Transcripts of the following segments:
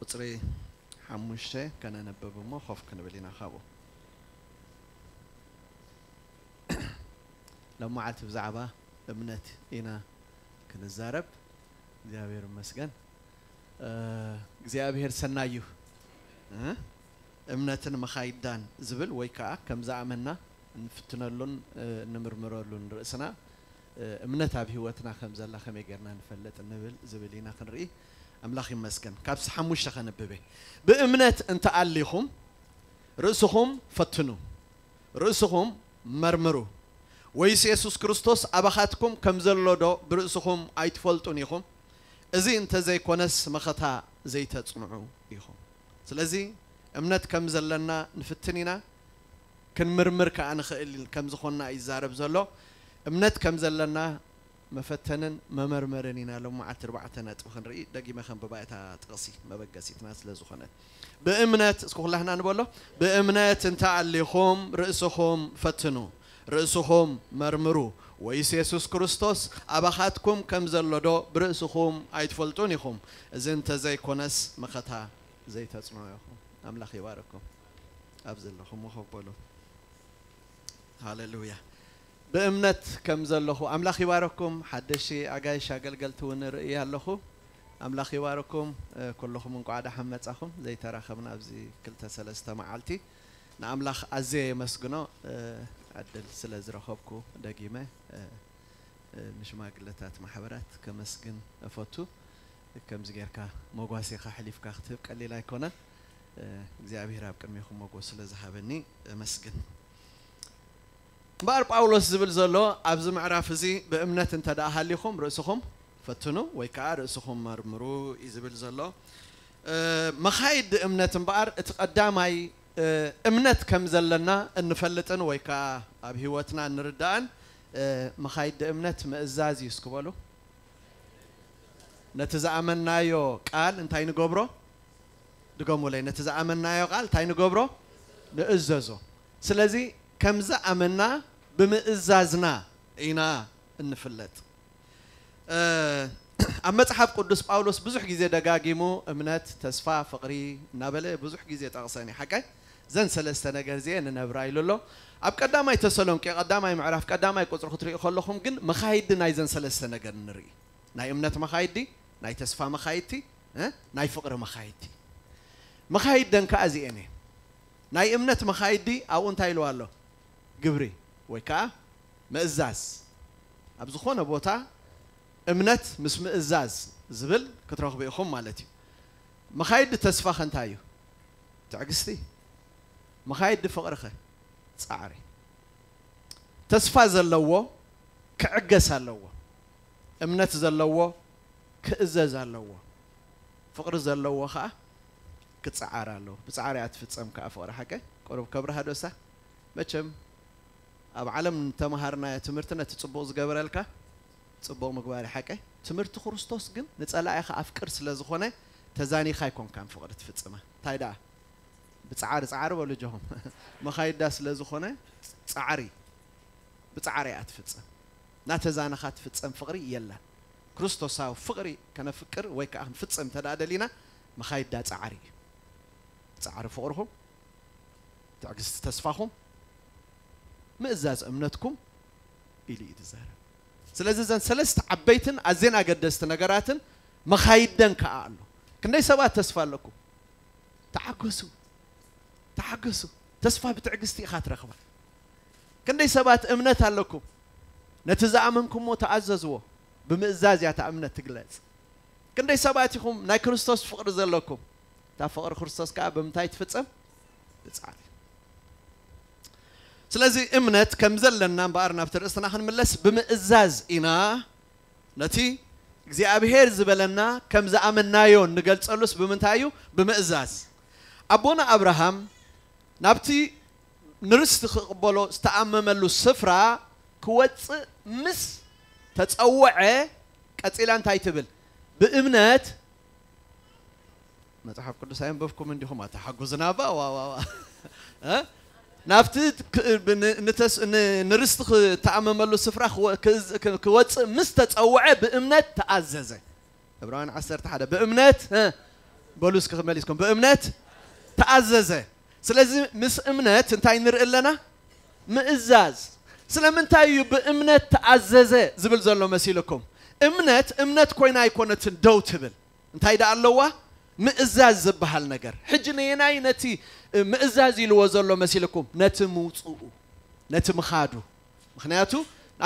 ቁፅሪ ሓሙሽተ ከነንብብ እሞ ኮፍ ክንብል ኢና። ካብኡ ሎመዓልቲ ብዛዕባ እምነት ኢና ክንዛረብ። እግዚኣብሔር ይመስገን። እግዚኣብሔር ሰናይ እዩ። እምነትን መኻይዳን ዝብል ወይ ከዓ ከም ዝኣመና እንፍትነሉን እንምርምረሉን ርእስና እምነት ኣብ ህይወትና ከም ዘላ ከመይ ጌርና ንፈልጥ ንብል ዝብል ኢና ክንርኢ። ኣምላኽ ይመስገን። ካብዚ ሓሙሽተ ከንብበ። ብእምነት እንተኣሊኹም ርእስኹም ፈትኑ፣ ርእስኹም መርምሩ፣ ወይስ የሱስ ክርስቶስ ኣባኻትኩም ከም ዘሎ ዶ ብርእስኹም ኣይትፈልጡን ኢኹም? እዚ እንተዘይኮነስ መኸታ ዘይተጽንዑ ኢኹም። ስለዚ እምነት ከም ዘለና ንፍትን ኢና፣ ክንምርምር ከኣ ንኽእል ከም ዝኾንና እዩ ዝዛረብ ዘሎ። እምነት ከም ዘለና መፈተንን መመርመርን ኢና ሎም መዓልቲ ኣርባዕተ ነጥቢ ክንርኢ። ደጊመ ከንብባ እታ ጥቕሲ መበገሲትና ስለ ዝኾነት። ብእምነት፣ እስኪ ኩላህና ንበሎ፣ ብእምነት እንተ ኣሊኹም ርእስኹም ፈትኑ፣ ርእስኹም መርምሩ፣ ወይስ የሱስ ክርስቶስ ኣባኻትኩም ከም ዘሎ ዶ ብርእስኹም ኣይትፈልጡን ኢኹም? እዚ እንተዘይኮነስ መኸታ ዘይተጽንዑ ኢኹም። ኣምላኽ ይባረኩም። ኣብ ዘለኹም ኮፍ በሉ። ሃሌሉያ። ብእምነት ከም ዘለኹ ኣምላኽ ይባረኩም። ሓደሽቲ ኣጋይሽ ኣገልገልቲ እውን ርኢ ኣለኹ። ኣምላኽ ይባረኩም። እ፣ ኩልኹም እንቋዕ ደሓን መጻኹም። ዘይተራኸብና ኣብዚ ክልተ ሰለስተ መዓልቲ ንኣምላኽ ኣዝየ የመስግኖ፣ እ፣ ዕድል ስለ ዝረኸብኩ ደጊመ፣ እ፣ እ፣ ንሽማግለታት ማሕበራት ከመስግን እፈቱ። ከምዚ ጌርካ መጓሴኻ ሕሊፍካ ክትህብ ቀሊል ኣይኮነን። እ፣ እግዚኣብሔር ኣብ ቅድሜኹም መጎስ ስለ ዝሃበኒ እመስግን። እምበኣር ጳውሎስ ዝብል ዘሎ ኣብዚ ምዕራፍ እዚ ብእምነት እንተ ደኣ ሃሊኹም ርእስኹም ፈትኑ ወይ ከኣ ርእስኹም መርምሩ እዩ ዝብል ዘሎ። እ፣ መኻይዲ እምነት እምበኣር እቲ ቀዳማይ፣ እ፣ እምነት ከም ዘለና እንፈልጥን ወይ ከኣ ኣብ ህይወትና እንርዳእን፣ እ፣ መኻይዲ እምነት ምእዛዝ እዩ። እስኪ በሉ። ነቲ ዝኣመናዮ ቃል እንታይ ንገብሮ? ድገሙለይ። ነቲ ዝኣመናዮ ቃል እንታይ ንገብሮ? ንእዘዞ። ስለዚ ከም ዝኣመና ብምእዛዝና ኢና እንፍለጥ። እ፣ ኣብ መጽሓፍ ቅዱስ ጳውሎስ ብዙሕ ግዜ ደጋጊሙ እምነት፣ ተስፋ፣ ፍቕሪ እናበለ ብዙሕ ግዜ ጠቕሰን እዩ። ሓቀይ? ዘን ሰለስተ ነገር እዚኤ ንነብራ ኢሉ ኣሎ። ኣብ ቀዳማይ ተሰሎንቄ ቀዳማይ ምዕራፍ ቀዳማይ ቁጽሪ ክትሪኡ ከለኹም ግን መኻይዲ ናይዘን ሰለስተ ነገር ንርኢ። ናይ እምነት መኻይዲ፣ ናይ ተስፋ መኻይድቲ፣ እ፣ ናይ ፍቕሪ መኻይድቲ። መኻይደን ከኣ እዚኤን እየን። ናይ እምነት መኻይዲ ኣብኡ እንታይ ኢልዋ ኣሎ? ግብሪ ወይ ከኣ ምእዛዝ። ኣብ ዝኾነ ቦታ እምነት ምስ ምእዛዝ ዝብል ክትረኽቡ ኢኹም ማለት እዩ። መኻይዲ ተስፋ ከ እንታይ እዩ? ትዕግስቲ። መኻይዲ ፍቕሪ ከ? ጻዕሪ። ተስፋ ዘለዎ ክዕገስ ኣለዎ። እምነት ዘለዎ ክእዘዝ ኣለዎ። ፍቕሪ ዘለዎ ኸኣ ክጸዓር ኣለዎ። ብጻዕሪ እያ ትፍጸም ከኣ ፍቕሪ ሓቀ። ቁሩብ ከብርሃ ዶ እሳ? መቸም ኣብ ዓለም እንተመሃርናዮ ትምህርቲ ነቲ ጽቡቕ ዝገበረልካ ጽቡቕ ምግባር እዩ ሓቀ። ትምህርቲ ክርስቶስ ግን ንጸላኢኻ ኣፍቅር ስለ ዝኾነ ተዛኒኻ ኣይኮንካን ፍቕሪ ትፍጽማ። እንታይ ደኣ? ብጻዕሪ፣ ጻዕሪ በሉ እጆኹም። መኻይዳ ስለ ዝኾነ ጻዕሪ፣ ብጻዕሪ እያ ትፍጸም። እናተዛነኻ ትፍጸም ፍቕሪ የላን። ክርስቶሳዊ ፍቕሪ ከነፍቅር ወይ ከኣ ክንፍጽም እንተ ደኣ ደሊና መኻይዳ ጻዕሪ እዩ። ጻዕሪ ፍቕርኹም፣ ትዕግስቲ ተስፋኹም፣ ምእዛዝ እምነትኩም ኢሉ እዩ ዝዛረብ። ስለዚ እዘን ሰለስተ ዓበይትን ኣዝየን ኣገደስቲ ነገራትን መኻይደን ከኣ ኣሎ። ክንደይ ሰባት ተስፋ ኣለኩም? ተዓገሱ፣ ተዓገሱ። ተስፋ ብትዕግስቲ ኢኻ ትረኽባ። ክንደይ ሰባት እምነት ኣለኩም? ነቲ ዝኣመንኩሞ ተኣዘዝዎ። ብምእዛዝ እያ እታ እምነት ትግለጽ። ክንደይ ሰባት ኢኹም ናይ ክርስቶስ ፍቕሪ ዘለኩም? እታ ፍቕሪ ክርስቶስ ከኣ ብምንታይ ትፍጸም? ብጻዕሪ። ስለዚ እምነት ከም ዘለና እምበኣር ናብቲ ርእስና ክንምለስ ብምእዛዝ ኢና ነቲ እግዚኣብሔር ዝበለና ከም ዝኣመናዮ እንገልጸሉስ ብምንታይ እዩ? ብምእዛዝ። ኣቦና ኣብርሃም ናብቲ ንርስቲ ክቕበሎ ዝተኣመመሉ ስፍራ ክወጽእ ምስ ተጸውዐ፣ ቀጺላ እንታይ ትብል? ብእምነት መጽሓፍ ቅዱስ ኣየንበብኩም እንዲኹም ኣተሓጉዝና ባ? ዋ፣ ዋ፣ ዋ። እ? ናብቲ ክ-፣ ብ-፣ ን-፣ ንተስ-፣ ን-፣ ንርስቲ ክተኣመመሉ ስፍራ ክወ-፣ ክዝ-፣ ክ-፣ ክወጽእ ምስ ተጸውዐ ብእምነት ተኣዘዘ። ዕብራውያን ዓሰርተ ሓደ ብእምነት፣ እ፣ በሉ እስኪ ክመሊስኩም፣ ብእምነት ተኣዘዘ። ስለዚ ምስ እምነት እንታይ ንርኢ ኣለና? ምእዛዝ። ስለምንታይ እዩ ብእምነት ተኣዘዘ ዝብል ዘሎ መሲልኩም? እምነት እምነት ኮይና ኣይኮነትን ደው ትብል። እንታይ ደኣ ኣለዋ? ምእዛዝ ዝበሃል ነገር። ሕጂ ነየናይ ነቲ ምእዛዝ ኢልዎ ዘሎ መሲልኩም? ነቲ ምውፅኡ፣ ነቲ ምኻዱ። ምኽንያቱ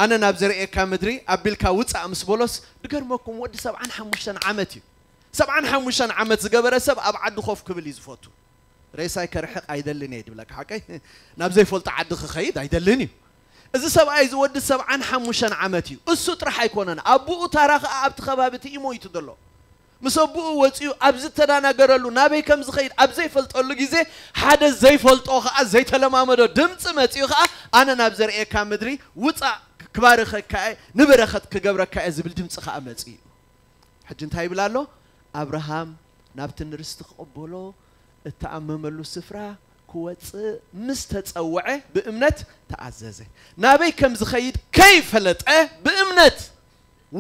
ኣነ ናብ ዘርእየካ ምድሪ ኣቢልካ ውፃእ ምስ በሎስ፣ ድገርመኩም፣ ወዲ ሰብዓን ሓሙሽተን ዓመት እዩ። ሰብዓን ሓሙሽተን ዓመት ዝገበረ ሰብ ኣብ ዓዲ ኮፍ ክብል እዩ ዝፈቱ። ሬሳይ ከርሕቕ ኣይደልን እየ ድብለካ ሓቀይ። ናብ ዘይፈልጦ ዓዲ ክኸይድ ኣይደልን እዩ። እዚ ሰብኣይ እዚ ወዲ ሰብዓን ሓሙሽተን ዓመት እዩ። እሱ ጥራሕ ኣይኮነን፣ ኣቦኡ ታራ ኸዓ ኣብቲ ከባቢ እቲ እዩ ሞይቱ ዘሎ። ምስ ኣቦኡ ወፂኡ ኣብ ዝተደናገረሉ፣ ናበይ ከም ዝኸይድ ኣብ ዘይፈልጠሉ ግዜ፣ ሓደ ዘይፈልጦ ኸዓ ዘይተለማመዶ ድምፂ መፂኡ ኸዓ፣ ኣነ ናብ ዘርእየካ ምድሪ ውፃእ፣ ክባርኸካ እየ፣ ንበረኸት ክገብረካ እየ ዝብል ድምፂ ኸዓ መፂኡ። ሕጂ እንታይ ይብል ኣሎ? ኣብርሃም ናብቲ ንርስቲ ክቕበሎ እተኣመመሉ ስፍራ ክወፅእ ምስ ተፀውዐ ብእምነት ተኣዘዘ። ናበይ ከም ዝኸይድ ከይፈለጠ ብእምነት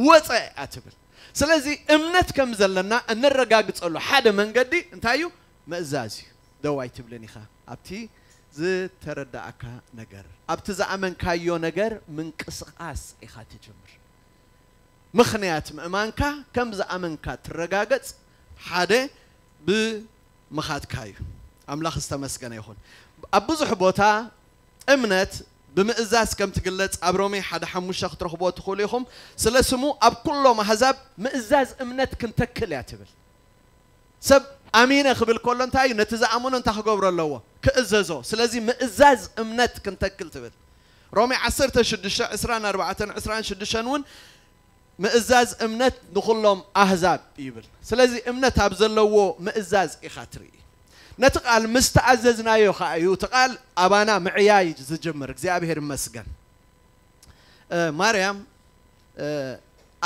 ወፀ እያ ትብል። ስለዚ እምነት ከም ዘለና እነረጋግፀሉ ሓደ መንገዲ እንታይ እዩ? ምእዛዝ እዩ። ደው ኣይትብልን ኢኻ ኣብቲ ዝተረዳእካ ነገር፣ ኣብቲ ዝኣመንካዮ ነገር ምንቅስቓስ ኢኻ ትጅምር። ምኽንያት ምእማንካ ከም ዝኣመንካ ትረጋገጽ ሓደ ብምኻድካ እዩ። ኣምላኽ ዝተመስገነ ይኹን። ኣብ ብዙሕ ቦታ እምነት ብምእዛዝ ከም ትግለጽ ኣብ ሮሜ ሓደ ሓሙሽተ ክትረኽብዎ ትኽእሉ ኢኹም። ስለ ስሙ ኣብ ኩሎም ኣህዛብ ምእዛዝ እምነት ክንተክል እያ ትብል። ሰብ ኣሚነ ክብል ከሎ እንታይ እዩ? ነቲ ዝኣመኖ እንታይ ክገብሮ ኣለዎ? ክእዘዞ። ስለዚ ምእዛዝ እምነት ክንተክል ትብል። ሮሜ ዓሰርተ ሽዱሽተ፣ ዕስራን ኣርባዕተን፣ ዕስራን ሽዱሽተን እውን ምእዛዝ እምነት ንኹሎም ኣህዛብ ይብል። ስለዚ እምነት ኣብ ዘለዎ ምእዛዝ ኢኻ ትርኢ። ነቲ ቃል ምስ ተኣዘዝናዮ ኸዓ እዩ እቲ ቃል ኣባና ምዕያይ ዝጅምር። እግዚኣብሔር ይመስገን። እ፣ ማርያም፣ እ፣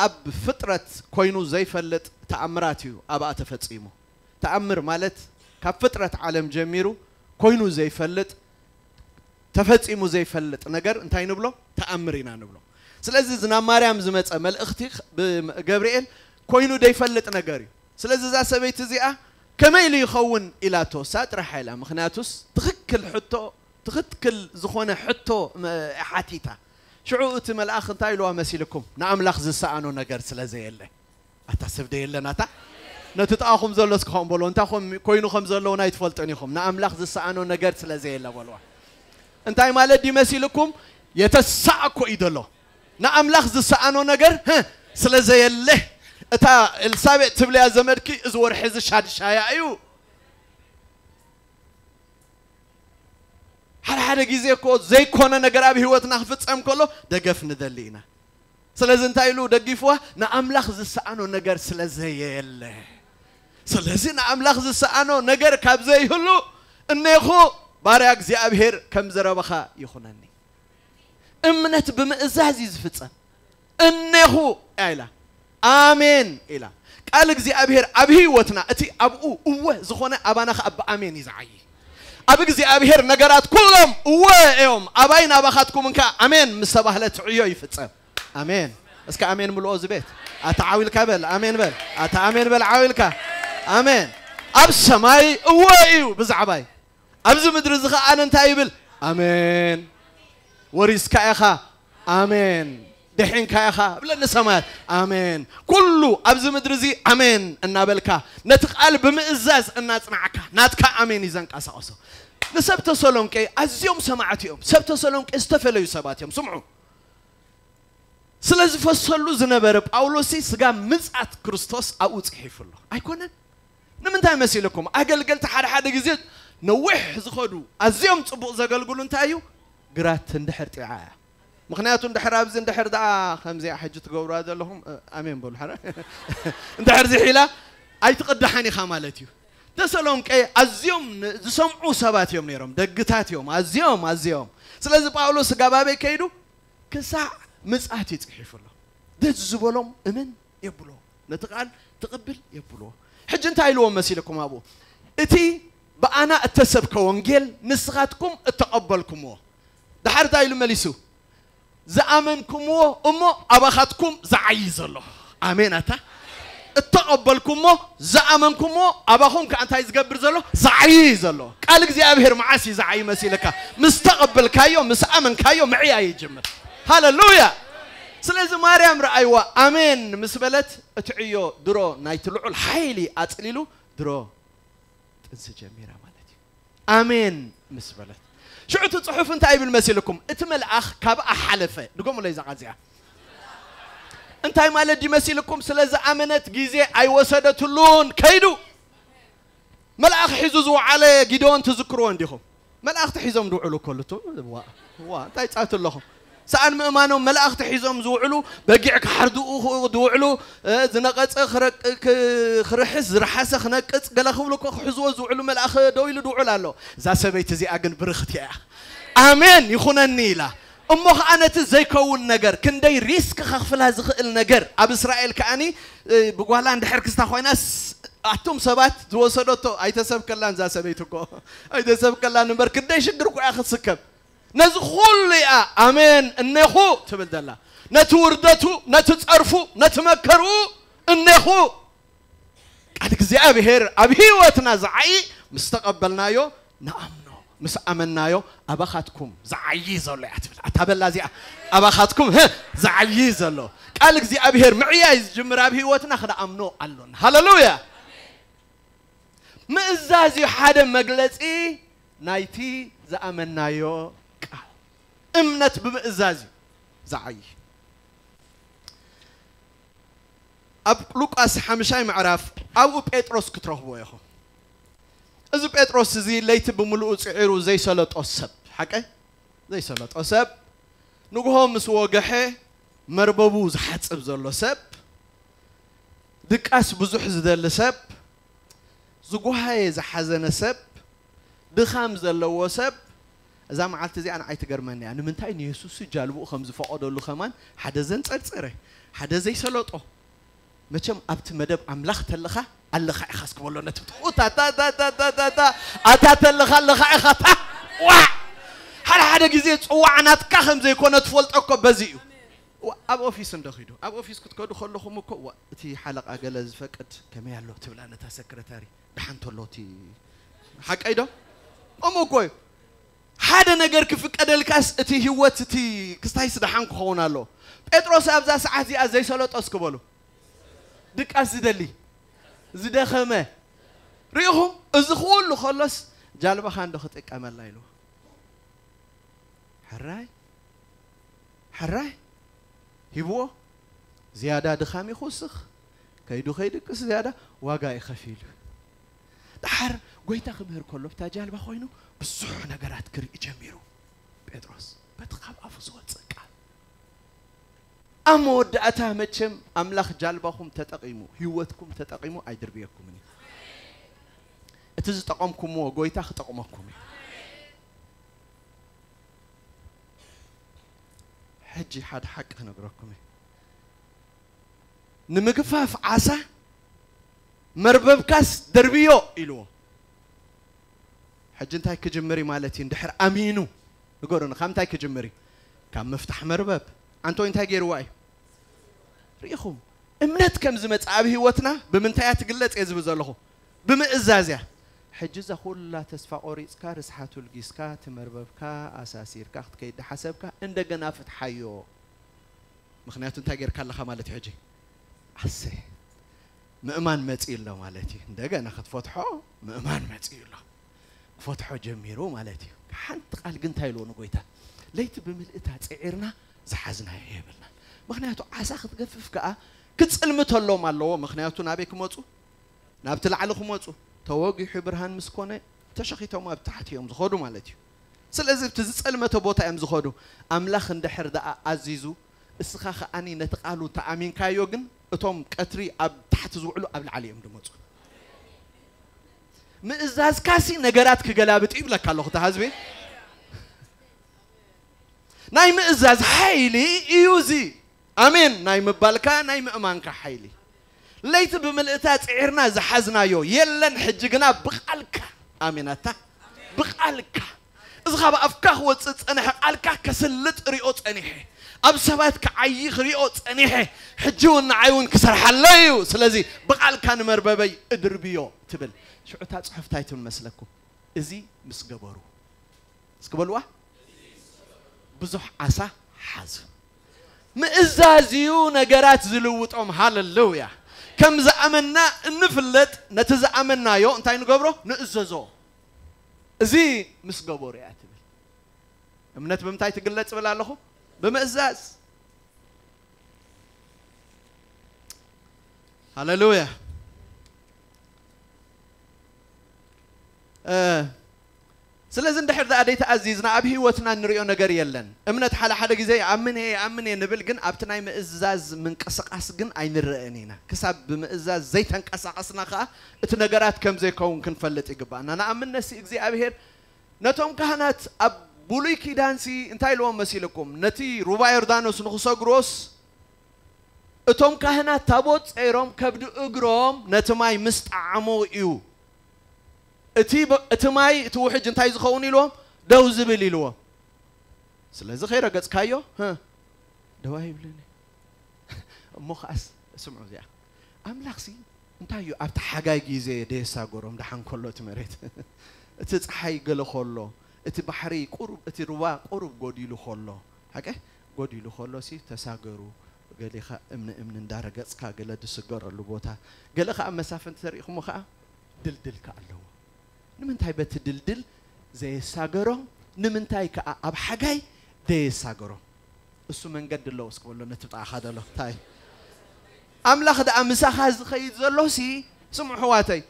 ኣብ ፍጥረት ኮይኑ ዘይፈልጥ ተኣምራት እዩ ኣብኣ ተፈጺሙ። ተኣምር ማለት ካብ ፍጥረት ዓለም ጀሚሩ ኮይኑ ዘይፈልጥ፣ ተፈጺሙ ዘይፈልጥ ነገር እንታይ ንብሎ? ተኣምር ኢና ንብሎ። ስለዚ እዚ ናብ ማርያም ዝመጸ መልእኽቲ ብ-፣ ገብርኤል ኮይኑ ዘይፈልጥ ነገር እዩ። ስለዚ እዛ ሰበይቲ እዚኣ ከመይ ኢሉ ይኸውን ኢላቶ፣ እሳ ጥራሕ ኢላ። ምኽንያቱስ ትኽክል ሕቶ፣ ትኽክል ዝኾነ ሕቶ መ-፣ ሓቲታ። ሽዑ እቲ መልኣኽ እንታይ ኢልዋ መሲልኩም? ንኣምላኽ ዝሰኣኖ ነገር ስለ ዘየለ። ኣታ ሰብ ዶ የለን ኣታ? ነቲ ጥቓኹም ዘሎ እስኪ ከምኡ በሎ፣ እንታይ ኮም-፣ ኮይኑ ከም ዘለውን ኣይትፈልጡን ኢኹም። ንኣምላኽ ዝሰኣኖ ነገር ስለ ዘየለ በልዋ። እንታይ ማለት ድዩ መሲልኩም? የተሳእኮ እዩ ዘሎ። ንኣምላኽ ዝሰኣኖ ነገር፣ ህ፣ ስለ ዘየለ። እታ ኤልሳቤጥ ትብልያ ዘመድኪ፣ እዚ ወርሒ እዚ ሻድሻያ እዩ። ሓደ ሓደ ግዜ እኮ ዘይኮነ ነገር ኣብ ህይወትና ክፍጸም ከሎ ደገፍ ንደሊ ኢና። ስለዚ እንታይ ኢሉ ደጊፍዋ? ንኣምላኽ ዝሰኣኖ ነገር ስለ ዘየለ። ስለዚ ንኣምላኽ ዝሰኣኖ ነገር ካብ ዘይህሉ፣ እኔኹ ባርያ እግዚኣብሔር ከም ዘረበኻ ይኹነኒ። እምነት ብምእዛዝ እዩ ዝፍጸም። እኔኹ እያ ኢላ። ኣሜን ኢላ። ቃል እግዚኣብሔር ኣብ ህይወትና እቲ ኣብኡ እወ ዝኾነ ኣባና ኸኣ ብኣሜን እዩ ዝዓዪ። ኣብ እግዚኣብሔር ነገራት ኩሎም እወ እዮም። ኣባይ ናባኻትኩም እንካ ኣሜን ምስ ተባህለ ትዕዮ ይፍጸም። ኣሜን። እስከ ኣሜን ምልኦ እዚ ቤት። ኣታ ዓው ኢልካ በል፣ ኣሜን በል። ኣታ ኣሜን በል ዓው ኢልካ። ኣሜን። ኣብ ሰማይ እወ እዩ ብዛዕባይ። ኣብዚ ምድሪ እዚ ኸኣ እንታይ ይብል? ኣሜን። ወሪስካ ኢኻ። ኣሜን። ድሒንካ ኢኻ። ብለኒ ሰማያት። ኣሜን። ኩሉ ኣብዚ ምድሪ እዚ ኣሜን እናበልካ ነቲ ቃል ብምእዛዝ እናጽናዕካ ናትካ ኣሜን እዩ ዘንቀሳቕሶ። ንሰብ ተሰሎንቄ ኣዝዮም ሰማዕቲ እዮም። ሰብ ተሰሎንቄ ዝተፈለዩ ሰባት እዮም። ስምዑ። ስለ ዝፈሰሉ ዝነበረ ጳውሎስ ስጋ ምጽኣት ክርስቶስ ኣብኡ ጽሒፉ ኣሎ። ኣይኮነን? ንምንታይ መሲልኩም? ኣገልገልቲ ሓደ ሓደ ግዜ ነዊሕ ዝኸዱ ኣዝዮም ጽቡቕ ዘገልግሉ እንታይ እዩ? ግራት እንድሕር ጢዓ እያ። ምኽንያቱ እንድሕር ኣብዚ እንድሕር ደኣ ከምዚኣ ሕጂ ትገብሩዋ ዘለኹም፣ እ፣ ኣሜን በሉ። ሓደ እንድሕር ዝሒላ ኣይትቕዳሕን ኢኻ ማለት እዩ። ተሰሎንቄ ኣዝዮም ን-፣ ዝሰምዑ ሰባት እዮም ነይሮም። ደግታት እዮም፣ ኣዝዮም፣ ኣዝዮም። ስለዚ ጳውሎስ ስጋ ባበይ ከይዱ ክሳዕ ምጽኣት እዩ ጽሒፉ ኣሎ። ደስ ዝበሎም እመን የብሎ። ነቲ ቃል ትቕብል የብሎ። ሕጂ እንታይ ኢልዎም መሲልኩም ኣብኡ? እቲ ብኣና እተሰብከ ወንጌል ንስኻትኩም እተቐበልኩምዎ። ደሓር እንታይ ኢሉ መሊሱ? ዝኣመንኩምዎ እሞ ኣባኻትኩም ዝዓዪ ዘሎ። ኣሜን ኣታ። እተቐበልኩሞ፣ ዝኣመንኩሞ፣ ኣባኹም ከኣ እንታይ ዝገብር ዘሎ? ዝዓዪ ዘሎ። ቃል እግዚኣብሔር መዓስ እዩ ዝዓዪ መሲልካ? ምስ ተቐበልካዮ፣ ምስ ኣመንካዮ ምዕያይ ይጅምር። ሃለሉያ! ስለዚ ማርያም ረኣይዋ፣ ኣሜን ምስ በለት፣ እቲ ዕዮ ድሮ ናይቲ ልዑል ሓይሊ ኣጽሊሉ፣ ድሮ ጥንሲ ጀሚራ ማለት እዩ። ኣሜን ምስ በለት። ሽዑ እቲ ጽሑፍ እንታይ ይብል መሲልኩም? እቲ መልኣኽ ካብኣ ሓለፈ። ድገሙለይ እዛ ቃል እዚኣ። እንታይ ማለት ድዩ መሲልኩም? ስለ ዝኣመነት ግዜ ኣይወሰደትሉን። ከይዱ መልኣኽ ሒዙ ዝወዓለ ጊደዎን ትዝክርዎ እንዲኹም? መልኣኽቲ ሒዞም ዝውዕሉ እኮ ኣሉ። ዋ፣ ዋ፣ እንታይ ጻቱ ኣለኹም? ሰኣን ምእማኖም መልኣኽቲ ሒዞም ዝውዕሉ፣ በጊዕ ክሓርድኡ ዝውዕሉ፣ እ፣ ዝነቐጸ ክረቅ-፣ ክ-፣ ክርሕስ፣ ዝረሓሰ ክነቅጽ፣ ገለ ክብሉ እኮ ክሕዝዎ ዝውዕሉ መልኣኽ ደው ኢሉ ዝውዕል ኣሎ። እዛ ሰበይቲ እዚኣ ግን ብርኽቲ እያ። ኣሜን ይኹነኒ ኢላ። እሞ ኸኣ ነቲ ዘይከውን ነገር፣ ክንደይ ሪስክ ከኽፍላ ዝኽእል ነገር፣ ኣብ እስራኤል ከኣኒ፣ እ፣ ብጓላ እንድሕር ክስታ ኮይናስ፣ ኣቱም ሰባት ዝወሰደቶ ኣይተሰብከላን እዛ ሰበይቲ እኮ። ኣይተሰብከላን እምበር፣ ክንደይ ሽግር እኮ እያ ክትስከም። ነዚ ኩሉ እያ ኣሜን እኔኹ ትብል ዘላ። ነቲ ውርደቱ፣ ነቲ ጸርፉ፣ ነቲ መከርኡ እኔኹ። ቃል እግዚኣብሔር ኣብ ህይወትና ዝዓዪ ምስ ተቐበልናዮ ንኣምኖ፣ ምስ ኣመናዮ ኣባኻትኩም ዝዓዪ ዘሎ እያ ትብል። ኣታ በላ እዚኣ ኣባኻትኩም፣ ህ፣ ዝዓዪ ዘሎ። ቃል እግዚኣብሔር ምዕያይ ዝጅምር ኣብ ህይወትና ክንኣምኖ ኣሎና። ሃለሉያ! ምእዛዝ እዩ ሓደ መግለጺ ናይቲ ዝኣመናዮ ቃል። እምነት ብምእዛዝ እዩ ዝዓዪ። ኣብ ሉቃስ ሓምሻይ ምዕራፍ ኣብኡ ጴጥሮስ ክትረኽብዎ ኢኹም። እዚ ጴጥሮስ እዚ ለይቲ ብምሉኡ ጽዒሩ ዘይሰለጦ ሰብ፣ ሓቀይ? ዘይሰለጦ ሰብ፣ ንግሆ ምስ ወገሐ መርበቡ ዝሓጽብ ዘሎ ሰብ፣ ድቃስ ብዙሕ ዝደሊ ሰብ፣ ዝጓሃየ ዝሓዘነ ሰብ፣ ድኻም ዘለዎ ሰብ፣ እዛ መዓልቲ እዚኣ ንዓይ ትገርመኒ እያ። ንምንታይ ንየሱስ ጃልብኡ ከም ዝፈቐደሉ ከማን ሓደ ዘንጸርጸረ፣ ሓደ ዘይሰለጦ። መቸም ኣብቲ መደብ ኣምላኽ ተለኻ ኣለኻ ኢኻ እስክበሎ ነቲ ብትኡ፣ ታታ፣ ታታ፣ ታታ፣ ታታ፣ ኣታ ተለኻ ኣለኻ ኢኻ፣ ታ፣ ዋ! ሓደ ሓደ ግዜ ጽዋዕ ናትካ ከም ዘይኮነ ትፈልጦ እኮ በዚ እዩ። ዋ፣ ኣብ ኦፊስ እንዶ ኺዱ፣ ኣብ ኦፊስ ክትከዱ ከለኹም እኮ፣ ዋ፣ እቲ ሓለቓ ገለ ዝፈቅድ ከመይ ኣሎ ትብላ ነታ ሰክረታሪ፣ ደሓን ተሎ እቲ፣ ሓቀይ ዶ? ከምኡ እኮ እዩ። ሓደ ነገር ክፍቀደልካስ እቲ ህይወት እቲ ክስታይስ ደሓን ክኸውን ኣሎ። ጴጥሮስ ኣብዛ ሰዓት እዚኣ ዘይሰለጦ እስኪ በሉ። ድቃስ ዝደሊ፣ ዝደኸመ። ርኢኹም? እዚ ኩሉ ከሎስ ጃልባኻ እንዶ ክጥቀመላ ኢሉ። ሕራይ፣ ሕራይ ሂብዎ። ዝያዳ ድኻም ይኹስኽ። ከይዱ ከይድቅስ ዝያዳ ዋጋ እዩ ከፊሉ። ደሓር ጎይታ ክምህር ከሎ ብታ ጃልባ ኮይኑ ብዙሕ ነገራት ክርኢ ጀሚሩ። ጴጥሮስ በቲ ካብ ኣፉ ዝወጽእ ቃል። ኣብ መወዳእታ መቸም ኣምላኽ ጃልባኹም ተጠቒሙ፣ ህይወትኩም ተጠቒሙ ኣይድርብየኩምን እዩ። እቲ ዝጠቐምኩምዎ ጎይታ ክጠቕመኩም እዩ። ሕጂ ሓደ ሓቂ ክነግረኩም እየ። ንምግፋፍ ዓሳ መርበብካስ ደርብዮ ኢልዎ። ሕጂ እንታይ ክጅምር እዩ ማለት እዩ? እንድሕር ኣሚኑ፣ ንገሩኒ፣ ካብ እንታይ ክጅምር እዩ? ካብ ምፍታሕ መርበብ። ኣንቶይ እንታይ ገይርዋ እዩ? ርኢኹም፣ እምነት ከም ዝመጽእ ኣብ ህይወትና ብምንታይ እያ ትግለጽ እየ ዝብል ዘለኹ? ብምእዛዝ እያ። ሕጂ እዛ ኩላ ተስፋ ቆሪጽካ፣ ርስሓቱ ልጊስካ፣ እቲ መርበብካ ኣሳሲርካ ክትከይድ ሓሰብካ፣ እንደገና ፍትሓዮ። ምኽንያቱ እንታይ ጌርካ ኣለኻ ማለት እዩ ሕጂ? ኣሰ፣ ምእማን መጺኡ ኣሎ ማለት እዩ። እንደገና ክትፈትሖ ምእማን መጺኡ ኣሎ። ክፈትሖ ጀሚሩ ማለት እዩ። ሓንቲ ቃል ግን እንታይ ኢልዎ ንጎይታ? ለይቲ ብምልእታ ጽዒርና ዝሓዝናዮ የብልናን። ምኽንያቱ ዓሳ ክትገፍፍ ከኣ ክጽልምተሎም ኣለዎ። ምኽንያቱ ናበይ ክመጹ? ናብቲ ላዕሊ ክመጹ። ተወጊሑ ብርሃን ምስ ኮነ ተሸኺቶም ኣብ ታሕቲ እዮም ዝኸዱ ማለት እዩ። ስለዚ ኣብቲ ዝጸልመተ ቦታ እዮም ዝኸዱ። ኣምላኽ እንድሕር ደኣ ኣዚዙ፣ እስኻ ከኣኒ ነቲ ቃሉ ተኣሚንካዮ፣ ግን እቶም ቀትሪ ኣብ ታሕቲ ዝውዕሉ ኣብ ላዕሊ እዮም ዝመጹ። ምእዛዝካሲ ነገራት ክገላብጥ ይብለካ ኣለኹ፣ እታ ህዝቢ። ናይ ምእዛዝ ሓይሊ እዩ እዚ። ኣሜን። ናይ ምባልካ፣ ናይ ምእማንካ ሓይሊ። ለይቲ ብምልእታ ጽዒርና ዝሓዝናዮ የለን፣ ሕጂ ግና ብቓልካ። ኣሜን ኣታ። ብቓልካ። እዚ ካብ ኣፍካ ክወጽእ ዝጸንሐ ቃልካ ከስልጥ ሪኦ ጸኒሐ። ኣብ ሰባት ክዓዪ ክሪኦ ጸኒሐ፣ ሕጂ እውን ንዓይ እውን ክሰርሓለይ እዩ። ስለዚ ብቓልካ ንመርበበይ እድርብዮ ትብል። ሽዑ እታ ጽሑፍ እንታይ ትብል መስለኩም? እዚ ምስ ገበሩ፣ እስኪ በልዋ፣ ብዙሕ ዓሳ ሓዙ። ምእዛዝ እዩ ነገራት ዝልውጦም። ሃለሉያ። ከም ዝኣመና እንፍለጥ፣ ነቲ ዝኣመናዮ እንታይ ንገብሮ? ንእዘዞ። እዚ ምስ ገበሩ እያ ትብል። እምነት ብምንታይ ትግለጽ እብል ኣለኹ? ብምእዛዝ። ሃለሉያ። እ፣ ስለዚ እንድሕር ደኣ ዘይተኣዚዝና ኣብ ህይወትና እንሪኦ ነገር የለን። እምነት ሓደ ሓደ ግዜ ይኣምን እየ፣ ይኣምን እየ ንብል፣ ግን ኣብቲ ናይ ምእዛዝ ምንቅስቃስ ግን ኣይንረእን ኢና። ክሳብ ብምእዛዝ ዘይተንቀሳቐስና ከኣ እቲ ነገራት ከም ዘይከውን ክንፈልጥ ይግባእና። ንኣብነት ሲ እግዚኣብሄር ነቶም ካህናት ኣብ ብሉይ ኪዳንሲ እንታይ ኢልዎም መሲልኩም? ነቲ ሩባ ዮርዳኖስ ንኽሰግሮስ እቶም ካህናት ታቦት ጸይሮም ከብዲ እግሮም ነቲ ማይ ምስ ጠዓሞ እዩ። እቲ በ-፣ እቲ ማይ፣ እቲ ውሕጅ እንታይ ዝኸውን ኢልዎም? ደው ዝብል ኢልዎም። ስለዚ ከይረገጽካዮ፣ ህ፣ ደው ኣይብልን እዩ። እሞ ኸኣስ፣ ስምዑ እዚኣ። ኣምላኽሲ እንታይ እዩ ኣብቲ ሓጋይ ግዜ ደየሳገሮም ደሓን ከሎ እቲ መሬት? እቲ ጸሓይ ገለ ከሎ፣ እቲ ባሕሪ ቁሩብ፣ እቲ ሩባ ቁሩብ ጎዲሉ ከሎ፣ ሓቀ? ጎዲሉ ከሎሲ ተሳገሩ። ገሊኻ እምኒ እምኒ እንዳረገጽካ ገለ ዝስገረሉ ቦታ፣ ገለ ኸኣ መሳፍንቲ ተሪእኹሞ ኸኣ ድልድል ከኣ ኣለዎ። ንምንታይ በቲ ድልድል ዘየሳገሮም? ንምንታይ ከኣ ኣብ ሓጋይ ዘየሳገሮም? እሱ መንገዲ ኣለዎ። እስኪ በሎ ነቲ ብጣዕኻ ዘሎ እንታይ? ኣምላኽ ደኣ ምሳኻ ዝኸይድ ዘሎሲ፣ ስምዑ ኣሕዋተይ፣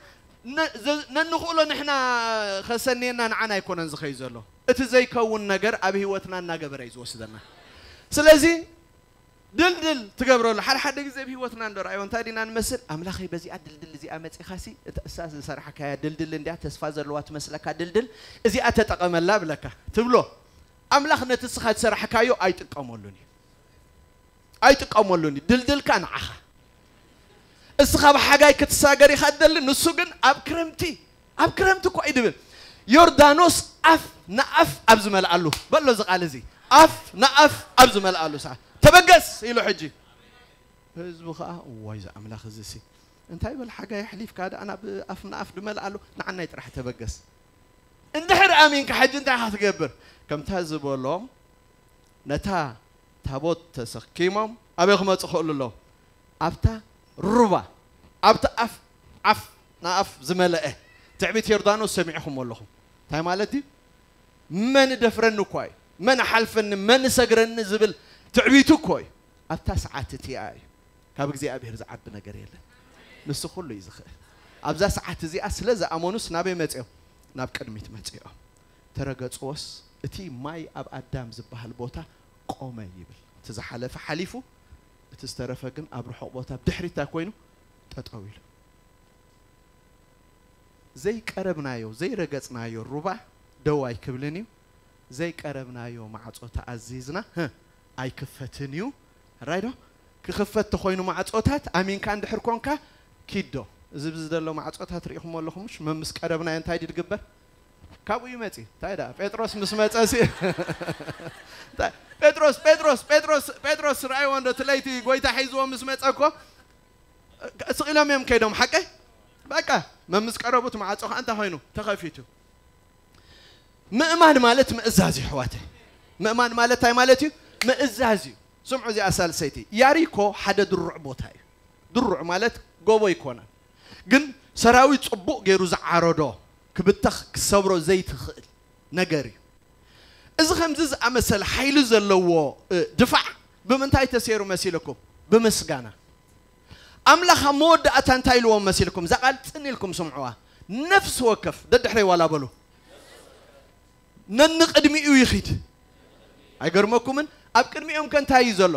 ነ-፣ ዘ-፣ ነንኽእሎ ንሕና ኸሰንየና ንዓና ኣይኮነን ዝኸይድ ዘሎ። እቲ ዘይከውን ነገር ኣብ ህይወትና እናገበረ እዩ ዝወስደና። ስለዚ ድልድል ትገብረሉ። ሓደ ሓደ ግዜ ኣብ ህይወትና እንዶ ረኣዮ እንታይ ዲና ንመስል? ኣምላኸይ በዚኣ ድልድል እዚኣ መጺኻሲ፣ እታ እሳ ዝሰራሕካያ ድልድል እንድያ ተስፋ ዘለዋ ትመስለካ ድልድል፣ እዚኣ ተጠቐመላ ብለካ ትብሎ። ኣምላኽ ነቲ እስኻ ዝሰራሕካዮ ኣይጥቀመሉን እዩ። ኣይጥቀመሉን እዩ። ድልድልካ ንዓኻ። እስኻ ብሓጋይ ክትሳገር ኢኻ ትደሊ፣ ንሱ ግን ኣብ ክረምቲ፣ ኣብ ክረምቲ እኮ እዩ ድብል። ዮርዳኖስ ኣፍ ንኣፍ ኣብ ዝመልኣሉ፣ በሎ እዚ ቃል እዚ፣ ኣፍ ንኣፍ ኣብ ዝመልኣሉ ሰዓት፣ "ተበገስ" ኢሉ ሕጂ። ህዝቡ ኸኣ፣ "እዋይ፣ እዚ ኣምላኽ እዚ ሲ፣ እንታይ በል ሓጋይ ኣሕሊፍካ ደኣ ናብ ኣፍ ንኣፍ ድመልኣሉ፣ ንዓናይ ጥራሕ ተበገስ." እንድሕር ኣሚንካ ሕጂ እንታይ ኢኻ ትገብር? ከምታ ዝበሎም ነታ ታቦት ተሰኪሞም ኣበይ ክመጹ ክእሉ ኣለዎም? ኣብታ ሩባ፣ ኣብቲ ኣፍ፣ ዓፍ ንኣፍ ዝመለአ ትዕቢት ዮርዳኖስ ሰሚዕኹም ኣለኹም። እንታይ ማለት እዩ? መን ደፍረኒ እኳ እዩ፣ መን ሓልፈኒ፣ መን ሰግረኒ ዝብል ትዕቢቱ እኮ እዩ። ኣብታ ሰዓት እቲኣ እዩ። ካብ እግዚኣብሔር ዝዓቢ ነገር የለን። ንሱ ኩሉ እዩ ዝኽእል። ኣብዛ ሰዓት እዚኣ ስለ ዝኣመኑስ ናበይ መጺኦም? ናብ ቅድሚት መጺኦም። ተረገጽዎስ እቲ ማይ ኣብ ኣዳም ዝበሃል ቦታ ቆመ ይብል። እቲ ዝሓለፈ ሓሊፉ፣ እቲ ዝተረፈ ግን ኣብ ርሑቕ ቦታ ብድሕሪት እንታይ ኮይኑ? ጠጠው ኢሉ። ዘይቀረብናዮ፣ ዘይረገጽናዮ ሩባ ደው ኣይክብልን እዩ። ዘይቀረብናዮ ማዕጾ ተኣዚዝና፣ ህ፣ ኣይክፈትን እዩ። ሕራይ ዶ? ክኽፈት ተኾይኑ ማዕጾታት፣ ኣሚንካ እንድሕር ኮንካ፣ ኪድ ዶ? እዚ ብዚ ዘሎ ማዕጾታት ርኢኹሞ ኣለኹም፣ ምሽ? መምስ ቀረብናዮ እንታይ ድዩ ድግበር? ካብኡ ይመጺ። እንታይ ደኣ? ጴጥሮስ ምስ መጸ ሲ-፣ እንታይ? ጴጥሮስ፣ ጴጥሮስ፣ ጴጥሮስ፣ ጴጥሮስ፣ ርኣይዎ እንዶ፣ እቲ ለይቲ ጎይታ ሒዝዎ ምስ መጸ እኮ፣ ስቕ ኢሎም እዮም ከይዶም፣ ሓቀይ? በቃ፣ መምስ ቀረቡት ማዕጾ ኸዓ እንታይ ኾይኑ? ተኸፊቱ። ምእማን ማለት ምእዛዝ እዩ፣ ኣሕዋተይ። ምእማን ማለት እንታይ ማለት እዩ? ምእዛዝ እዩ። ስምዑ እዚኣ ሳልሰይቲ። ያሪኮ ሓደ ድሩዕ ቦታ እዩ። ድሩዕ ማለት ጎቦ ኣይኮነን። ግን ሰራዊት ጽቡቕ ገይሩ ዝዓረዶ፣ ክብተኽ ክሰብሮ ዘይትኽእል ነገር እዩ። እዚ ከምዚ ዝኣመሰለ ሓይሊ ዘለዎ፣ እ፣ ድፋዕ ብምንታይ ተሰይሩ መሲልኩም? ብምስጋና። ኣምላኽ ኣብ መወዳእታ እንታይ ኢልዎም መሲልኩም? እዛ ቃል ጽን ኢልኩም ስምዕዋ። ነፍሲ ወከፍ፣ ደድሕረይ ዋላ በሉ። ነንቕድሚኡ ይኺድ። ኣይገርመኩምን? ኣብ ቅድሚኦም ከ እንታይ እዩ ዘሎ?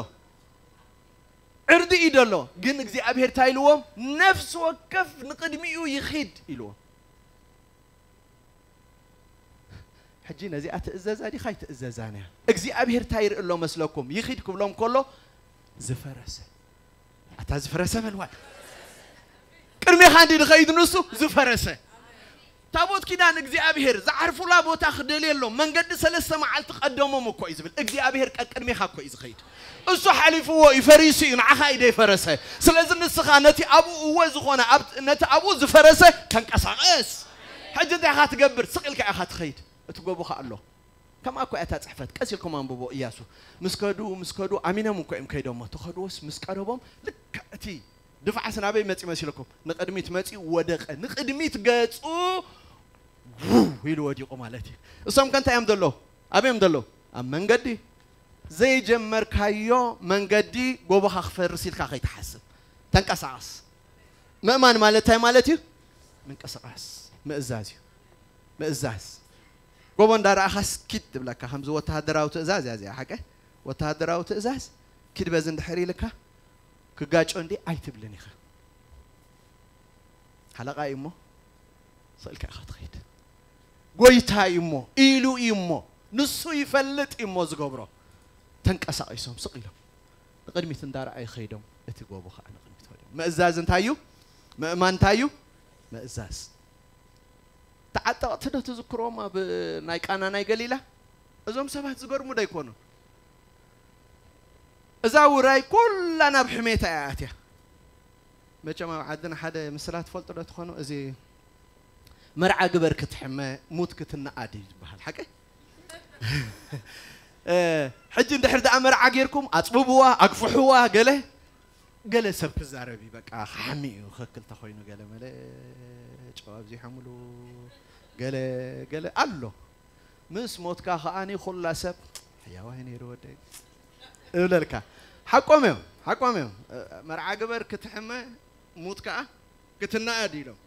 ዕርዲ እዩ ዘሎ። ግን እግዚኣብሔር እንታይ ኢልዎም? ነፍሲ ወከፍ ንቕድሚኡ ይኺድ ኢልዎም። ሕጂ ነዚኣ ትእዘዛ ዲኻ ኣይትእዘዛን እያ? እግዚኣብሔር እንታይ ይርኢ ኣሎ መስለኩም? ይኺድ ክብሎም ከሎ ዝፈረሰ። ኣታ ዝፈረሰ በልዋ። ቅድሜኻ እንዲ ድኸይድ ንሱ ዝፈረሰ። ታቦት ኪዳን እግዚኣብሔር ዝዓርፉላ ቦታ ክደልየሎም መንገዲ ሰለስተ መዓልቲ ቀደሞም እኮ እዩ ዝብል እግዚኣብሔር ቀቅድሜኻ እኮ እዩ ዝኸይድ። እሱ ሓሊፍዎ እዩ፣ ፈሪሱ እዩ፣ ንዓኻ እዩ ደይፈረሰ። ስለዚ ንስኻ ነቲ ኣብኡ እወ ዝኾነ ኣብ- ነቲ ኣብኡ ዝፈረሰ ተንቀሳቐስ። ሕጂ እንታይ ኢኻ ትገብር? ስቕ ኢልካ ኢኻ ትኸይድ። እቲ ጎቦኻ ኣሎ። ከምኣ እኮ እያ እታ ጽሕፈት። ቀስ ኢልኩም ኣንብቦ። እያሱ ምስ ከዱ ምስ ከዱ ኣሚኖም እኮ እዮም ከይዶሞ። ተኸድዎስ ምስ ቀረቦም ልክዕ እቲ ድፋዕስ ናበይ መጺ መሲልኩም? ንቕድሚት መጺኡ ወደቐ። ንቕድሚት ገጹ ውው ኢሉ ወዲቑ ማለት እዩ። እሶም ከ እንታይ እዮም ዘለዉ? ኣበይ እዮም ዘለዉ? ኣብ መንገዲ። ዘይጀመርካዮ መንገዲ ጎቦኻ ክፈርስ ኢልካ ከይትሓስብ። ተንቀሳቐስ። ምእማን ማለት እንታይ ማለት እዩ? ምንቅስቓስ። ምእዛዝ እዩ። ምእዛዝ። ጎቦ እንዳረኣኻስ ኪድ ትብለካ። ከምዚ ወተሃደራዊ ትእዛዝ እያ እዚኣ ሓቀ? ወተሃደራዊ ትእዛዝ ኪድ በዚ እንድሕር ኢልካ ክጋጮ እንዲ ኣይትብልን ኢኻ። ሓለቓ እዩ እሞ ስቕ ኢልካ ኢኻ ትኸይድ። ጎይታ እዩ እሞ ኢሉ እዩ እሞ ንሱ ይፈልጥ እዩ እሞ ዝገብሮ። ተንቀሳቒሶም ስቕ ኢሎም ንቕድሚት እንዳረኣዩ ኸይዶም እቲ ጎቦ ኸዓ ንቕድሚት ወዲቑ። ምእዛዝ እንታይ እዩ? ምእማን እንታይ እዩ? ምእዛዝ። ተዓጠቕቲ ዶ ትዝክርዎም ኣብ ናይ ቃና ናይ ገሊላ? እዞም ሰባት ዝገርሙ ዶ ኣይኮኑን? እዛ ውራይ ኩላ ናብ ሕሜታ እያ ኣትያ። መቸም ኣብ ዓድና ሓደ ምስላ ትፈልጡ ዶ ትኾኑ? እዚ መርዓ ግበር ክትሕመ ሙት ክትነኣድ እዩ ዝበሃል ሓቂ። ሕጂ እንድሕር ደኣ መርዓ ጌርኩም ኣጽብብዋ ኣግፍሕዋ ገለ ገለ ሰብ ክዛረብ እዩ በቃ ክሓሚ እዩ ክክል ተኮይኑ ገለ መለ ጨው ኣብዚሖምሉ ገለ ገለ ኣሎ። ምስ ሞትካ ከኣኒ ኩላ ሰብ ሕያዋይ ነይሩ ወደይ እብለልካ። ሓቆም እዮም ሓቆም እዮም። መርዓ ግበር ክትሕመ ሙት ከኣ ክትነኣድ ኢሎም።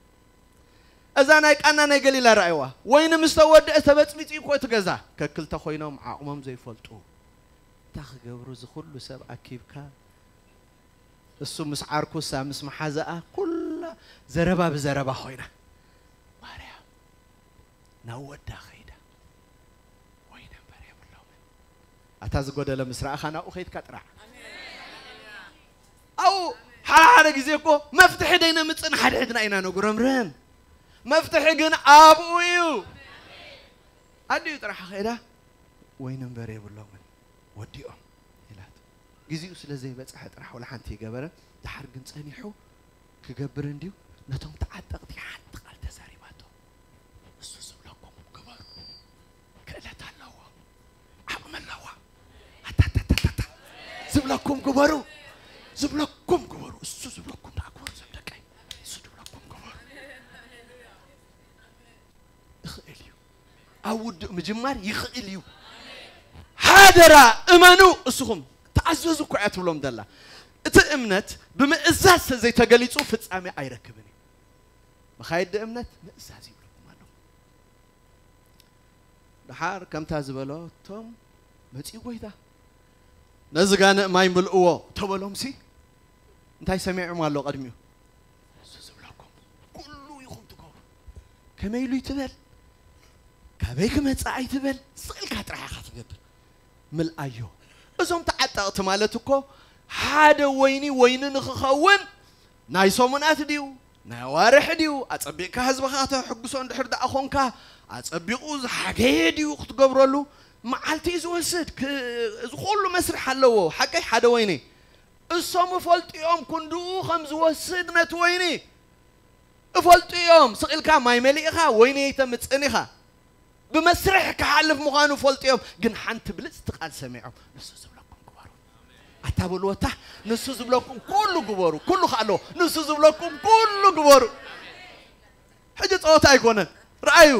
እዛ ናይ ቃና ናይ ገሊላ ረኣይዋ። ወይኒ ምስ ተወድአ ተበጽቢጹ እኮ እቲ ገዛ። ከክልተ ኮይኖም ዓቕሞም ዘይፈልጡ። እንታይ ክገብሩ እዚ ኩሉ ሰብ ኣኪብካ? እሱ ምስ ዓርኩ እሳ ምስ መሓዛኣ ኩላ ዘረባ ብዘረባ ኮይና። ማርያም ናብ ወዳ ከይዳ። ወይኒ እምበር የብሎምን። ኣታ ዝጎደለ ምስ ረኣኻ ናብኡ ከይድካ ጥራሕ። ኣው ሓደ ሓደ ግዜ እኮ መፍትሒ ደይነምፅእ ንሓድሕድና ኢና ነጉረምርም። መፍትሒ ግን ኣብኡ እዩ። ኣዲኡ ጥራሕ ከይዳ ወይኒ እምበር የብሎምን ወዲኦም ኢላት። ግዜኡ ስለ ዘይበፅሐ ጥራሕ ወላ ሓንቲ ይገበረ። ድሓር ግን ፀኒሑ ክገብር እንድዩ ነቶም ተዓጠቕቲ ሓንቲ ቃል ተዛሪባቶ። እሱ ዝብለኩም ግበሩ። ክእለት ኣለዎ። ዓቕሚ ኣለዋ። ኣታታታታታ። ዝብለኩም ግበሩ። ዝብለኩም ግበሩ። እሱ ዝብለኩም ደኣ ግበሩ ዘም ደቀይ። እሱ ዝብለኩም ግበሩ። ይኽእል እዩ። ኣብ ውድእ ምጅማር ይኽእል እዩ። ሓደራ እመኑ እስኹም። ተኣዘዙ እኮ እያ ትብሎም ዘላ። እቲ እምነት ብምእዛዝ ዘይተገሊጹ ፍጻሜ ኣይረክብን እዩ። መኻይዲ እምነት ምእዛዝ ይብለኩም ኣለኹ። ደሓር ከምታ ዝበሎ እቶም መጺኡ ጎይታ ነዚ ጋንእ ማይ ምልእዎ ተበሎም ሲ እንታይ ሰሚዖም ኣሎ ቀድሚኡ? እሱ ዝብለኩም ኩሉ ኢኹም ትገብሩ። ከመይ ኢሉ ይትበል? ካበይ ክመጽእ ኣይትበል? ስቕ ኢልካ ጥራሕ ኢኻ ትገብር። ምልኣዮ። እዞም ተዓጠቕቲ ማለት እኮ ሓደ ወይኒ ወይኒ ንኽኸውን ናይ ሰሙናት ድዩ ናይ ኣዋርሕ ድዩ ኣጸቢቕካ ህዝብኻ ከተሕጉሶ እንድሕር ደኣ ኾንካ ኣጸቢቑ ዝሓገየ ድዩ ክትገብረሉ መዓልቲ እዩ ዝወስድ። እዚ ኩሉ መስርሕ ኣለዎ። ሓቀይ ሓደ ወይኒ እሶም እፈልጡ እዮም ክንድኡ ከም ዝወስድ ነቲ ወይኒ እፈልጡ እዮም። ስቕ ኢልካ ማይ መሊእኻ ወይኒ ኣይተምጽእን ኢኻ። ብመስርሕ ክሓልፍ ምዃኑ ፈልጡ እዮም። ግን ሓንቲ ብልጽቲ ቃል ሰሚዖም ንሱ ዝብለኩም ግበሩ። ኣታ በልዎ እታ ንሱ ዝብለኩም ኩሉ ግበሩ። ኩሉ ከ ኣለዎ ንሱ ዝብለኩም ኩሉ ግበሩ። ሕጂ ጸወታ ኣይኮነን። ረኣዩ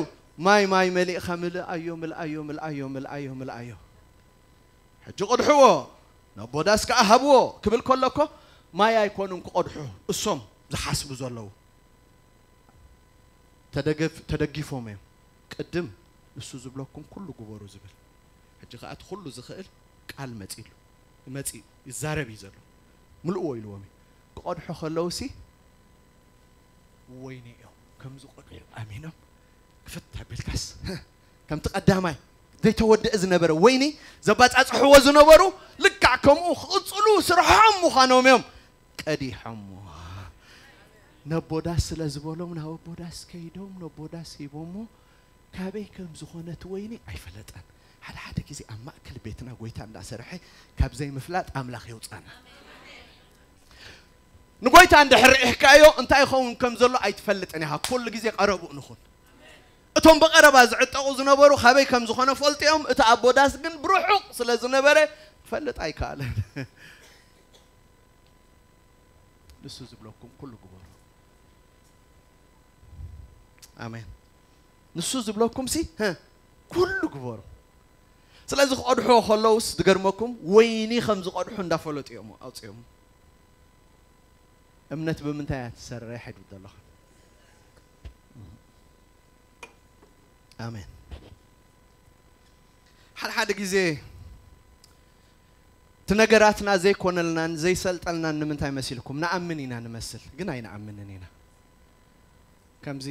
ማይ ማይ መሊእኻ ምልኣዮ ምልኣዮ ምልኣዮ ምልኣዮ ምልኣዮ። ሕጂ ቅድሕዎ ናብ ቦዳስ ከኣ ሃብዎ ክብል ከሎ እኮ ማይ ኣይኮኑን ክቐድሑ እሶም ዝሓስቡ ዘለዉ። ተደገፍ- ተደጊፎም እዮም። ቅድም ንሱ ዝብለኩም ኩሉ ግበሩ ዝብል። ሕጂ ከኣ እቲ ኩሉ ዝኽእል ቃል መጺሉ መጺ ይዛረብ እዩ ዘሎ። ምልእዎ ኢልዎም እዩ። ክቐድሑ ከለውሲ ወይኒ እዮም ከም ዝቐድሑ ኣሚኖም ክፍት ኣቢልካስ ከምቲ ቀዳማይ ዘይተወደአ ዝነበረ ወይኒ ዘባጻጽሕዎ ዝነበሩ ልክዕ ከምኡ ክቕጽሉ ስርሖም ምዃኖም እዮም ቀዲሖሞ። ነቦዳስ ስለ ዝበሎም ናብ ኣቦዳስ ከይዶም ነቦዳስ ሂቦሞ። ካበይ ከም ዝኾነ እቲ ወይኒ ኣይፈለጠን። ሓደ ሓደ ግዜ ኣብ ማእከል ቤትና ጎይታ እንዳሰርሐ ካብ ዘይምፍላጥ ኣምላኽ የውጻና። ንጎይታ እንድሕር ርኢሕካዮ እንታይ ይኸውን ከም ዘሎ ኣይትፈልጥን ኢኻ። ኩሉ ግዜ ቀረብኡ ንኹን። እቶም ብቐረባ ዝዕጠቑ ዝነበሩ ካበይ ከም ዝኾነ ፈልጥዮም፣ እቲ ኣቦዳስ ግን ብርሑቕ ስለ ዝነበረ ክፈልጥ ኣይከኣለን። ንሱ ዝብለኩም ኩሉ ግበሩ። ኣሜን። ንሱ ዝብለኩም ሲ ኩሉ ግበሩ። ስለዚ ክቐድሕዎ ከለውስ ዝገርመኩም ወይኒ ከም ዝቐድሑ እንዳፈለጡ እዮም ኣውፅኦም። እምነት ብምንታይ እያ ትሰርሕ? ሕድሪ ዘለኹም። ኣሜን። ሓደ ሓደ ግዜ እቲ ነገራትና ዘይኮነልናን ዘይሰልጠልናን ንምንታይ መሲልኩም? ንኣምን ኢና ንመስል፣ ግን ኣይንኣምንን ኢና። ከምዚ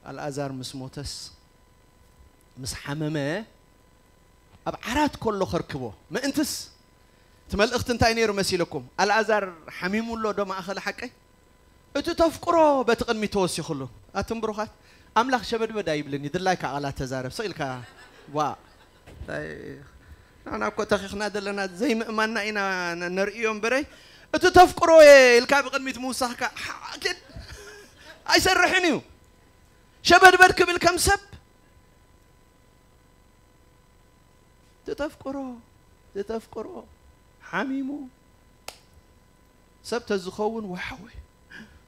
ኣልኣዛር ምስ ሞተስ፣ ምስ ሓመመ፣ ኣብ ዓራት ከሎ ከርክቦ። ምእንትስ፣ እቲ መልእኽቲ እንታይ ነይሩ መሲልኩም? ኣልኣዛር ሓሚሙ ኣሎ ዶ ማእኸል ሓቀይ? እቲ ተፍቅሮ በቲ ቅድሚት ተወሲኹሉ። ኣቱም ብሩኻት፣ ኣምላኽ ሸበድበድ ኣይብልን እዩ፣ ድላይካ ቃላት ተዛረብ፣ ስቕ ኢልካ፣ ዋ። እንታይ፣ ንሕና እኮ ተኺኽና ዘለና ዘይምእማንና ኢና ነ-፣ ነርእዮ እምበረይ፣ እቲ ተፍቅሮ እየ ኢልካ ብቅድሚት ምውሳኽካ፣ ሓ-፣ ኪድ-፣ ኣይሰርሕን እዩ። ሸበድበድ ክብል ከም ሰብ፣ እቲ ተፍቅሮ፣ እቲ ተፍቅሮ ሓሚሙ፣ ሰብ ተዝኸውን፣ ዋሓወይ፣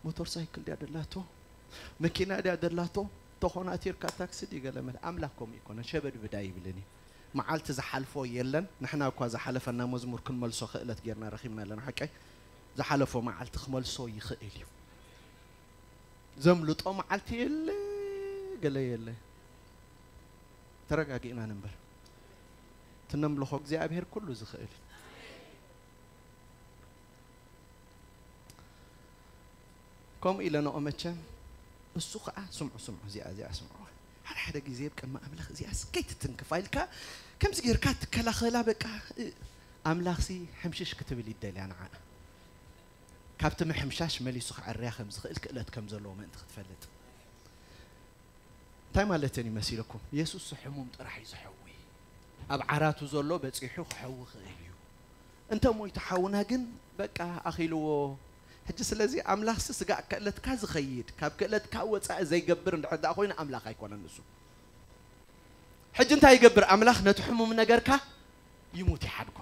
ሞተር ሳይክል ድያ ደላቶ? መኪና ድያ ደላቶ? ተኾናቲርካ ታክሲ ድዩ ገለ መለ? ኣምላኽ ከምኡ ይኮነን፣ ሸበድብድ ኣይብልን እዩ። መዓልቲ ዝሓልፎ የለን። ንሕና እኳ ዝሓለፈና መዝሙር ክንመልሶ ክእለት ጌርና ረኺብና ኣለና። ሓቀይ? ዝሓለፎ መዓልቲ ክመልሶ ይኽእል እዩ። ዘምልጦ መዓልቲ የለ፣ ገለ የለ። ተረጋጊእና ንንበር። እቲ ነምልኾ እግዚኣብሔር ኩሉ ዝኽእል እዩ። ከምኡ ኢለ ንኦ መቸም፣ እሱ ኸዓ ስምዑ፣ ስምዑ፣ እዚኣ፣ እዚኣ ስምዑ። ሓደ ሓደ ግዜ ኣብ ቅድሚ ኣምላኽ እዚኣ እስከይ ትትንክፋ ኢልካ፣ ከምዚ ጌርካ ትከላኸላ፣ በቃ፣ እ፣ ኣምላኽሲ ሕምሽሽ ክትብል ይደልያ ንዓኣ። ካብቲ ምሕምሻሽ መሊሱ ክዕርያ ከም ዝኽእል ክእለት ከም ዘለዎ ምእንቲ ክትፈልጥ። እንታይ ማለተን እዩ መሲልኩም? የሱስ ሕሙም ጥራሕ እዩ ዝሐዊ። ኣብ ዓራቱ ዘሎ በጺሑ ክሐዊ ክእል እዩ። እንተ ሞይቱ ሓውና ግን በቃ ኣኺልዎ። ሕጂ ስለዚ ኣምላኽሲ ስጋዕ ክእለትካ ዝኸይድ፣ ካብ ክእለትካ ወጻኢ ዘይገብር እንድሕር ደኣ ኮይኑ ኣምላኽ ኣይኮነን ንሱ። ሕጂ እንታይ ይገብር ኣምላኽ? ነቲ ሕሙም ነገርካ ይሙት ይሓድጎ።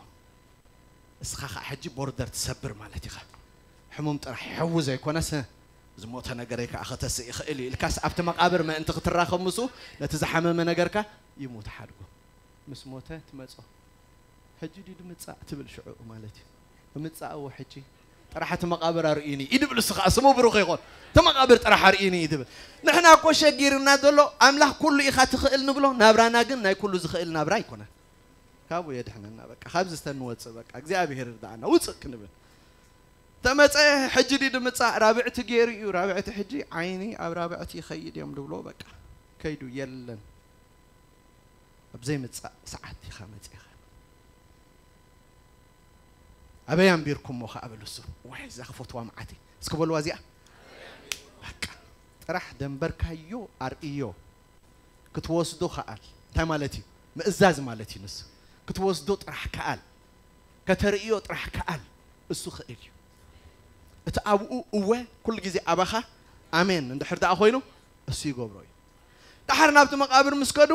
እስኻ ኸዓ ሕጂ ቦርደር ትሰብር ማለት ኢኻ። ሕሙም ጥራሕ ይሐዊ ዘይኮነስ፣ ዝሞተ ነገረይ ከኣ ከተስእ ይኽእል እዩ ኢልካስ ኣብቲ መቓብር ምእንቲ ክትራኸብ ምስኡ ነቲ ዝሓመመ ነገርካ ይሙት ሓድጎ። ምስ ሞተ ትመጾ። ሕጂ ድዩ ድምጻእ ትብል ሽዑ ማለት እዩ። እምጻእዎ ሕጂ። ጥራሕ እቲ መቓብር ኣርእዩኒ እዩ ድብል እሱ ኸዓ ስሙ ብሩኽ ይኹን። እቲ መቓብር ጥራሕ ኣርእዩኒ እዩ ድብል። ንሕና እኮ ሸጊርና ዘሎ ኣምላኽ ኩሉ ኢኻ ትኽእል ንብሎ፣ ናብራና ግን ናይ ኩሉ ዝኽእል ናብራ ኣይኮነን። ካብኡ የድሕነና በቃ። ካብዚ ዝተንወጽእ በቃ እግዚኣብሔር ይርዳእና ውጽእ ክንብል። ተመጸ ሕጂ ድዩ ድምጻእ ራብዕቲ ገይሩ እዩ። ራብዕቲ ሕጂ ዓይኒ ኣብ ራብዕቲ ይኸይድ እዮም ድብሎ በቃ። ከይዱ የለን። ኣብ ዘይምጻእ ሰዓት ኢኻ መጺኻ። ኣበይ ኣንቢርኩሞ ኸዓ በሉ እሱ። ዋይ እዛ ክፈትዋ መዓት እየ። እስኪ በልዋ እዚኣ። በቃ ጥራሕ ደንበርካዮ ኣርእዮ። ክትወስዶ ከኣል። እንታይ ማለት እዩ? ምእዛዝ ማለት እዩ ንሱ። ክትወስዶ ጥራሕ ከኣል። ከተርእዮ ጥራሕ ከኣል። እሱ ክእል እዩ። እቲ ኣብኡ እወ ኩሉ ግዜ ኣባኻ ኣሜን እንድሕር ደኣ ኮይኑ እሱ ይገብሮ እዩ። ደሓር ናብቲ መቓብር ምስ ከዱ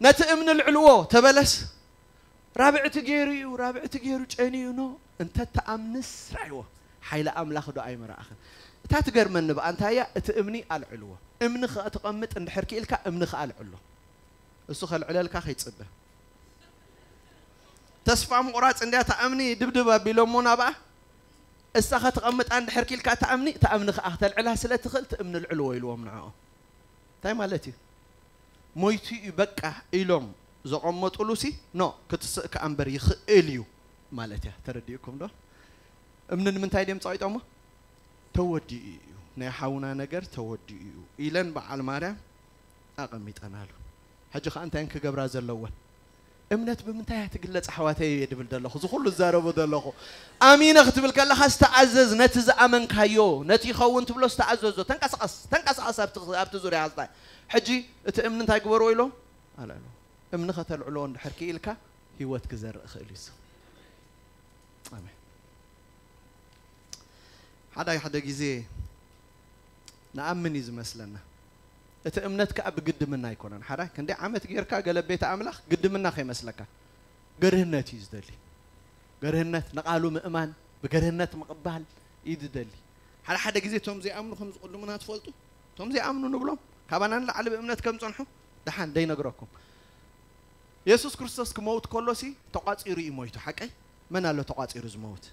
ነቲ እምኒ ልዕልዎ ተበለስ ራብዕቲ ገይሩ እዩ፣ ራብዕቲ ገይሩ ጨንዩ ኖ እንተ ተኣምንስ ራይዎ ሓይሊ ኣምላኽ ዶ ኣይመረኣኽን? እታ ትገርመኒ ብኣ እንታይ እያ? እቲ እምኒ ኣልዕልዎ። እምኒ ከኣ ትቐምጥ እንድሕር ክኢልካ እምኒ ከኣ ኣልዕሎ። እሱ ከልዕለልካ ከይጽበ። ተስፋ ምቑራጽ እንድያ እታ እምኒ ድብድብ ኣቢሎሞ ናብኣ። እሳ ከተቐምጣ እንድሕር ክኢልካ እታ እምኒ፣ እታ እምኒ ከኣ ከተልዕላ ስለ ትኽእል እቲ እምኒ ልዕልዎ ኢልዎም ንዕኦም። እንታይ ማለት እዩ? ሞይቱ እዩ በቃ ኢሎም ዘቐመጡሉ ሲ ኖ ክትስእ ከኣ እምበር ይኽእል እዩ ማለት እያ። ተረዲእኩም ዶ? እምኒ ንምንታይ ድዮም ጸቒጦሞ? ተወዲኡ እዩ። ናይ ሓውና ነገር ተወዲኡ እዩ ኢለን በዓል ማርያም ኣቐሚጠናሉ። ሕጂ ከኣ እንታይ ክገብራ ዘለወን? እምነት ብምንታይ እያ ትግለጽ ኣሕዋተይ እየ ድብል ዘለኹ። እዚ ኩሉ ዝዛረቦ ዘለኹ። ኣሚነ ክትብል ከለኻ ዝተኣዘዝ፣ ነቲ ዝኣመንካዮ፣ ነቲ ይኸውን ትብሎ ዝተኣዘዞ። ተንቀሳቐስ፣ ተንቀሳቐስ ኣብቲ፣ ኣብቲ ዙርያ ኣስታይ። ሕጂ እቲ እምኒ እንታይ ግበርዎ ኢሎ? ኣላሎ። እምኒ ከተልዕሎ እንድሕር ክኢልካ ህይወት ክዘርእ ክእል እዩ። ኣሜን። ሓደ ሓደ ግዜ ንኣምን እዩ ዝመስለና። እቲ እምነት ከኣ ብግድምና ኣይኮነን። ሓራይ ክንደይ ዓመት ጌርካ ገለ ቤተ ኣምላኽ ግድምና ከይመስለካ። ገርህነት እዩ ዝደሊ። ገርህነት ንቓሉ ምእማን፣ ብገርህነት ምቕባል እዩ ዝደሊ። ሓደ ሓደ ግዜ እቶም ዘይኣምኑ ከም ዝቕድሙና ትፈልጡ? እቶም ዘይኣምኑ ንብሎም፣ ካባና ንላዕሊ ብእምነት ከም ጸንሑ፣ ደሓን ደይነግረኩም። የሱስ ክርስቶስ ክመውት ከሎሲ ተቋጺሩ እዩ ሞይቱ። ሓቀይ? መን ኣሎ ተቋጺሩ ዝመውት?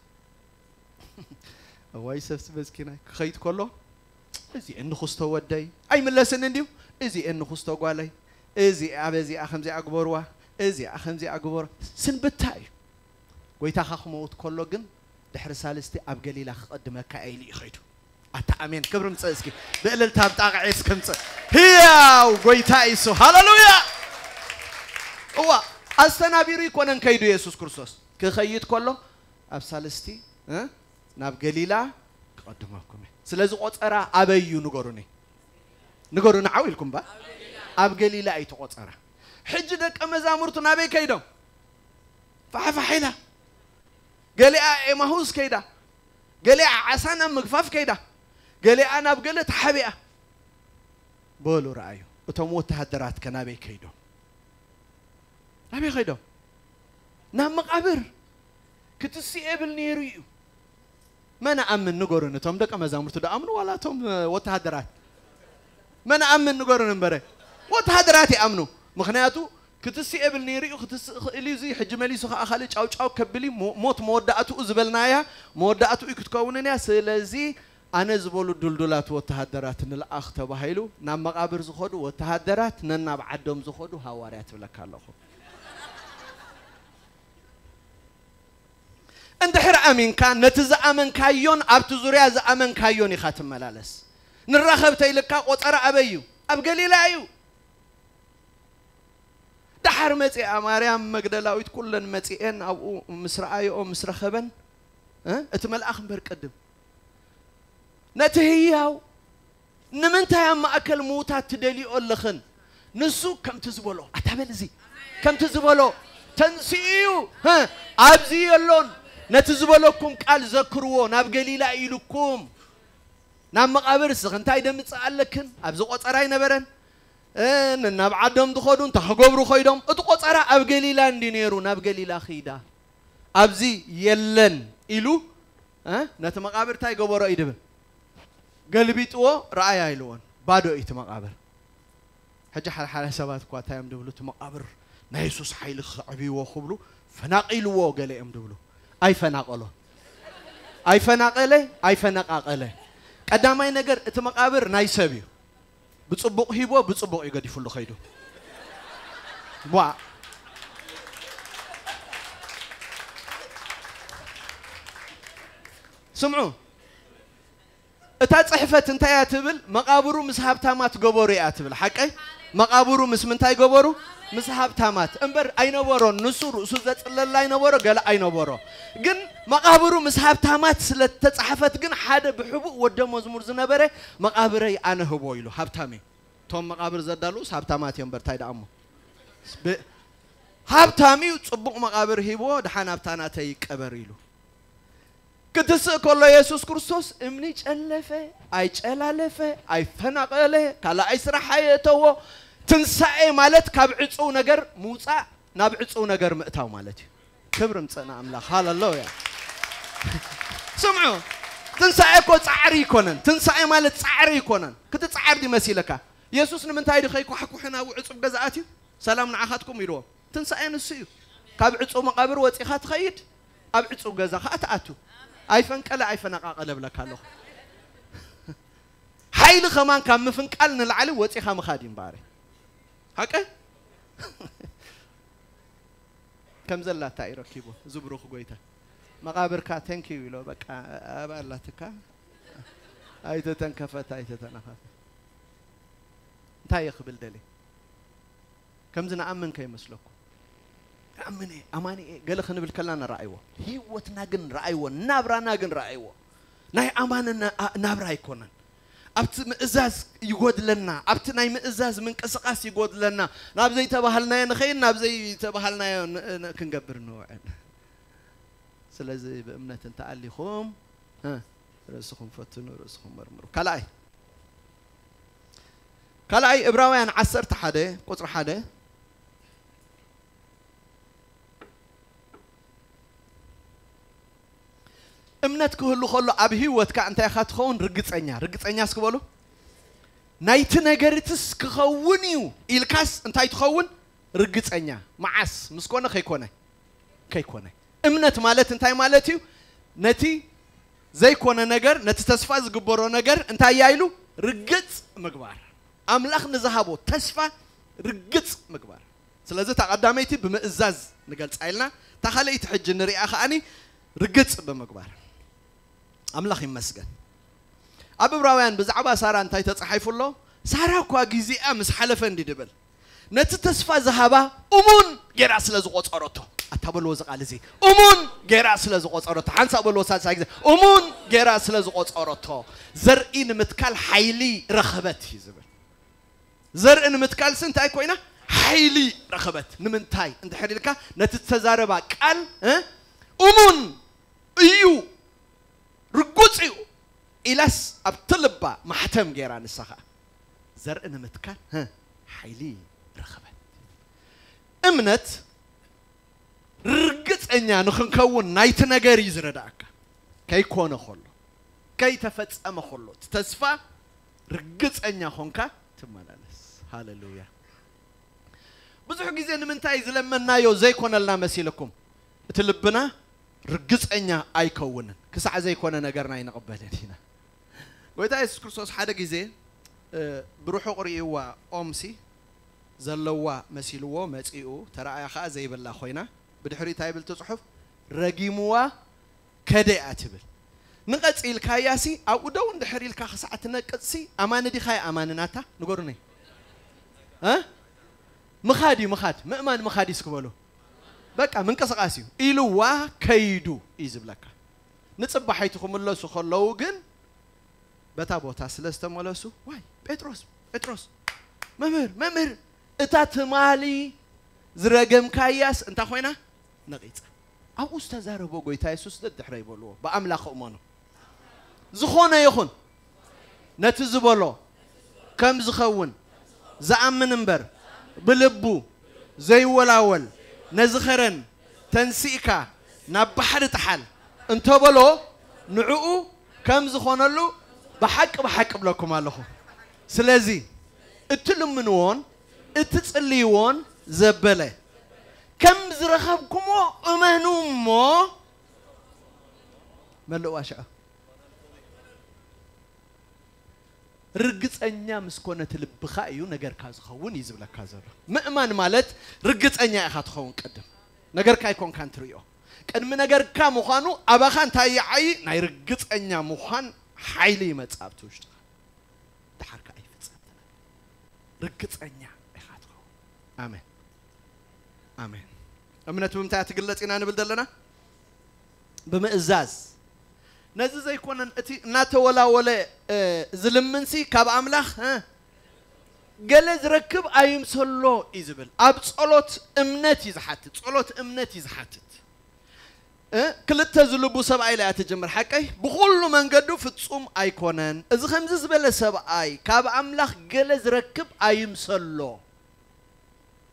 እዋይ ሰብሲ በዝኪናይ ክኸይድ ከሎ፣ እዚ እንኹስቶ ወደይ ኣይምለስን እንድዩ፣ እዚ እንኹስቶ ጓለይ፣ እዚኣ በዚኣ ከምዚኣ ግበርዋ፣ እዚኣ ከምዚኣ ግበሮ። ስንብታ እዩ። ጎይታኻ ክመውት ከሎ ግን ድሕሪ ሳልስቲ ኣብ ገሊላ ክቐድመካ እየ ኢሉ እዩ ኸይዱ። ኣታ ኣሜን። ክብሪ ምጽእ እስኪ። ብእልልታ ብጣቕዒ እስኪ ምጽእ። ህያው ጎይታ ኢየሱስ። ሃሌሉያ። እዋ፣ ኣስተናቢሩ ይኮነን ከይዱ የሱስ ክርስቶስ። ክኸይድ ከሎ ኣብ ሳልስቲ፣ እ፣ ናብ ገሊላ ክቐድመኩም እየ። ስለዚ ቆጸራ ኣበይ እዩ ንገሩኒ። ንገሩኒ ዓው ኢልኩም ባ። ኣብ ገሊላ እዩ እቲ ቆጸራ። ሕጂ ደቀ መዛሙርቱ ናበይ ከይዶም? ፋሕፋሕ ኢላ። ገሊኣ ኤማሁስ ከይዳ። ገሊኣ ዓሳ ናብ ምግፋፍ ከይዳ። ገሊኣ ናብ ገለ ተሓቢኣ። በሉ ረኣዩ። እቶም ወተሃደራት ከ ናበይ ከይዶም? ናበይ ከይዶም? ናብ መቓብር። ክትስእ የብል ነይሩ እዩ። መን ኣምን ንገሩን? እቶም ደቀ መዛሙርቱ ደኣምኑ ዋላ እቶም፣ እ፣ ወተሃደራት? መን ኣምን ንገሩን እምበረ። ወተሃደራት ይኣምኑ። ምኽንያቱ ክትስእ የብል ነይሩ እዩ፣ ክትስእ ክእል እዩ። እዚ ሕጂ መሊሱ ከኣ ካልእ ጫው ጫው ከብል እዩ። ሞ-፣ ሞት መወዳእትኡ ዝበልናያ መወዳእትኡ እዩ ክትከውንን እያ። ስለዚ ኣነ ዝበሉ ዱልዱላት ወተሃደራት ንልኣኽ ተባሂሉ ናብ መቓብር ዝኸዱ ወተሃደራት ነናብ ዓዶም ዝኸዱ ሃዋርያ ትብለካ ኣለኹ። እንድሕር ኣሚንካ ነቲ ዝኣመንካዮን ኣብቲ ዙርያ ዝኣመንካዮን ኢኻ ትመላለስ። ንራኸብ ተይልካ ቆጸራ ኣበይ እዩ? ኣብ ገሊላ እዩ። ደሓር መጺኣ ማርያም መግደላዊት ኩለን መጺኤን ኣብኡ ምስ ረኣየኦ ምስ ረኸበን፣ እ፣ እቲ መልኣኽ እምበር ቅድም ነቲ ህያው ንምንታይ ኣብ ማእከል ምዉታት ትደልዮ ኣለኽን? ንሱ ከምቲ ዝበሎ፣ ኣታ በል እዚ፣ ከምቲ ዝበሎ ተንሲኡ እዩ፣ ህ፣ ኣብዚ የሎን። ነቲ ዝበለኩም ቃል ዘክርዎ፣ ናብ ገሊላ ኢሉኩም። ናብ መቓብር እስኺ እንታይ ደምጽእ ኣለክን? ኣብዚ ቆጸራ ኣይነበረን። እ፣ ን-፣ ናብ ዓዶም ዝኸዱ እንታይ ክገብሩ ኸይዶም? እቲ ቆጸራ ኣብ ገሊላ እንዲ ነይሩ፣ ናብ ገሊላ ኺዳ። ኣብዚ የለን ኢሉ፣ እ፣ ነቲ መቓብር እንታይ ገበሮ እዩ ድብል? ገልቢጥዎ፣ ረኣያ ኢልዎን። ባዶ እዩ እቲ መቓብር። ሕጂ ሓደ ሓደ ሰባት እኳ እንታይ እዮም ድብሉ? እቲ መቓብር ናይ የሱስ ሓይሊ ክዕብይዎ ክብሉ ፈናቒልዎ ገለ እዮም ድብሉ። ኣይፈናቐሎ። ኣይፈናቐለ፣ ኣይፈነቓቐለ። ቀዳማይ ነገር እቲ መቓብር ናይ ሰብ እዩ። ብጽቡቕ ሂቦ፣ ብጽቡቕ እዩ ገዲፉሉ ኸይዱ። ቧ። ስምዑ። እታ ጽሕፈት እንታይ እያ ትብል? መቓብሩ ምስ ሃብታማት ገበሩ እያ ትብል። ሓቀይ? መቓብሩ ምስ ምንታይ ገበሩ? ምስ ሃብታማት። እምበር ኣይነበሮን። ንሱ ርእሱ ዘጽለላ ኣይነበሮ፣ ገለ ኣይነበሮ። ግን መቓብሩ ምስ ሃብታማት ስለ እተጻሕፈት ግን ሓደ ብሕቡእ ወደ መዝሙር ዝነበረ መቓብረይ ኣነ ህቦ ኢሉ። ሃብታም እዩ። እቶም መቓብር ዘዳልዉስ ሃብታማት እዮም። እምበር እንታይ ደኣ እሞ? ብ-፣ ሃብታም እዩ፣ ጽቡቕ መቓብር ሂብዎ፣ ደሓን ኣብታ ናተይ ይቀበር ኢሉ። ክትስእ ከሎ የሱስ ክርስቶስ እምኒ ጨለፈ፣ ኣይጨላለፈ፣ ኣይፈናቐለ፣ ካልኣይ ስራሕ ኣየእተዎ። ትንሳኤ ማለት ካብ ዕጹው ነገር ምውጻእ፣ ናብ ዕጹው ነገር ምእታው ማለት እዩ። ክብሪ ምጸና ኣምላኽ። ሃሌሉያ። ስምዑ፣ ትንሳኤ እኮ ጻዕሪ ይኮነን። ትንሳኤ ማለት ጻዕሪ ይኮነን። ክትጻዓር ድዩ መሲለካ? የሱስ ንምንታይ ድዩ ከይኳሕኩሐ ናብ ዕጹብ ገዛ ኣትዩ? ሰላም ንዓኻትኩም ኢልዎ። ትንሳኤ ንሱ እዩ። ካብ ዕጹብ መቓብር ወጺኻ ትኸይድ፣ ኣብ ዕጹብ ገዛ ኸኣ ትኣቱ። ኣይፈንቀለ ኣይፈነቓቐለ እብለካ ኣለኹ። ሓይሊ ከማን ካብ ምፍንቃል ንላዕሊ ወጺኻ ምኻድ እዩ እምበኣር። ሓቀ? ከም ዘላታ እዩ ረኪቡ፣ እዚ ብሩኽ ጎይታ። መቓብርካ፣ "Thank you" ኢሎ፣ በቃ፣ ኣብ ኣላትካ። ኣይተተንከፈት፣ ኣይተተነኸፈት። እንታይ እየ ክብል ደልየ? ከምዚ ንኣምን ከይመስለኩም። ኣምነ ኣማኒ እየ ገለ ክንብል ከላ ንረኣይዎ። ህይወትና ግን ረኣይዎ፣ ናብራና ግን ረኣይዎ። ናይ ኣማንና ናብራ ኣይኮነን። ኣብቲ ምእዛዝ ይጎድለና፣ ኣብቲ ናይ ምእዛዝ ምንቅስቃስ ይጎድለና። ናብ ዘይተባሃልናዮ ንኸይን፣ ናብ ዘይተባሃልናዮ ክንገብር ንውዕል። ስለዚ ብእምነት እንተኣሊኹም ርእስኹም ፈትኑ፣ ርእስኹም መርምሩ። ካልኣይ ካልኣይ እብራውያን ዓሰርተ ሓደ ቁፅሪ ሓደ። እምነት ክህሉ ከሎ ኣብ ህይወትካ እንታይ ኢኻ ትኸውን? ርግፀኛ። ርግፀኛ እስኪ በሉ። ናይቲ ነገርትስ ክኸውን እዩ ኢልካስ እንታይ ትኸውን? ርግፀኛ። መዓስ ምስ ኮነ ከይኮነ ከይኮነ። እምነት ማለት እንታይ ማለት እዩ? ነቲ ዘይኮነ ነገር፣ ነቲ ተስፋ ዝግበሮ ነገር እንታይ እያ ኢሉ ርግፅ ምግባር። ኣምላኽ ንዝሃቦ ተስፋ ርግፅ ምግባር። ስለዚ እታ ቀዳመይቲ ብምእዛዝ ንገልፃ ኢልና፣ እታ ካልኣይቲ ሕጂ ንሪኣ ከኣኒ ርግፅ ብምግባር። ኣምላኽ ይመስገን። ኣብ እብራውያን ብዛዕባ ሳራ እንታይ ተጻሒፉ ኣሎ? ሳራ እኳ ግዜኣ ምስ ሓለፈ እንዲ ድብል ነቲ ተስፋ ዝሃባ እሙን ጌራ ስለ ዝቆጸረቶ። ኣታ በልዎ እዚ ቃል እዚ፣ እሙን ጌራ ስለ ዝቆጸረቶ። ሓንሳእ በልዎ ሳልሳይ ግዜ፣ እሙን ጌራ ስለ ዝቆጸረቶ። ዘርኢ ንምትካል ሓይሊ ረኸበት እዩ ዝብል። ዘርኢ ንምትካልሲ እንታይ ኮይና? ሓይሊ ረኸበት። ንምንታይ እንድሕር ኢልካ፣ ነቲ ዝተዛረባ ቃል እ እሙን እዩ፣ ርጉጽ እዩ ኢላስ ኣብቲ ልባ ማሕተም ጌራ፣ ንሳ ኸኣ ዘርኢ ንምትካል እ ሓይሊ ረኸበት። እምነት ርግጸኛ ንኽንከውን ናይቲ ነገር እዩ ዝረዳእካ። ከይኮነ ከሎ፣ ከይተፈጸመ ከሎ፣ እቲ ተስፋ ርግጸኛ ኾንካ ትመላለስ። ሃሌሉያ። ብዙሕ ግዜ ንምንታይ ዝለመናዮ ዘይኮነልና መሲልኩም? እቲ ልብና ርግጸኛ ኣይከውንን። ክሳዕ ዘይኮነ ነገርና ኣይንቕበልን ኢና። ጎይታ የሱስ ክርስቶስ ሓደ ግዜ፣ እ፣ ብርሑቕ ርእይዋ ኦምሲ ዘለዋ መሲልዎ መጺኡ፣ ተራእያ ኸኣ ዘይብላ ኮይና፣ ብድሕሪኡ እንታይ ይብል እቲ ጽሑፍ? ረጊምዋ ከደ እያ ትብል። ንቐጽ ኢልካያሲ፣ ኣብኡ ደው እንድሕር ኢልካ ክሳዕ ትነቅጽሲ፣ ኣማኒ ዲኻ ኣማኒ ናታ? ንገሩኒ። እ? ምኻድ እዩ፣ ምኻድ። ምእማን ምኻድ እዩ እስኪ በሉ። በቃ ምንቅስቃስ እዩ። ኢልዋ ከይዱ እዩ ዝብለካ። ንጽባሒቲ ክምለሱ ከለዉ ግን በታ ቦታ ስለ ዝተመለሱ፣ ዋይ፣ ጴጥሮስ፣ ጴጥሮስ፣ መምህር፣ መምህር፣ እታ ትማሊ ዝረገምካያስ እንታይ ኮይና? ነቒጻ። ኣብኡ ዝተዛረቦ ጎይታ የሱስ ደድሕረይ በልዎ፣ ብኣምላኽ እመኑ። ዝኾነ ይኹን ነቲ ዝበሎ ከም ዝኸውን ዝኣምን እምበር፣ ብልቡ ዘይወላወል፣ ነዚ ኸረን ተንሲእካ ናብ ባሕሪ ጥሓል እንተበሎ፣ ንዕኡ ከም ዝኾነሉ ብሓቂ ብሓቂ እብለኩም ኣለኹ። ስለዚ እትልምንዎን እትጽልይዎን ዘበለ ከም ዝረኸብኩሞ እመኑ እሞ መልእዋ ሽዑ። ርግጸኛ ምስ ኮነ እቲ ልብኻ እዩ ነገርካ ዝኸውን እዩ ዝብለካ ዘሎ። ምእማን ማለት ርግጸኛ ኢኻ ትኸውን። ቅድም ነገርካ ኣይኮንካን ትርእዮ። ቅድሚ ነገርካ ምዃኑ ኣባኻ እንታይ ይዓዪ? ናይ ርግጸኛ ምዃን ሓይሊ ይመጽእ ኣብቲ ውሽጥኻ። ደሓር ከኣ ይፍጸም። ርግጸኛ ኢኻ ትኸውን። ኣሜን፣ ኣሜን። እምነት ብምንታይ እያ ትግለጽ ኢና ንብል ዘለና? ብምእዛዝ። ነዚ ዘይኮነን እቲ እናተወላወለ፣ እ፣ ዝልምንሲ ካብ ኣምላኽ፣ እ፣ ገለ ዝረክብ ኣይምሰሎ እዩ ዝብል። ኣብ ጸሎት እምነት እዩ ዝሓትት። ጸሎት እምነት እዩ ዝሓትት። እ፣ ክልተ ዝልቡ ሰብኣይ ኢላ እያ ትጅምር። ሓቀይ? ብኹሉ መንገዱ ፍጹም ኣይኮነን። እዚ ከምዚ ዝበለ ሰብኣይ ካብ ኣምላኽ ገለ ዝረክብ ኣይምሰሎ።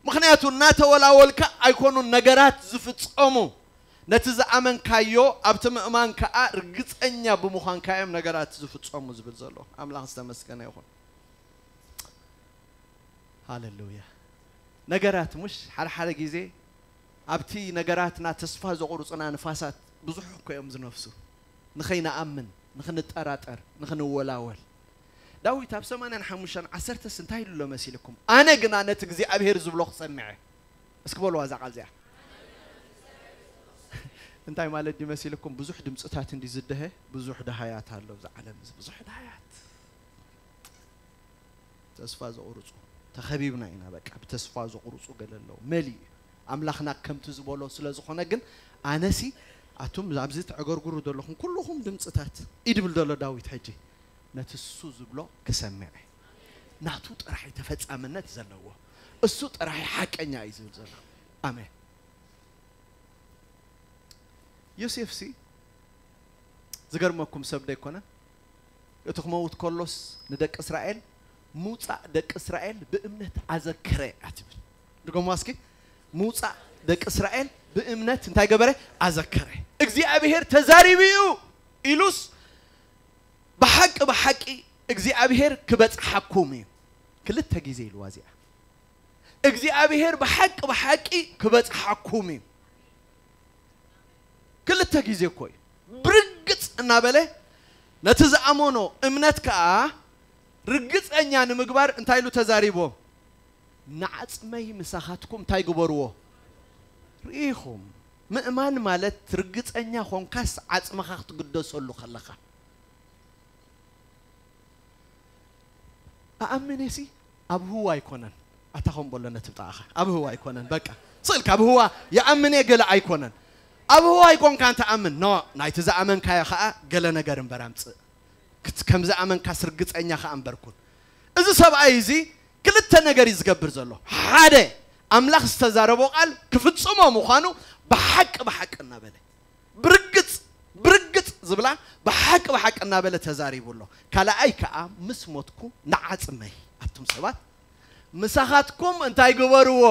ምኽንያቱ እናተወላወልካ ኣይኮኑን ነገራት ዝፍጸሙ። ነቲ ዝኣመንካዮ ኣብቲ ምእማን ከኣ ርግጸኛ ብምዃንካ እዮም ነገራት ዝፍጸሙ ዝብል ዘሎ። ኣምላኽ ዝተመስገነ ይኹን። ሃሌሉያ። ነገራት፣ ሙሽ፣ ሓደ ሓደ ግዜ ኣብቲ ነገራትና ተስፋ ዘቑርጹና ንፋሳት ብዙሕ እኮ እዮም ዝነፍሱ። ንኸይንኣምን፣ ንኽንጠራጠር፣ ንኽንወላወል። ዳዊት ኣብ ሰማንያን ሓሙሽተን ዓሰርተስ እንታይ ኢሉ ኣሎ መሲልኩም? ኣነ ግና ነቲ እግዚኣብሄር ዝብሎ ክሰምዐ። እስኪ በልዋ እዛ ቃል እዚኣ። እንታይ ማለት ድዩ መሲልኩም? ብዙሕ ድምፅታት እንዲ ዝደሀ፣ ብዙሕ ደሃያት ኣሎ እዛ ዓለም እዚ፣ ብዙሕ ደሃያት። ተስፋ ዘቑርጹ፣ ተኸቢብና ኢና። በቃ ብተስፋ ዘቑርጹ ገለ ኣለዉ። መሊኡ እዩ። ኣምላኽና ከምቲ ዝበሎ ስለ ዝኾነ ግን ኣነሲ ኣቱም ኣብዚ ተዕገርግሩ ዘለኹም ኩልኹም ድምፅታት እዩ ድብል ዘሎ ዳዊት ሕጂ ነቲ እሱ ዝብሎ ክሰምዕ እየ። ናቱ ጥራሕ እዩ ተፈጻምነት ዘለዎ። እሱ ጥራሕ እዩ ሓቀኛ እዩ ዝብል ዘሎ። ኣሜን። ዮሴፍሲ ዝገርመኩም ሰብ ዶ ኣይኮነን? እቲ ክመውት ከሎስ ንደቂ እስራኤል ምውፃእ ደቂ እስራኤል ብእምነት ኣዘከረ እያ ትብል። ድገሞ እስኪ። ምውፃእ ደቂ እስራኤል ብእምነት እንታይ ገበረ? ኣዘከረ። እግዚኣብሔር ተዛሪቡ እዩ ኢሉስ ብሓቂ ብሓቂ እግዚኣብሔር ክበፅሓኩም እዩ። ክልተ ግዜ ኢልዋ እዚኣ። እግዚኣብሔር ብሓቂ ብሓቂ ክበፅሓኩም እዩ። ክልተ ግዜ እኮ እዩ። ብርግፅ እናበለ ነቲ ዝኣመኖ እምነት ከዓ ርግፀኛ ንምግባር እንታይ ኢሉ ተዛሪቦ? ንዓፅመይ ምሳኻትኩም እንታይ ግበርዎ? ርኢኹም። ምእማን ማለት ርግፀኛ ኾንካስ ዓፅምኻ ክትግደሰሉ ከለኻ። ኣኣምኔሲ ኣብ ህዋ ኣይኮነን። ኣታ ከም በሎ ነቲ ብጣዕኻ ኣብ ህዋ ኣይኮነን። በቃ ስእልካ ኣብ ህዋ ይኣምን እየ ገለ ኣይኮነን። ኣብ ህዋ ኣይኮንካን ትኣምን። ኖ፣ ናይቲ ዝኣመንካዮ ኸኣ ገለ ነገር እምበር ኣምጽእ። ክት-፣ ከም ዝኣመንካስ ርግጸኛ ኸኣ እምበር ኩን። እዚ ሰብኣይ እዚ ክልተ ነገር እዩ ዝገብር ዘሎ። ሓደ፣ ኣምላኽ ዝተዛረቦ ቃል ክፍጽሞ ምዃኑ ብሓቂ ብሓቂ እናበለ። ብርግጽ፣ ብርግጽ ዝብላ ብሓቂ ብሓቂ እናበለ ተዛሪቡ ኣሎ። ካልኣይ ከኣ ምስ ሞትኩ ንዓጽመይ ኣቱም ሰባት ምሳኻትኩም እንታይ ግበርዎ?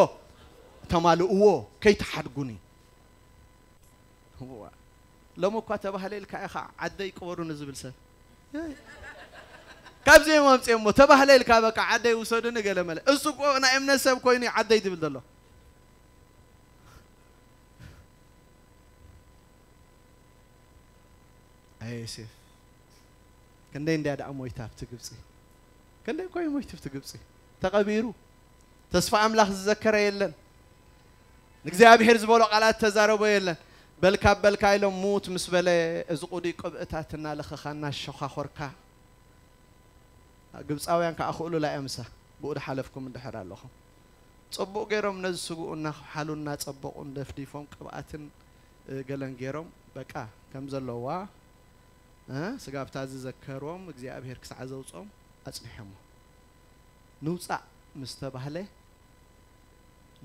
ተማልእዎ፣ ከይትሓድጉኒ። እዋ፣ ሎሚ እኳ ተባህለ ኢልካ ኢኻ ዓደይ ቅበሩኒ ዝብል ሰብ። ካብዚ እዮም ኣምፅኦሞ። ተባህለ ኢልካ በቃ ዓደይ ውሰዱኒ ገለ መለ። እሱ እኮ ናይ እምነት ሰብ ኮይኑ እዩ ዓደይ ዝብል ዘሎ። ኣየ ዮሴፍ፣ ክንደይ እንድያ ደኣ ሞይታ ኣብቲ ግብፂ። ክንደይ እኮ እዩ ሞይቱ ኣብቲ ግብፂ። ተቐቢሩ። ተስፋ ኣምላኽ ዝዘከረ የለን። ንእግዚኣብሔር ዝበሎ ቃላት ተዛረቦ የለን። በልካ በልካ ኢሎም ሙት ምስ በለ እዚ ቁዱይ ቅብእታት እናለኸኻ እናሸዃኾርካ ግብፃውያን ከዓ ክእሉላ እዮም ምሳ ብኡ ድሓለፍኩም እንድሕር ኣለኹም። ጽቡቕ ገይሮም ነዚ ስግኡ እናኸሓሉ እናጸበቑ እንደፍዲፎም ቅብኣትን፣ እ፣ ገለን ገይሮም በቃ ከም ዘለዋ፣ እ፣ ስጋብታ ዝዘከሮም እግዚኣብሔር ክሳዕ ዘውፅኦም ኣጽኒሖሞ። ንውፃእ ምስ ተባህለ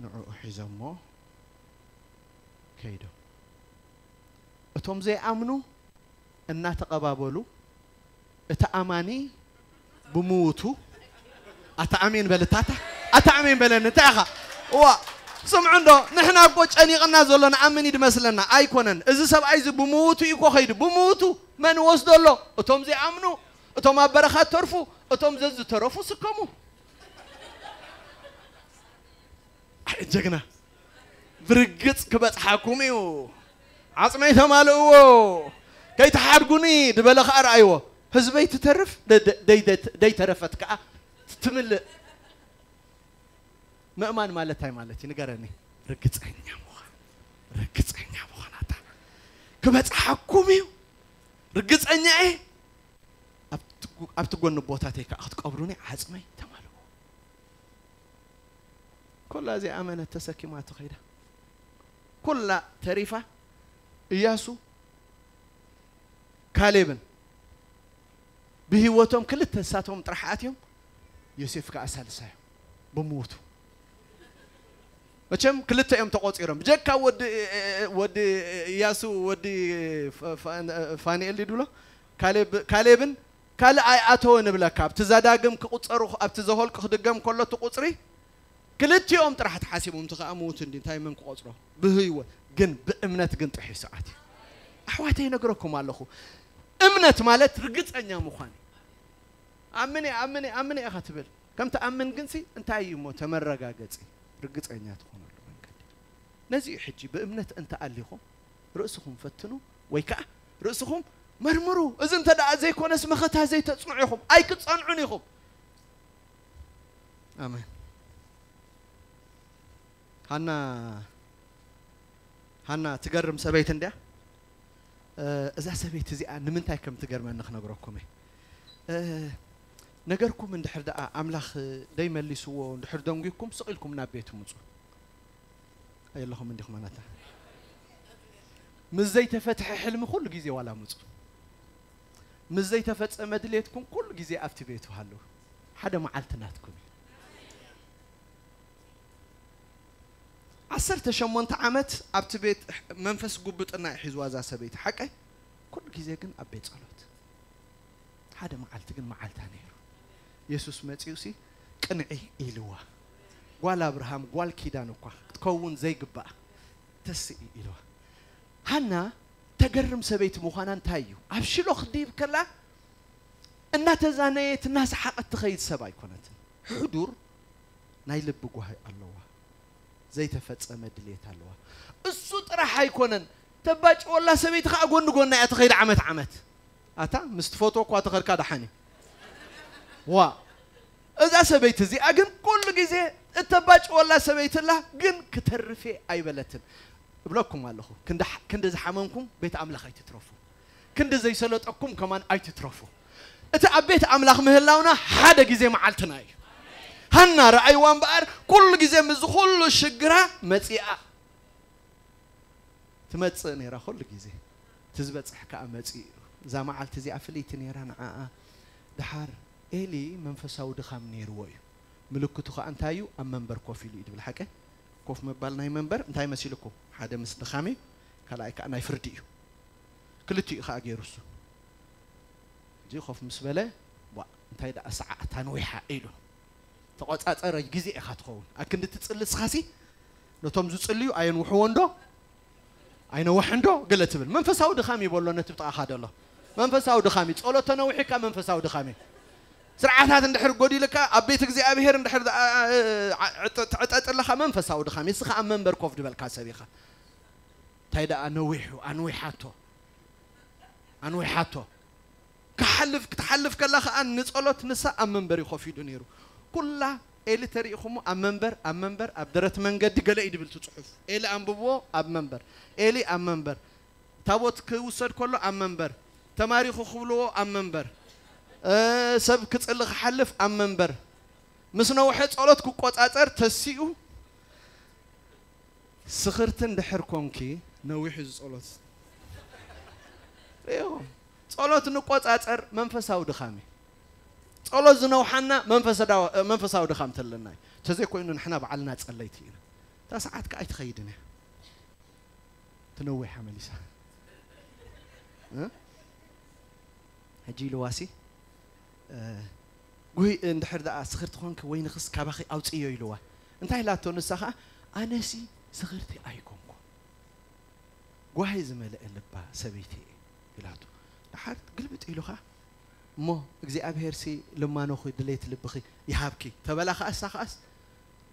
ንዕኡ ሒዞሞ ከይዶም። እቶም ዘይኣምኑ እናተቐባበሉ እቲ ኣማኒ ብምውቱ ኣታ ኣሜን በል እታታ ኣታ ኣሜን በለኒ እንታይ ኢኻ እዋ ስምዑ እንዶ ንሕና እኮ ጨኒቕና ዘሎ ንኣምን ይድመስለና ኣይኮነን እዚ ሰብኣይ እዚ ብምውቱ እዩ እኮ ኸይዱ ብምውቱ መን ወስዶ ኣሎ እቶም ዘይኣምኑ እቶም ኣብ በረኻ ተርፉ እቶም ዘዝተረፉ ስከሙ ጀግና ብርግጽ ክበጽሓኩም እዩ። ዓጽመይ ተማልእዎ ከይትሓድጉኒ ድበለ ከኣ ረኣይዎ። ህዝበይ ትተርፍ ደይተረፈት ከኣ ትምልእ። ምእማን ማለት እንታይ ማለት እዩ ንገረኒ? ርግጸኛ ምዃን ርግጸኛ ምዃን ኣታ ክበጽሓኩም እዩ ርግጸኛ እየ። ኣብቲ ጎኒ ቦታተይ ከኣ ክትቀብሩኒ ዓጽመይ ተማልእዎ። ኩላ እዚኣ ኣመነት ተሰኪማቶ ከይዳ ኩላ ተሪፋ እያሱ ካሌብን ብህይወቶም ክልተ ንሳቶም ጥራሕ ኣትዮም ዮሴፍ ከኣ ሳልሳዮም ብምውቱ መቸም ክልተ እዮም ተቆፂሮም ብጀካ ወዲ ወዲ እያሱ ወዲ ፋኒኤል ድብሎ ካሌብን ካልእ ኣይኣተወ ንብለካ ኣብቲ ዘዳግም ክቁፀሩ ኣብቲ ዘሆልቅ ክድገም ከሎ እቲ ቁፅሪ ክልቲኦም ጥራሕ ተሓሲቦም እቲ ከዓ ምውት እንዲ እንታይ መን ክቆፅሮ ብህይወት ግን ብእምነት ግን ጥሒሱ ኣትዩ ኣሕዋተይ ይነግረኩም ኣለኹ እምነት ማለት ርግፀኛ ምዃን እዩ ኣምን ኣምን ኣምን ኢኻ ትብል ከም ትኣምን ግንሲ እንታይ እዩ እሞ ተመረጋገፂ ርግፀኛ ትኾነሉ መንገዲ ነዚ እዩ ሕጂ ብእምነት እንተኣሊኹም ርእስኹም ፈትኑ ወይ ከዓ ርእስኹም መርምሩ እዚ እንተ ደኣ ዘይኮነስ መኸታ ዘይተፅንዑ ኢኹም ኣይክትፀንዑን ኢኹም ኣሜን ሃና ሃና ትገርም ሰበይቲ እንድያ እዛ ሰበይቲ እዚኣ ንምንታይ ከም ትገርመኒ ክነግረኩም እየ ነገርኩም እንድሕር ደኣ ኣምላኽ ደይመሊስዎ እንድሕር ደንጒኩም ስቕ ኢልኩም ናብ ቤቱ ምፁ የለኹም እንዲኹም ኣናታ። ምስ ዘይተፈትሐ ሕልሚ ኩሉ ግዜ ዋላ ምጹ። ምስ ዘይተፈጸመ ድሌትኩም ኩሉ ግዜ ኣብቲ ቤቱ ሃሉ። ሓደ መዓልቲ ናትኩም እዩ። ዓሰርተ ሸሞንተ ዓመት ኣብቲ ቤት መንፈስ ጉብጥና እዩ ሒዝዋ እዛ ሰበይቲ። ሓቀይ? ኩሉ ግዜ ግን ኣብ ቤት ጸሎት። ሓደ መዓልቲ ግን መዓልታ ነይሩ። የሱስ መጺኡ ሲ ቅንዒ ኢልዋ። ጓል ኣብርሃም፣ ጓል ኪዳን እኳ ክትከውን ዘይግባኣ ተስኢ ኢልዋ። ሃና ተገርም ሰበይቲ ምዃና እንታይ እዩ? ኣብ ሽሎ ክድይብ ከላ እናተዛነየት እናሰሓቐት ትኸይድ ሰብ ኣይኮነትን። ሕዱር ናይ ልቢ ጓሂ ኣለዋ። ዘይተፈጸመ ድሌት ኣለዋ። እሱ ጥራሕ ኣይኮነን፣ ተባጭወላ ሰበይቲ ኸዓ ጎኒ ጎና እያ ትኸይድ ዓመት ዓመት። ኣታ ምስ ትፈትዎ እኳ ተኸድካ ደሓን እዩ። ዋ፣ እዛ ሰበይቲ እዚኣ ግን ኩሉ ግዜ እተባጭወላ ሰበይቲ ኣላ፣ ግን ክተርፌ ኣይበለትን። እብለኩም ኣለኹ፣ ክንዲ ሕ-፣ ክንዲ ዝሓመምኩም ቤት ኣምላኽ ኣይትትረፉ። ክንዲ ዘይሰለጠኩም ከማን ኣይትትረፉ። እቲ ኣብ ቤት ኣምላኽ ምህላውና ሓደ ግዜ መዓልትና እዩ። ሃና ረኣይዋ እምበኣር ኩሉ ግዜ ምስ ኩሉ ሽግራ መጺኣ ትመጽእ ነይራ። ኩሉ ግዜ እቲ ዝበጽሕ ከኣ መጺኡ እዩ። እዛ መዓልቲ እዚኣ ፍልይቲ ነይራ ንዓኣ። ደሓር ኤሊ መንፈሳዊ ድኻም ነይርዎ እዩ። ምልክቱ ከኣ እንታይ እዩ? ኣብ መንበር ኮፍ ኢሉ እዩ ድብል። ሓቀ? ኮፍ ምባል ናይ መንበር እንታይ መሲልኩም? ሓደ ምስ ድኻም እዩ፣ ካልኣይ ከኣ ናይ ፍርዲ እዩ። ክልቲኡ ከኣ ገይሩ እሱ። ሕጂ ኮፍ ምስ በለ፣ "ዋ፣ እንታይ ደኣ ሰዓት ኣንዊሓ?" ኢሉ። ተቖጻጸረ ግዜ ኢኻ ትኸውን። ኣክንዲ ትጽሊ እስኻሲ፣ ነቶም ዝጽልዩ ኣየንውሕዎ እንዶ? ኣይነውሕ እንዶ? ገለ ትብል። መንፈሳዊ ድኻም ይበሎ ነቲ ብጥቓኻ ደሎ። መንፈሳዊ ድኻም እዩ። ጸሎት ተነዊሕካ መንፈሳዊ ድኻም እዩ። ስርዓታት እንድሕር ጎዲልካ፣ ኣብ ቤት እግዚኣብሔር እንድሕር ኣ-፣ ኣ-፣ ዓ-፣ ዕጠ-፣ ትዕጠጥ ኣለኻ መንፈሳዊ ድኻም እዩ። እስኻ ኣብ መንበር ኮፍ ድበልካ ሰብ ኢኻ። እንታይ ደኣ ነዊሑ፣ ኣንዊሓቶ። ኣንዊሓቶ። ክሓልፍ፣ ክትሓልፍ ከላ ኸኣ ንጸሎት ንሳ ኣብ መንበሪ ኮፍ ኢሉ ነይሩ። ኩላ ኤሊ ተሪኢኹሞ ኣብ መንበር፣ ኣብ መንበር፣ ኣብ ደረት መንገዲ ገለ እዩ ድብል እቲ ጽሑፍ። ኤሊ ኣንብብዎ ኣብ መንበር። ኤሊ ኣብ መንበር። ታቦት ክውሰድ ከሎ ኣብ መንበር። ተማሪኹ ክብልዎ ኣብ መንበር። እ፣ ሰብ ክጽሊ ክሓልፍ ኣብ መንበር። ምስ ነውሐ ጸሎት ክቆጻጸር ተሲኡ። ስኽርቲ እንድሕር ኮንኪ ነዊሑ ዝጸሎት። ርእይኹም። ጸሎት ንቆጻጸር መንፈሳዊ ድኻም እዩ። ጸሎት ዝነውሓና መንፈሰዳዊ-፣ መንፈሳዊ ድኻም ተለና እዩ። ተዘይኮይኑ ንሕና ባዕልና ጸለይቲ ኢና። እታ ሰዓት ከኣ ኣይትኸይድን እያ። ትነዊሓ መሊሳ። እ? ሕጂ ኢልዋሲ፣ እ፣ ጉሂ እንድሕር ደኣ ስኽርቲ ኾንኪ ወይንኽስ ካባኺ ኣውጽዮ ኢልዋ። እንታይ ኢላቶ ንሳ ኸኣ፣ "ኣነሲ ስኽርቲ ኣይኮንኩ። ጓሂ ዝመልአ ልባ ሰበይቲ እየ" ኢላቶ። ደሓር ግልብጥ ኢሉ ኸኣ፣ "እሞ እግዚኣብሄርሲ ልማኖኺ ድሌት ልብኺ ይሃብኪ" ተበላ ኸኣ፣ እሳ ኸኣስ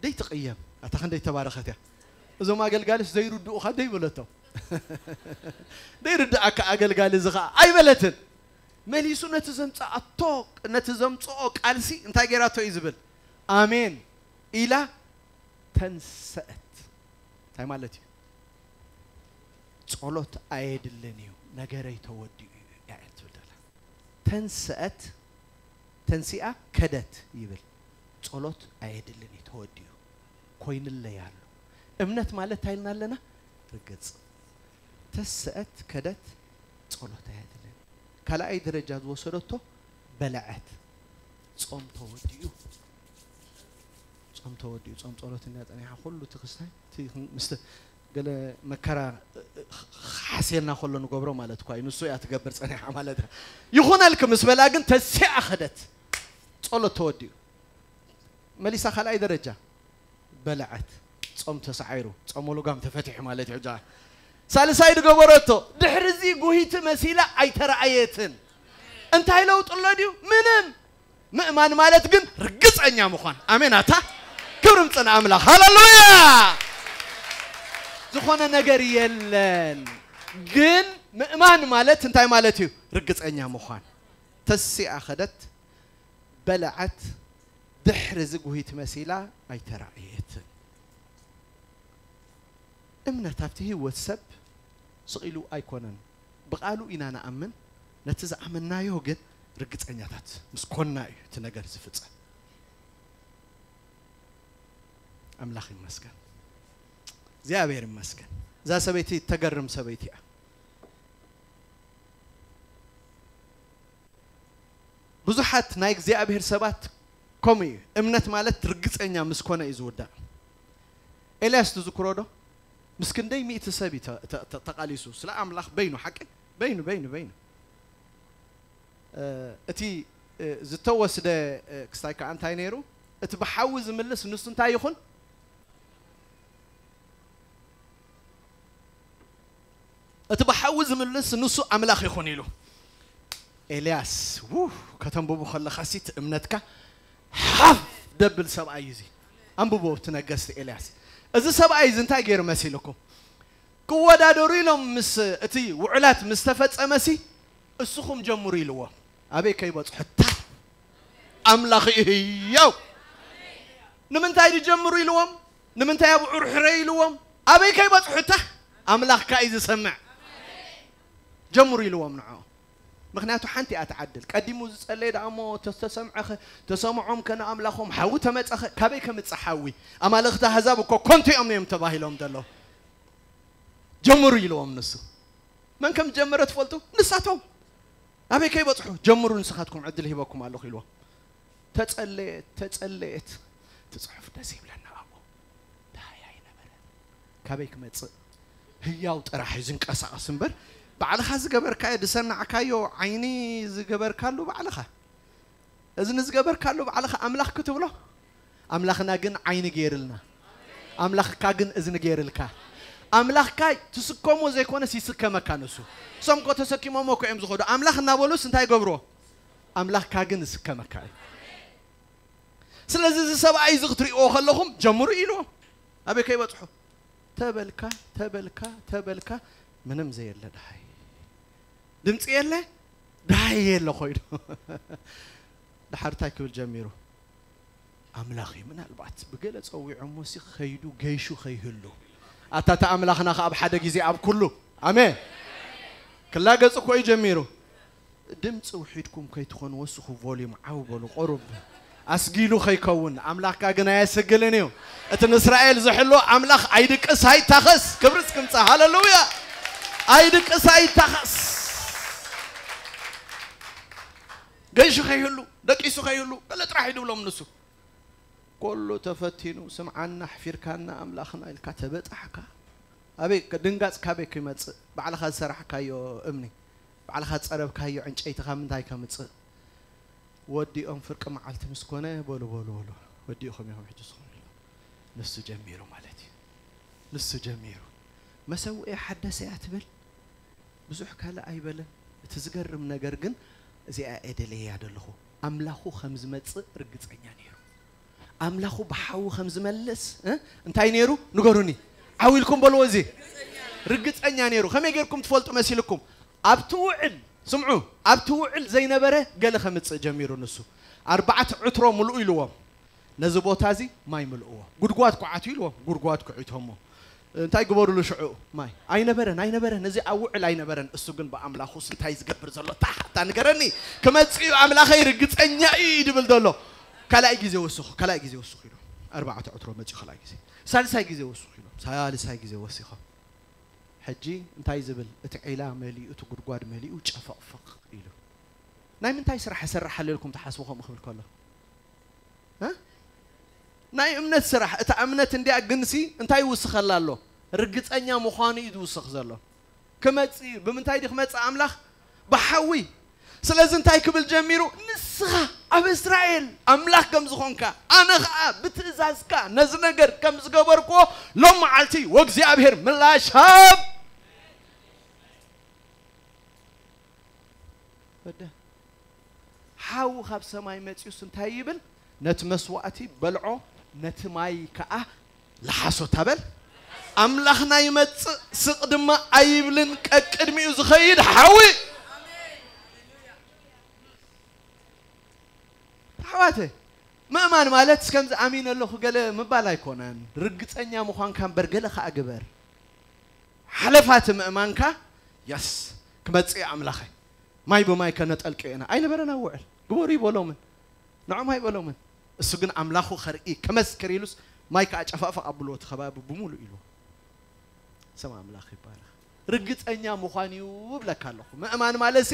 ደይትቕየም። ኣታ ክንደይ ተባረኸት እያ። እዞም ኣገልጋልስ ዘይርድኡኻ ደይበለቶም። ደይርድኣካ ኣገልጋሊ እዚ ኸኣ ኣይበለትን። መሊሱ ነቲ ዘምጽኣቶ፣ ነቲ ዘምጽኦ ቃልሲ እንታይ ገይራቶ እዩ ዝብል? ኣሜን ኢላ ተንሰአት። እንታይ ማለት እዩ? ጸሎት ኣየድልን እዩ፣ ነገረይ ተወዲኡ እዩ እያ ትብል ዘላ። ተንሰአት፣ ተንሲኣ ከደት ይብል። ጸሎት ኣየድልን እዩ፣ ተወዲኡ ኮይንለይ ኣሎ። እምነት ማለት እንታይ ኢልና ኣለና? ርግጽ። ተንሰአት፣ ከደት፣ ጸሎት ኣየድልን። ካልኣይ ደረጃ ዝወሰደቶ በለዐት። ጾም ተወዲኡ። ጾም ተወዲኡ። ጾም ጸሎት እንዳ ጸኒሓ ኩሉ እቲ ክስታይ፣ እቲ ምስ ገለ መከራ ሓስየና ከሎ ንገብሮ ማለት እኳ እዩ። ንሱ እያ ትገብር ጸኒሓ ማለት እያ። ይኹነልኪ ምስ በላ ግን ተሲኣ ኸደት። ጸሎት ተወዲኡ። መሊሳ ካልኣይ ደረጃ በለዐት። ጾም ተሳዒሩ። ጾም ወልጓም ተፈቲሑ ማለት እዩ። ሕጂ ሳልሳይ ዝገበረቶ፣ ድሕሪ እዚ ጉሂቲ መሲላ ኣይተረኣየትን። እንታይ ለውጢ ኣሎ ድዩ? ምንም። ምእማን ማለት ግን ርግጸኛ ምዃን። ኣሜን ኣታ። ክብሪ ምጽእ ንኣምላኽ። ሃሌሉያ። ዝኾነ ነገር የለን። ግን ምእማን ማለት እንታይ ማለት እዩ? ርግጸኛ ምዃን። ተሲኣ ኸደት፣ በለዐት፣ ድሕሪ እዚ ጉሂት መሲላ ኣይተራእየትን። እምነት ኣብቲ ህይወት ሰብ ስቕ ኢሉ ኣይኮነን። ብቓሉ ኢና ንኣምን፣ ነቲ ዝኣመንናዮ ግን ርግጸኛታት ምስ ኮንና እዩ እቲ ነገር ዝፍጸም። ኣምላኽ ይመስገን። እግዚኣብሔር ይመስገን። እዛ ሰበይቲ ተገርም ሰበይቲ እያ። ብዙሓት ናይ እግዚኣብሔር ሰባት ከምኡ እዩ። እምነት ማለት ርግጸኛ ምስ ኮነ እዩ ዝውዳእ። ኤልያስ ትዝክሮ ዶ? ምስ ክንደይ ሚእቲ ሰብ እዩ ተ- ተ- ተ- ተቓሊሱ ስለ ኣምላኽ በይኑ፣ ሓቂ በይኑ በይኑ በይኑ። እ፣ እቲ እ፣ ዝተወስደ እ፣ ክስታይ ከዓ እንታይ ነይሩ? እቲ ብሓዊ ዝምልስ ንሱ እንታይ ይኹን? እቲ ብሓዊ ዝምልስ ንሱ ኣምላኽ ይኹን ኢሉ። ኤልያስ ው ከተንብቡ ከለኻ ሲ እቲ እምነትካ ሓፍ ደብል ሰብኣይ እዩ እዚ። ኣንብቦ እቲ ነገስቲ ኤልያስ። እዚ ሰብኣይ እዚ እንታይ ገይሩ መሲልኩም? ክወዳደሩ ኢሎም ምስ እቲ ውዕላት ምስ ተፈጸመሲ እስኹም ጀምሩ ኢልዎም። ኣበይ ከይበጽሑ ታ ኣምላኽ እዩ ህያው። ንምንታይ ድጀምሩ ኢልዎም? ንምንታይ ኣብዑር ሕረ ኢልዎም? ኣበይ ከይበጽሑ ታ ኣምላኽካ እዩ ዝሰምዕ። ጀምሩ ኢልዎም ንዖ። ምክንያቱ ሓንቲ እያ ትዓድል። ቀዲሙ ዝጸለየ ደኣ እሞ ተስተሰምዐኸ ተሰምዖም ከነ ኣምላኾም ሓዊ ተመጸኸ ካበይ ከምጽእ ሓዊ? ኣማልኽቲ ኣህዛብ እኮ ኮንቱ እዮም እዮም ተባሂሎም ዘለዉ። ጀምሩ ኢልዎም ንሱ። መን ከም ጀመረ ትፈልጡ? ንሳቶም። ኣበይ ከይበጽሑ ጀምሩ ንስኻትኩም ዕድል ሂበኩም ኣለኹ ኢልዎም። ተጸለየት ተጸለየት። እቲ ጽሑፍ ደስ ይብለና ኣብኡ። ደሃይ ኣይነበረ። ካበይ ክመጽእ? ህያው ጥራሕ እዩ ዝንቀሳቐስ እምበር ባዕልኻ ዝገበርካዮ ዝሰናዕካዮ ዓይኒ ዝገበርካሉ ባዕልኻ እዝኒ ዝገበርካሉ ባዕልኻ ኣምላኽ ክትብሎ ኣምላኽና ግን ዓይኒ ገይርልና ኣምላኽካ ግን እዝኒ ገይርልካ ኣምላኽካ ትስከሞ ዘይኮነስ ይስከመካ ንሱ እሶም ኮ ተሰኪሞሞ ኮ እዮም ዝኸዱ ኣምላኽ እናበሉስ እንታይ ገብርዎ ኣምላኽካ ግን ይስከመካ እዩ ስለዚ እዚ ሰብኣይ እዚ ክትሪእዎ ከለኹም ጀምሩ ኢልዎም ኣበይ ከይበፅሑ ተበልካ ተበልካ ተበልካ ምንም ዘየለ ድሃይ ድምፂ የለ ድሃይ የለ ኮይኑ ድሓር እንታይ ክብል ጀሚሩ ኣምላኽ እዩ ምናልባት ብገለ ፀዊዖሞ ሲ ከይዱ ገይሹ ከይህሉ ኣታ እቲ ኣምላኽና ከ ኣብ ሓደ ግዜ ኣብ ኩሉ ኣሜን ክላገፅ እኮ እዩ ጀሚሩ ድምፂ ውሒድኩም ከይትኾኑ ወስኹ volume ዓው በሉ ቁሩብ ኣስጊሉ ከይከውን ኣምላኽካ ግን ኣየስግልን እዩ እቲ ንእስራኤል ዝሕሎ ኣምላኽ ኣይድቅስ ኣይታኸስ ክብሪ እስክምፃ ሃለሉያ ኣይድቅስ ኣይታኸስ ገይሹ ከይህሉ ደቂሱ ከይህሉ ገለ ጥራሕ ይድብሎም ንሱ ኩሉ ተፈቲኑ ስምዓና ኣሕፊርካና ኣምላኽና ኢልካ ተበጣሕካ ኣበይ ድንጋፅ ካበይ ክመፅእ ባዕልኻ ዝሰራሕካዮ እምኒ ባዕልኻ ዝፀረብካዮ ዕንጨይቲ ካብ ምንታይ ከምፅእ ወዲኦም ፍርቂ መዓልቲ ምስ ኮነ በሉ በሉ በሉ ወዲእኹም ኢኹም ሕጂ ስኹም ኢሉ ንሱ ጀሚሩ ማለት እዩ ንሱ ጀሚሩ መሰውኤ ሓደሰያ ትብል ብዙሕ ካልእ ኣይበለን እቲ ዝገርም ነገር ግን እዚኣ እየ ደለያ ዘለኹ ኣምላኹ ከም ዝመፅእ ርግፀኛ ነይሩ ኣምላኹ ብሓዊ ከም ዝመልስ እንታይ ነይሩ ንገሩኒ ዓው ኢልኩም በልዎ እዚ ርግፀኛ ነይሩ ከመይ ጌርኩም ትፈልጡ መሲልኩም ኣብቲ ውዕል ስምዑ ኣብቲ ውዕል ዘይነበረ ገለ ከምፅእ ጀሚሩ ንሱ ኣርባዕተ ዕትሮ ምልኡ ኢልዎም ነዚ ቦታ እዚ ማይ ምልእዎ ጉድጓድ ኩዓቱ ኢልዎም ጉድጓድ ኩዒቶሞ እንታይ ግበሩሉ ሽዑ ማይ ኣይነበረን ኣይነበረን እዚ ኣብ ውዕል ኣይነበረን እሱ ግን ብኣምላኹስ እንታይ ዝገብር ዘሎ ታሕታ ንገረኒ ክመፅእ እዩ ኣምላኸይ ርግፀኛ እዩ ድብል ዘሎ ካልኣይ ግዜ ወስኹ ካልኣይ ግዜ ወስኹ ኢሉ ኣርባዕተ ዕትሮ መፅኡ ካልኣይ ግዜ ሳልሳይ ግዜ ወስኹ ኢሉ ሳልሳይ ግዜ ወሲኾም ሕጂ እንታይ ዝብል እቲ ዒላ መሊኡ እቲ ጉድጓድ መሊኡ ጨፈቕፈቕ ኢሉ ናይ ምንታይ ስራሕ እሰርሕ ኣለልኩም ትሓስቡ ከምኡ ክብል ከሎ ናይ እምነት ስራሕ እታ እምነት እንዲያ ግንሲ እንታይ ይውስኸላ ኣሎ ርግፀኛ ምዃኑ እዩ ዝውስኽ ዘሎ ክመፅ እዩ ብምንታይ ዲ ክመፅእ ኣምላኽ ብሓዊ ስለዚ እንታይ ክብል ጀሚሩ ንስኻ ኣብ እስራኤል ኣምላኽ ከም ዝኾንካ ኣነ ኸዓ ብትእዛዝካ ነዚ ነገር ከም ዝገበርክዎ ሎም መዓልቲ ወእግዚኣብሔር ምላሽ ሃብ ወደ ሓዊ ካብ ሰማይ መፂኡስ እንታይ ይብል ነቲ መስዋእቲ በልዖ ነቲ ማይ ከዓ ለሓሶ ታበል ኣምላኽና ይመፅእ ስቕ ድማ ኣይብልን ቀቅድሚኡ ዝኸይድ ሓዊ ኣሕዋተ ምእማን ማለት ከምዚ ኣሚን ኣለኹ ገለ ምባል ኣይኮነን ርግፀኛ ምዃንካ እምበር ገለ ከዓ ግበር ሓለፋቲ ምእማንካ የስ ክመፅእ ኣምላኸ ማይ ብማይ ከነጠልቀ ኢና ኣይነበረን ኣብ ውዕል ግበሩ ይበሎምን ንዖም ኣይበሎምን እሱ ግን ኣምላኹ ከርኢ ከመስክር ኢሉስ ማይ ከዓ ጨፋፍቕ ኣብልዎ እቲ ከባቢ ብምሉእ ኢልዎ ስም ኣምላኽ ይባረኽ። ርግጸኛ ምዃን እዩ እብለካ ኣለኹ። ምእማን ማለት ሲ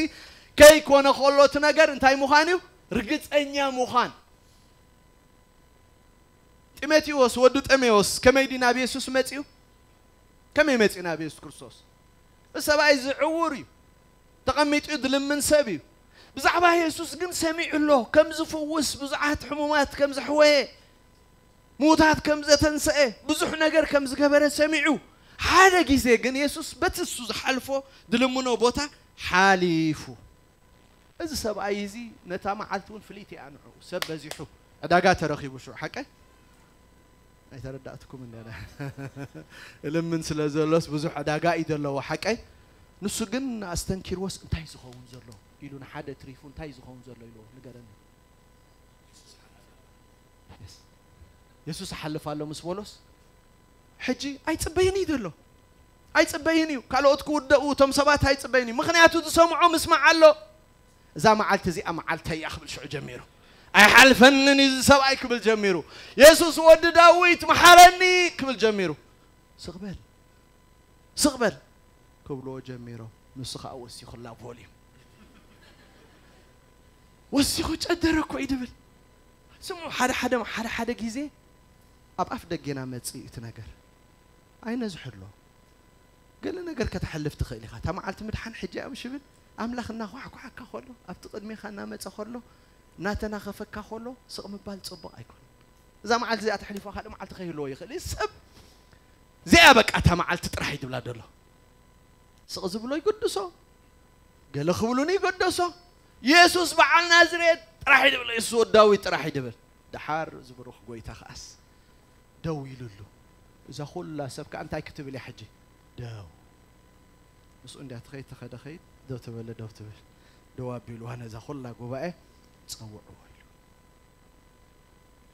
ከይኮነ ከሎ እቲ ነገር እንታይ ምዃን እዩ? ርግጸኛ ምዃን። ጢሞቴዎስ፣ ወዲ ጢሞቴዎስ ከመይ ድዩ ናብ የሱስ መጺኡ? ከመይ መጺኡ ናብ የሱስ ክርስቶስ? እዚ ሰብኣይ እዚ ዕዉር እዩ። ተቐሚጡ ዝልምን ሰብ እዩ። ብዛዕባ የሱስ ግን ሰሚዑ ኣሎ፣ ከም ዝፍውስ፣ ብዙሓት ሕሙማት ከም ዘሕወየ፣ ምዉታት ከም ዘተንሰአ፣ ብዙሕ ነገር ከም ዝገበረ ሰሚዑ። ሓደ ግዜ ግን የሱስ በቲ እሱ ዝሓልፎ ዝልምኖ ቦታ ሓሊፉ። እዚ ሰብኣይ እዚ ነታ መዓልቲ እውን ፍልይቲ እያ ንዕኡ። ሰብ በዚሑ፣ ዕዳጋ ተረኺቡ ሽዑ፣ ሓቀይ? ኣይተረዳእትኩም እንደ እልምን ስለ ዘሎስ ብዙሕ ዕዳጋ እዩ ዘለዎ፣ ሓቀይ? ንሱ ግን ኣስተንኪርዎስ እንታይ ዝኸውን ዘሎ ኢሉ ንሓደ ትሪፉ እንታይ ዝኸውን ዘሎ ኢልዎ ንገረኒ። የስ። የሱስ ይሓልፍ ኣሎ ምስ በሎስ፣ ሕጂ ኣይጽበይን እዩ ዘሎ። ኣይጽበይን እዩ። ካልኦት ክውደኡ እቶም ሰባት ኣይጽበይን እዩ። ምኽንያቱ ዝሰምዖ ምስማዕ ኣሎ። እዛ መዓልቲ እዚኣ መዓልተይ እያ ክብል ሽዑ ጀሚሩ። ኣይሓልፈንን እዩ እዚ ሰብኣይ ክብል ጀሚሩ። የሱስ ወዲ ዳዊት መሓረኒ ክብል ጀሚሩ። ስቕ በል፣ ስቕ በል ክብልዎ ጀሚሮም። ንሱ ኸኣ ወሲኹላ ቮሊዩም። ወሲኹ ጨደረ እኮ እዩ ድብል። ስምዑ፣ ሓደ ሓደ፣ ሓደ ሓደ ግዜ ኣብ ኣፍ ደጌና መጽእ እዩ እቲ ነገር። ኣይነዝሕሎ። ገለ ነገር ከተሕልፍ ትኽእል ኢኻ። እታ መዓልቲ ምድሓን ሕጂ እያ ምሽ ብል፣ ኣምላኽ እናኳሕኳሓካ ከሎ፣ ኣብቲ ቅድሜኻ እናመጸ ከሎ፣ እናተናኸፈካ ከሎ፣ ስቕ ምባል ጽቡቕ ኣይኮነን። እዛ መዓልቲ እዚኣ ተሕሊፋ ካልእ መዓልቲ ከይህልዎ ይኽእል እዩ። ሰብ እዚኣ በቃ እታ መዓልቲ ጥራሕ እዩ ድብላ ደሎ። ስቕ ዝብሎ ይገድሶ፣ ገለ ክብሉን ይገደሶ። የሱስ በዓል ናዝሬት ጥራሕ እዩ ድብል፣ የሱስ ወዲ ዳዊት ጥራሕ እዩ ድብል። ደሓር እዚ ብሩኽ ጎይታ ከኣስ ደው ኢሉሉ። እዛ ኩላ ሰብ ከኣ እንታይ ክትብል እያ ሕጂ? ደው። ምስኡ እንድያ ትኸይድ፣ ተኸደ ኸይድ፣ ደው ተበለ ደው ትብል። ደው ኣቢልዋ ነዛ ኩላ ጉባኤ ጸውዕዎ ኢሉ።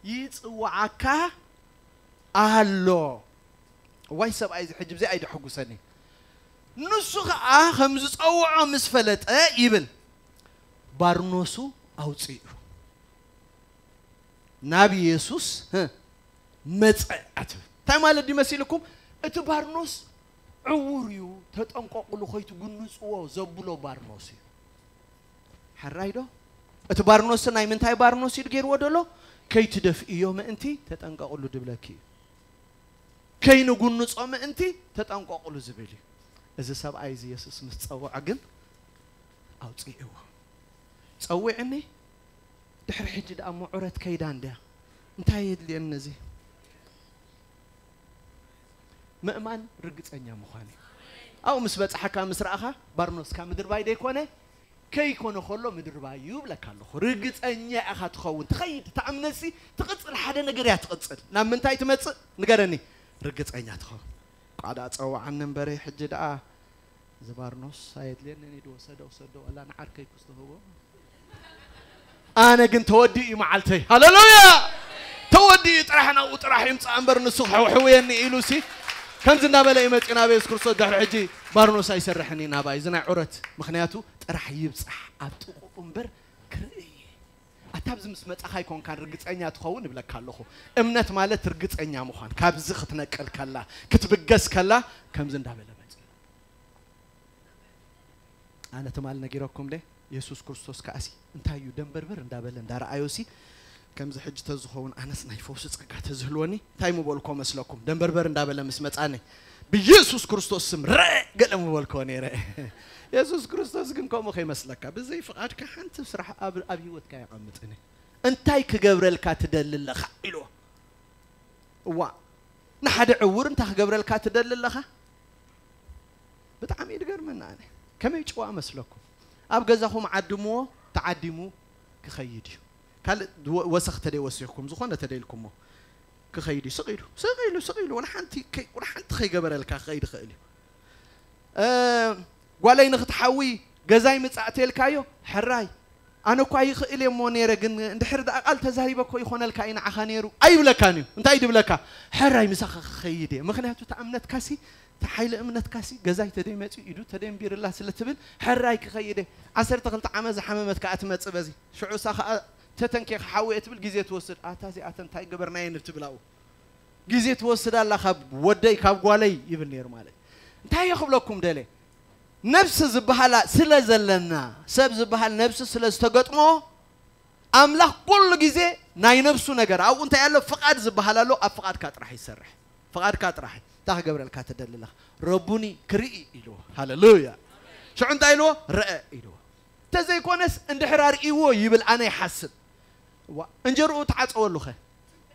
ይጽውዓካ ኣሎ። ዋይ ሰብኣይ እዚ ሕጂ ብዚኣ እዩ ደሐጉሰኒ። ንሱ ኸኣ ከም ዝጸውዖ ምስ ፈለጠ ይብል፣ ባርኖሱ ኣውጺኡ ናብ የሱስ፣ ህ፣ መጸ ኣትብል። እንታይ ማለት ድዩ መሲልኩም? እቲ ባርኖስ ዕዉር እዩ፣ ተጠንቀቑሉ፣ ከይትጉንጽዎ ዘብሎ ባርኖስ እዩ። ሕራይ ዶ? እቲ ባርኖስ ናይ ምንታይ ባርኖስ እዩ ገይርዎ ደሎ? ከይትደፍእዮ ምእንቲ ተጠንቀቑሉ ድብለኪ እዩ። ከይንጉንጾ ምእንቲ ተጠንቀቑሉ ዝብል እዩ። እዚ ሰብኣይ እዚ የሱስ ምስ ጸውዖ ግን ኣውጺእዎ። ጸዊዕኒ፣ ድሕሪ ሕጂ ደኣ ምዑረት ከይዳ እንድያ። እንታይ የድልየኒ እዚ? ምእማን ርግጸኛ ምዃን እዩ። ኣብኡ ምስ በጻሕካ ምስ ረኣኻ፣ ባርኖስካ ምድርባይ ደይኮነ፣ ከይኮነ ከሎ ምድርባይ እዩ እብለካ ኣለኹ። ርግጸኛ ኢኻ ትኸውን። ትኸይድ፣ እታ እምነትሲ ትቕጽል፣ ሓደ ነገር እያ ትቕጽል። ናብ ምንታይ ትመጽእ? ንገረኒ። ርግጸኛ ትኸውን። ቋዳ ጸውዓኒ እምበረ፣ ሕጂ ደኣ እዚ ባርኖስ ኣየድልየንን እዩ፣ ወሰዶ፣ ወሰዶ፣ ወላ ንዓርከይ ክስ ትህቦ። ኣነ ግን ተወዲኡ እዩ መዓልተይ። ሃሌሉያ! ተወዲኡ እዩ፣ ጥራሕ ናብኡ ጥራሕ ይምጻእ እምበር ንሱ ክሕውሕውየኒ ኢሉ ሲ ከምዚ እናበለ እዩ መጺኡ ናብ የሱስ ክርስቶስ። ድሕሪ ሕጂ ባርኖስ ኣይሰርሕን እዩ ናባይ፣ እዚ ናይ ዑረት። ምኽንያቱ ጥራሕ ይብጻሕ ኣብ ጥቕኡ እምበር ክርኢ እየ። ኣታ ኣብዚ ምስ መጻኻ ኣይኮንካን ርግጸኛ ትኸውን እብለካ ኣለኹ። እምነት ማለት ርግጸኛ ምዃን፣ ካብዚ ክትነቅል ከላ፣ ክትብገስ ከላ፣ ከምዚ እንዳበለ መጺኡ። ኣነ ትማል ነጊረኩም ደ፣ የሱስ ክርስቶስ ከኣሲ እንታይ እዩ ደንበርበር እንዳበለ እንዳረኣዮሲ፣ ከምዚ ሕጂ ተዝኸውን ኣነስ ናይ ፈውሲ ጸጋ ተዝህልወኒ እንታይ ምበልኮ መስለኩም? ደንበርበር እንዳበለ ምስ መጻኒ ብየሱስ ክርስቶስ ስም ረ ገለ ምበልኮ ነይረ። የሱስ ክርስቶስ ግን ከምኡ ከይመስለካ፣ ብዘይ ፍቓድካ ሓንቲ ስራሕ ኣብ፣ ኣብ ህይወትካ የቐምጥን። እንታይ ክገብረልካ ትደሊ ኣለኻ? ኢልዎ። እዋ፣ ንሓደ ዕውር እንታይ ክገብረልካ ትደሊ ኣለኻ? ብጣዕሚ እዩ ዝገርመና። ኣነ ከመይ ጭዋ መስለኩም? ኣብ ገዛኹም ዓድምዎ፣ ተዓዲሙ ክኸይድ እዩ። ካልእ ወ-፣ ወሰኽ ተደይ ወሲኽኩም፣ ዝኾነ ተደይ ኢልኩሞ ክኸይድ እዩ። ስቕ ኢሉ፣ ስቕ ኢሉ፣ ስቕ ኢሉ፣ ወላ ሓንቲ ከይ-፣ ወላ ሓንቲ ከይገበረልካ ክኸይድ ይኽእል እዩ። እ፣ ጓለይ ንኽትሓዊ ገዛይ ምጻእ ተልካዮ፣ ሕራይ። ኣነ እኳ ይኽእል እየ እሞ ነይረ፣ ግን እንድሕር ደኣ ቃል ተዛሪበ እኮ ይኾነልካ እዩ ንዓኻ ነይሩ ኣይብለካን እዩ። እንታይ ድብለካ? ሕራይ ምሳኻ ክኸይድ እየ። ምኽንያቱ እታ እምነትካሲ፣ እታ ሓይሊ እምነትካሲ፣ ገዛይ ተደይ መጺኡ፣ ኢዱ ተደይ እምቢርላ ስለ ትብል፣ ሕራይ ክኸይድ እየ። ዓሰርተ ክልተ ዓመት ዝሓመመት ከኣ ትመጽእ በዚ። ሽዑ እሳ ከኣ ተተንኬ ክሓዊ እየ ትብል፣ ግዜ ትወስድ። ኣታ እዚኣተን እንታይ ገበርናየን እትብል ኣብኡ። ግዜ ትወስድ ኣላ ካብ ወደይ፣ ካብ ጓለይ ይብል ነይሩ ማለት። እንታይ እየ ክብለኩም ደለ? ነብሲ ዝበሃላ ስለ ዘለና፣ ሰብ ዝበሃል ነብሲ ስለ ዝተገጥሞ፣ ኣምላኽ ኩሉ ግዜ ናይ ነብሱ ነገር ኣብኡ እንታይ ኣሎ? ፍቓድ ዝበሃል ኣሎ። ኣብ ፍቓድካ ጥራሕ ይሰርሕ። ፍቓድካ ጥራሕ። እንታይ ክገብረልካ ትደሊ ኣለኻ? ረቡኒ ክርኢ ኢልዎ። ሃሌሉያ። ሽዑ እንታይ ኢልዎ? ረአ ኢልዎ። ተዘይኮነስ እንድሕር ኣርእይዎ ይብል ኣነ ይሓስብ። ዋ፣ እንጀርኡ ተዓጸወሉ ኸ?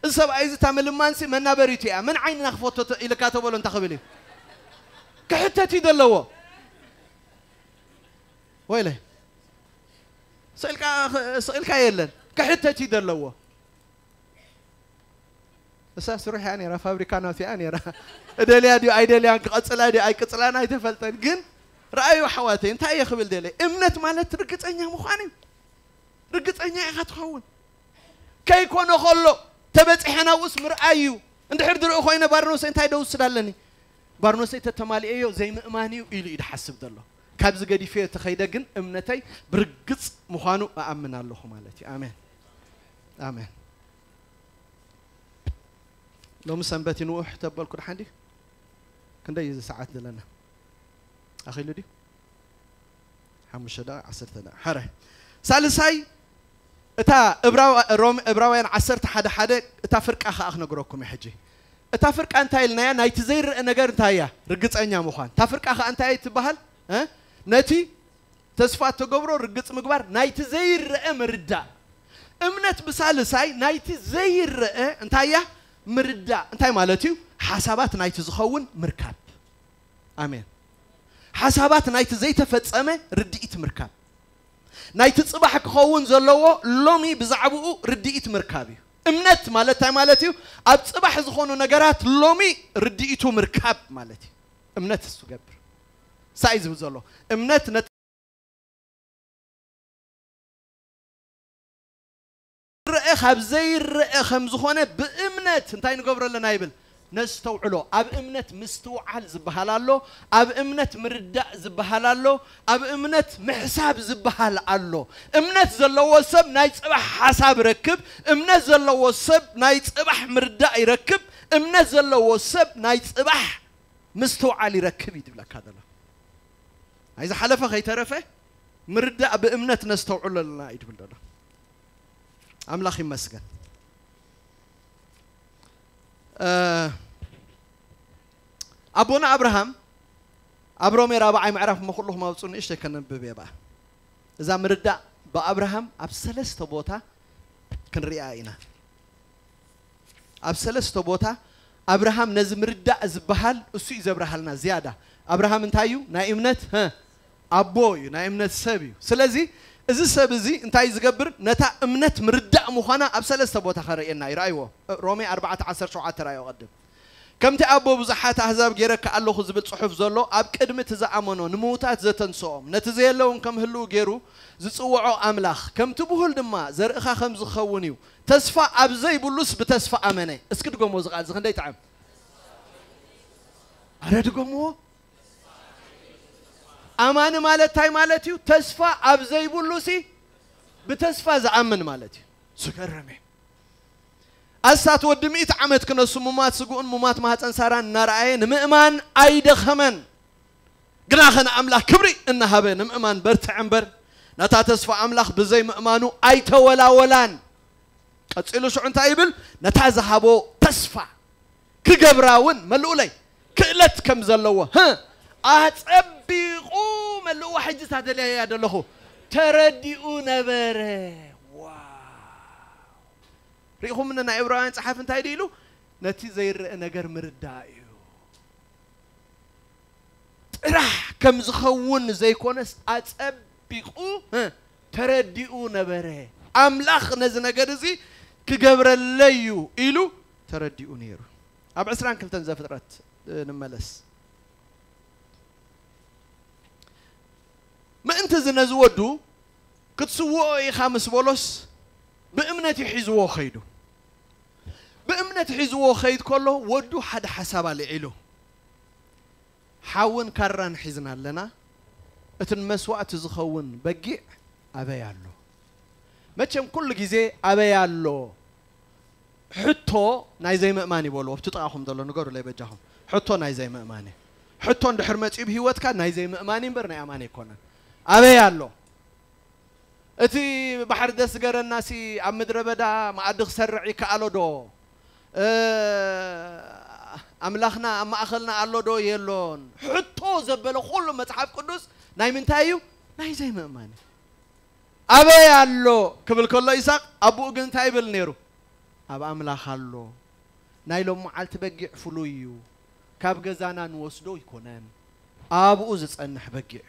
እዚ ሰብኣይ እዚ እታ ምልማንሲ መናበሪቱ እያ። መን ዓይንና ክፈቶ ተ-፣ ኢልካ ተበሎ እንታይ ክብል እዩ? ክሕተት እዩ ዘለዎ። ወይለ። ስቕ ኢልካ፣ ስቕ ኢልካ የለን። ክሕተት እዩ ዘለዎ። እሳ ስሩሕ እያ ነይራ፣ ፋብሪካ ናቱ እያ ነይራ። እደልያ ድዩ ኣይደልያን፣ ክቐጽላ ድዩ ኣይቅጽላን ኣይተፈልጠን። ግን ረኣዩ ኣሕዋተይ፣ እንታይ እየ ክብል ደለ? እምነት ማለት ርግጸኛ ምዃን እዩ። ርግጸኛ ኢኻ ትኸውን። ከይኮነ ከሎ ተበጺሐ ናብኡስ ምርኣይ እዩ። እንድሕር ድርኢ ኮይነ ባርኖሰይ እንታይ ደውስድ ኣለኒ? ባርኖሰይ ተተማሊኤዮ ዘይምእማን እዩ ኢሉ እዩ ድሓስብ ዘሎ። ካብዚ ገዲፈዮ ተኸይደ ግን እምነተይ ብርግጽ ምዃኑ እኣምን ኣለኹ ማለት እዩ። ኣሜን። ኣሜን። ሎሚ ሰንበት እዩ ንውሕ ተበልኩ ድሓን ድዩ? ክንደይ እዩ እዚ ሰዓት ዘለና? ኣኺሉ ድዩ? ሓሙሽተ ደቂቕ፣ ዓሰርተ ደቂቕ። ሓረ። ሳልሳይ፣ እታ እብራው-፣ ሮም-፣ እብራውያን ዓሰርተ ሓደ ሓደ፣ እታ ፍርቃ ኸኣ ክነግረኩም እየ ሕጂ። እታ ፍርቃ እንታይ ኢልናያ? ናይቲ ዘይረአ ነገር እንታይ እያ? ርግጸኛ ምዃን። እታ ፍርቃ ኸኣ እንታይ እያ ትበሃል? እ? ነቲ ተስፋ እተገብሮ ርግጽ ምግባር፣ ናይቲ ዘይረአ ምርዳእ። እምነት ብሳልሳይ ናይቲ ዘይረአ እንታይ እያ? ምርዳእ። እንታይ ማለት እዩ? ሓሳባት ናይቲ ዝኸውን ምርካብ። ኣሜን። ሓሳባት ናይቲ ዘይተፈጸመ ርድኢት ምርካብ። ናይቲ ጽባሕ ክኸውን ዘለዎ ሎሚ ብዛዕባኡ ርድኢት ምርካብ እዩ። እምነት ማለት እንታይ ማለት እዩ? ኣብ ጽባሕ ዝኾኑ ነገራት ሎሚ ርድኢቱ ምርካብ ማለት እዩ። እምነት እሱ ገብር። ሳይ ዝብል ዘሎ እምነት ነት-፣ ረአ ካብ ዘይረአ ከም ዝኾነ ብእምነት እንታይ ንገብሮ ኣለና ይብል? ነስተውዕሎ። ኣብ እምነት ምስትውዓል ዝበሃል ኣሎ፣ ኣብ እምነት ምርዳእ ዝበሃል ኣሎ፣ ኣብ እምነት ምሕሳብ ዝበሃል ኣሎ። እምነት ዘለዎ ሰብ ናይ ጽባሕ ሓሳብ ይረክብ፣ እምነት ዘለዎ ሰብ ናይ ጽባሕ ምርዳእ ይረክብ፣ እምነት ዘለዎ ሰብ ናይ ጽባሕ ምስትውዓል ይረክብ እዩ ድብለካ ዘሎ። ናይ ዝሓለፈ ከይተረፈ ምርዳእ ብእምነት ነስተውዕሎ ኣለና እዩ ድብል ዘሎ። ኣምላኽ ይመስገን። እ፣ ኣቦና ኣብርሃም ኣብ ሮሜ ራብዓይ ምዕራፍ እሞ ኩልኹም ኣውፅኡ ንእሽተይ ከነንብብ እየ በኣ። እዛ ምርዳእ ብኣብርሃም ኣብ ሰለስተ ቦታ ክንሪኣ ኢና። ኣብ ሰለስተ ቦታ ኣብርሃም ነዚ ምርዳእ ዝበሃል እሱ እዩ ዘብርሃልና ዝያዳ። ኣብርሃም እንታይ እዩ? ናይ እምነት፣ ሀ፣ ኣቦ እዩ፣ ናይ እምነት ሰብ እዩ። ስለዚ እዚ ሰብ እዚ እንታይ እዩ ዝገብር? ነታ እምነት ምርዳእ ምዃና ኣብ ሰለስተ ቦታ ከርእየና እዩ። ረኣይዎ፣ ሮሜ ኣርባዕተ ዓሰርተ ሸውዓተ ረኣዮ ቅድም። ከምቲ ኣቦ ብዙሓት ኣህዛብ ጌረካ ኣለኹ ዝብል ጽሑፍ ዘሎ፣ ኣብ ቅድሚ እቲ ዝኣመኖ ንምዉታት ዘተንስኦም፣ ነቲ ዘየለውን ከም ህልው ጌሩ ዝጽውዖ ኣምላኽ፣ ከምቲ ብሁል ድማ ዘርእኻ ከም ዝኸውን እዩ። ተስፋ ኣብ ዘይብሉስ ብተስፋ ኣመነ። እስኪ ድገሞ፣ እዚ ቃል እዚ ክንደይ ይጥዕም። ኣረ ድገምዎ። ኣማኒ ማለት እንታይ ማለት እዩ? ተስፋ ኣብ ዘይብሉሲ ብተስፋ ዝኣምን ማለት እዩ። ዝገርም እዩ። ኣስታት ወዲ ሚእቲ ዓመት ክነሱ፣ ሙማት ስግኡን ሙማት ማህፀን ሳራን እናረኣየ ንምእማን ኣይደኸመን። ግናኸ ንኣምላኽ ክብሪ እናሃበ ንምእማን በርትዐ እምበር፣ ነታ ተስፋ ኣምላኽ ብዘይ ምእማኑ ኣይተወላወላን። ቀጺሉ ሽዑ እንታይ ይብል? ነታ ዝሃቦ ተስፋ ክገብራ እውን መልኡለይ ክእለት ከም ዘለዎ፣ ህ፣ ኣጸቢቑ መልእዋ። ሕጂ እታ ደልያያ ዘለኹ ተረዲኡ ነበረ። ዋው! ርኢኹም፣ ናይ ዕብራውያን ጸሓፊ እንታይ ድኢሉ? ነቲ ዘይረአ ነገር ምርዳእ እዩ። ጥራሕ ከም ዝኸውን ዘይኮነስ፣ ኣጸቢቑ፣ እ፣ ተረዲኡ ነበረ። ኣምላኽ ነዚ ነገር እዚ ክገብረለይ እዩ ኢሉ ተረዲኡ ነይሩ። ኣብ ዕስራን ክልተን ዘፍጥረት፣ እ፣ ንመለስ። ምእንቲ እዚ ነዚ ወዱ ክትስውኦ ኢኻ ምስ በሎስ፣ ብእምነት እዩ ሒዝዎ ኸይዱ። ብእምነት ሒዝዎ ኸይድ ከሎ፣ ወዱ ሓደ ሓሳብ ኣልዒሉ፣ ሓውን ካራን ሒዝና ኣለና፣ እቲ ንመስዋእቲ ዝኸውን በጊዕ ኣበይ ኣሎ? መቸም ኩሉ ግዜ ኣበይ ኣሎ? ሕቶ ናይ ዘይምእማን እዩ በልዎ። ኣብቲ ጥቓኹም ዘሎ ንገሩለይ በጃኹም። ሕቶ ናይ ዘይምእማን እዩ። ሕቶ እንድሕር መጺኡ ብህይወትካ፣ ናይ ዘይምእማን እምበር ናይ ኣማን ኣይኮነን። ኣበይ ኣሎ? እቲ ባሕሪ ደስገረናሲ ኣብ ምድረ በዳ መኣዲ ክሰርዕ ይከኣሎ ዶ? እ፣ ኣምላኽና ኣብ ማእኸልና ኣሎ ዶ የሎን? ሕቶ ዘበለ ኩሉ መጽሓፍ ቅዱስ ናይ ምንታይ እዩ? ናይ ዘይምእማን እዩ። ኣበይ ኣሎ ክብል ከሎ ይስሐቅ ኣቦኡ ግን እንታይ ይብል ነይሩ? ኣብ ኣምላኽ ኣሎ። ናይ ሎም መዓልቲ በጊዕ ፍሉይ እዩ። ካብ ገዛና ንወስዶ ኣይኮነን። ኣብኡ ዝጸንሕ በጊዕ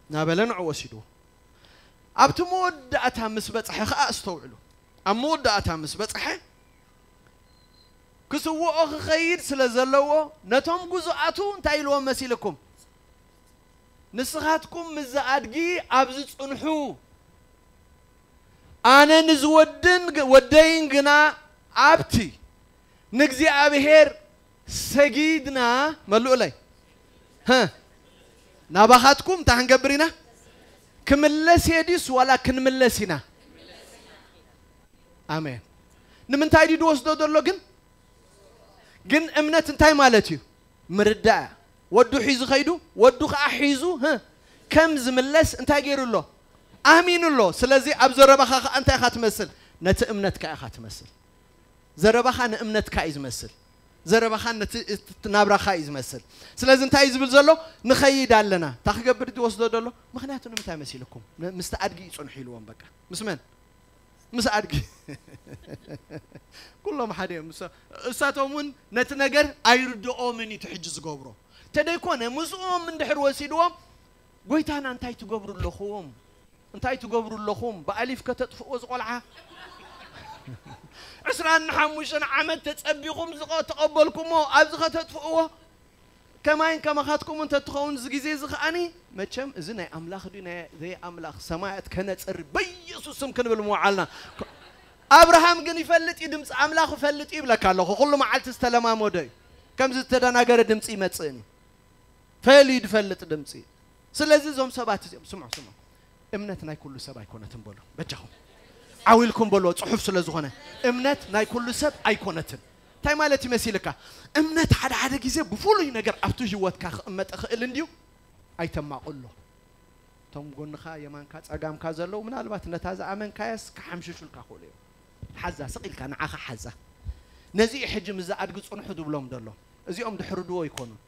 እናበለ ንዑ ወሲድዎ። ኣብቲ መወዳእታ ምስ በጽሐ ኸኣ ኣስተውዕሉ። ኣብ መወዳእታ ምስ በጽሐ ክስውኦ ክኸይድ ስለ ዘለዎ ነቶም ግዙኣቱ እንታይ ኢልዎም መሲልኩም? ንስኻትኩም ምስዚ ኣድጊ ኣብዚ ጽንሑ፣ ኣነ ንዝወድን ግ-፣ ወደይን ግና ኣብቲ ንእግዚኣብሔር ሰጊድና፣ መልኡለይ። ሀ፣ ናባኻትኩም እንታይ ክንገብር ኢና? ክምለስ እየ ድዩስ ዋላ ክንምለስ ኢና? ኣሜን። ንምንታይ ድዩ ዝወስዶ ዘሎ ግን? ግን እምነት እንታይ ማለት እዩ? ምርዳእ። ወዱ ሒዙ ኸይዱ፣ ወዱ ኸዓ ሒዙ፣ ህ፣ ከም ዝምለስ እንታይ ገይሩ ኣሎ? ኣሚኑ ኣሎ። ስለዚ ኣብ ዘረባኻ ኸዓ እንታይ ኢኻ ትመስል? ነቲ እምነትካ ኢኻ ትመስል። ዘረባኻ ንእምነትካ እዩ ዝመስል። ዘረባኻ ነቲ፣ እቲ ናብራኻ እዩ ዝመስል። ስለዚ እንታይ እዩ ዝብል ዘሎ? ንኸይድ ኣለና። እታ ክገብር ድዩ ወስዶ ዘሎ? ምኽንያቱ ንምንታይ መሲልኩም? ን-፣ ምስቲ ኣድጊ እዩ ጽንሑ ኢልዎም በቃ። ምስ መን? ምስ ኣድጊ። ኩሎም ሓደ እዮም። እሳ-፣ እሳቶም እውን ነቲ ነገር ኣይርድኦምን እዩ እቲ ሕጂ ዝገብሮ። ተደይኮነ ምስኦም እንድሕር ወሲድዎም፣ "ጎይታና እንታይ ትገብሩ ኣለኹም? እንታይ ትገብሩ ኣለኹም? ብኣሊፍ ከተጥፍእዎ ዝቖልዓ?" ዕስራን ሓሙሽተን ዓመት ተጸቢኹም ዝቐ-፣ ተቐበልኩሞ፣ ኣብዚ ከተጥፍእዎ? ከማይን ከማኻትኩም እንተ ትኸውን እዚ ግዜ እዚ ከኣኒ፣ መቸም እዚ ናይ ኣምላኽ ድዩ ናይ ዘይ ኣምላኽ ሰማያት ከነጽሪ በኢየሱስ ስም ክንብል ምውዓልና። ኣብርሃም ግን ይፈልጥ እዩ፣ ድምፂ ኣምላኽ ይፈልጥ እዩ ይብለካ ኣለኹ። ኩሉ መዓልቲ ዝተለማመዶ እዩ። ከምዚ ዝተደናገረ ድምፂ ይመጽእን እዩ። ፈልዩ ዝፈልጥ ድምፂ። ስለዚ እዞም ሰባት እዚኦም፣ ስምዑ፣ ስምዑ። እምነት ናይ ኩሉ ሰብ ኣይኮነትን በሉ። በጃኹም። ዓው ኢልኩም በልዎ፣ ጽሑፍ ስለ ዝኾነ። እምነት ናይ ኩሉ ሰብ ኣይኮነትን። እንታይ ማለት ይመሲልካ? እምነት ሓደ ሓደ ግዜ ብፍሉይ ነገር ኣብቲ ህይወትካ ክቕመጥ ይኽእል እንድዩ። ኣይተማቕሎ። እቶም ጎንኻ፣ የማንካ፣ ጸጋምካ ዘለዉ ምናልባት ነታ ዝኣመንካያስ ክሓምሽሹልካ ክእሉ እዮም። ሓዛ ስቕ ኢልካ ንዓኻ ሓዛ። ነዚ እዩ ሕጂ ምስዚ ኣድጊ ጽንሑ ዝብሎም ዘሎ። እዚኦም ድሕርድዎ ኣይኮኑን።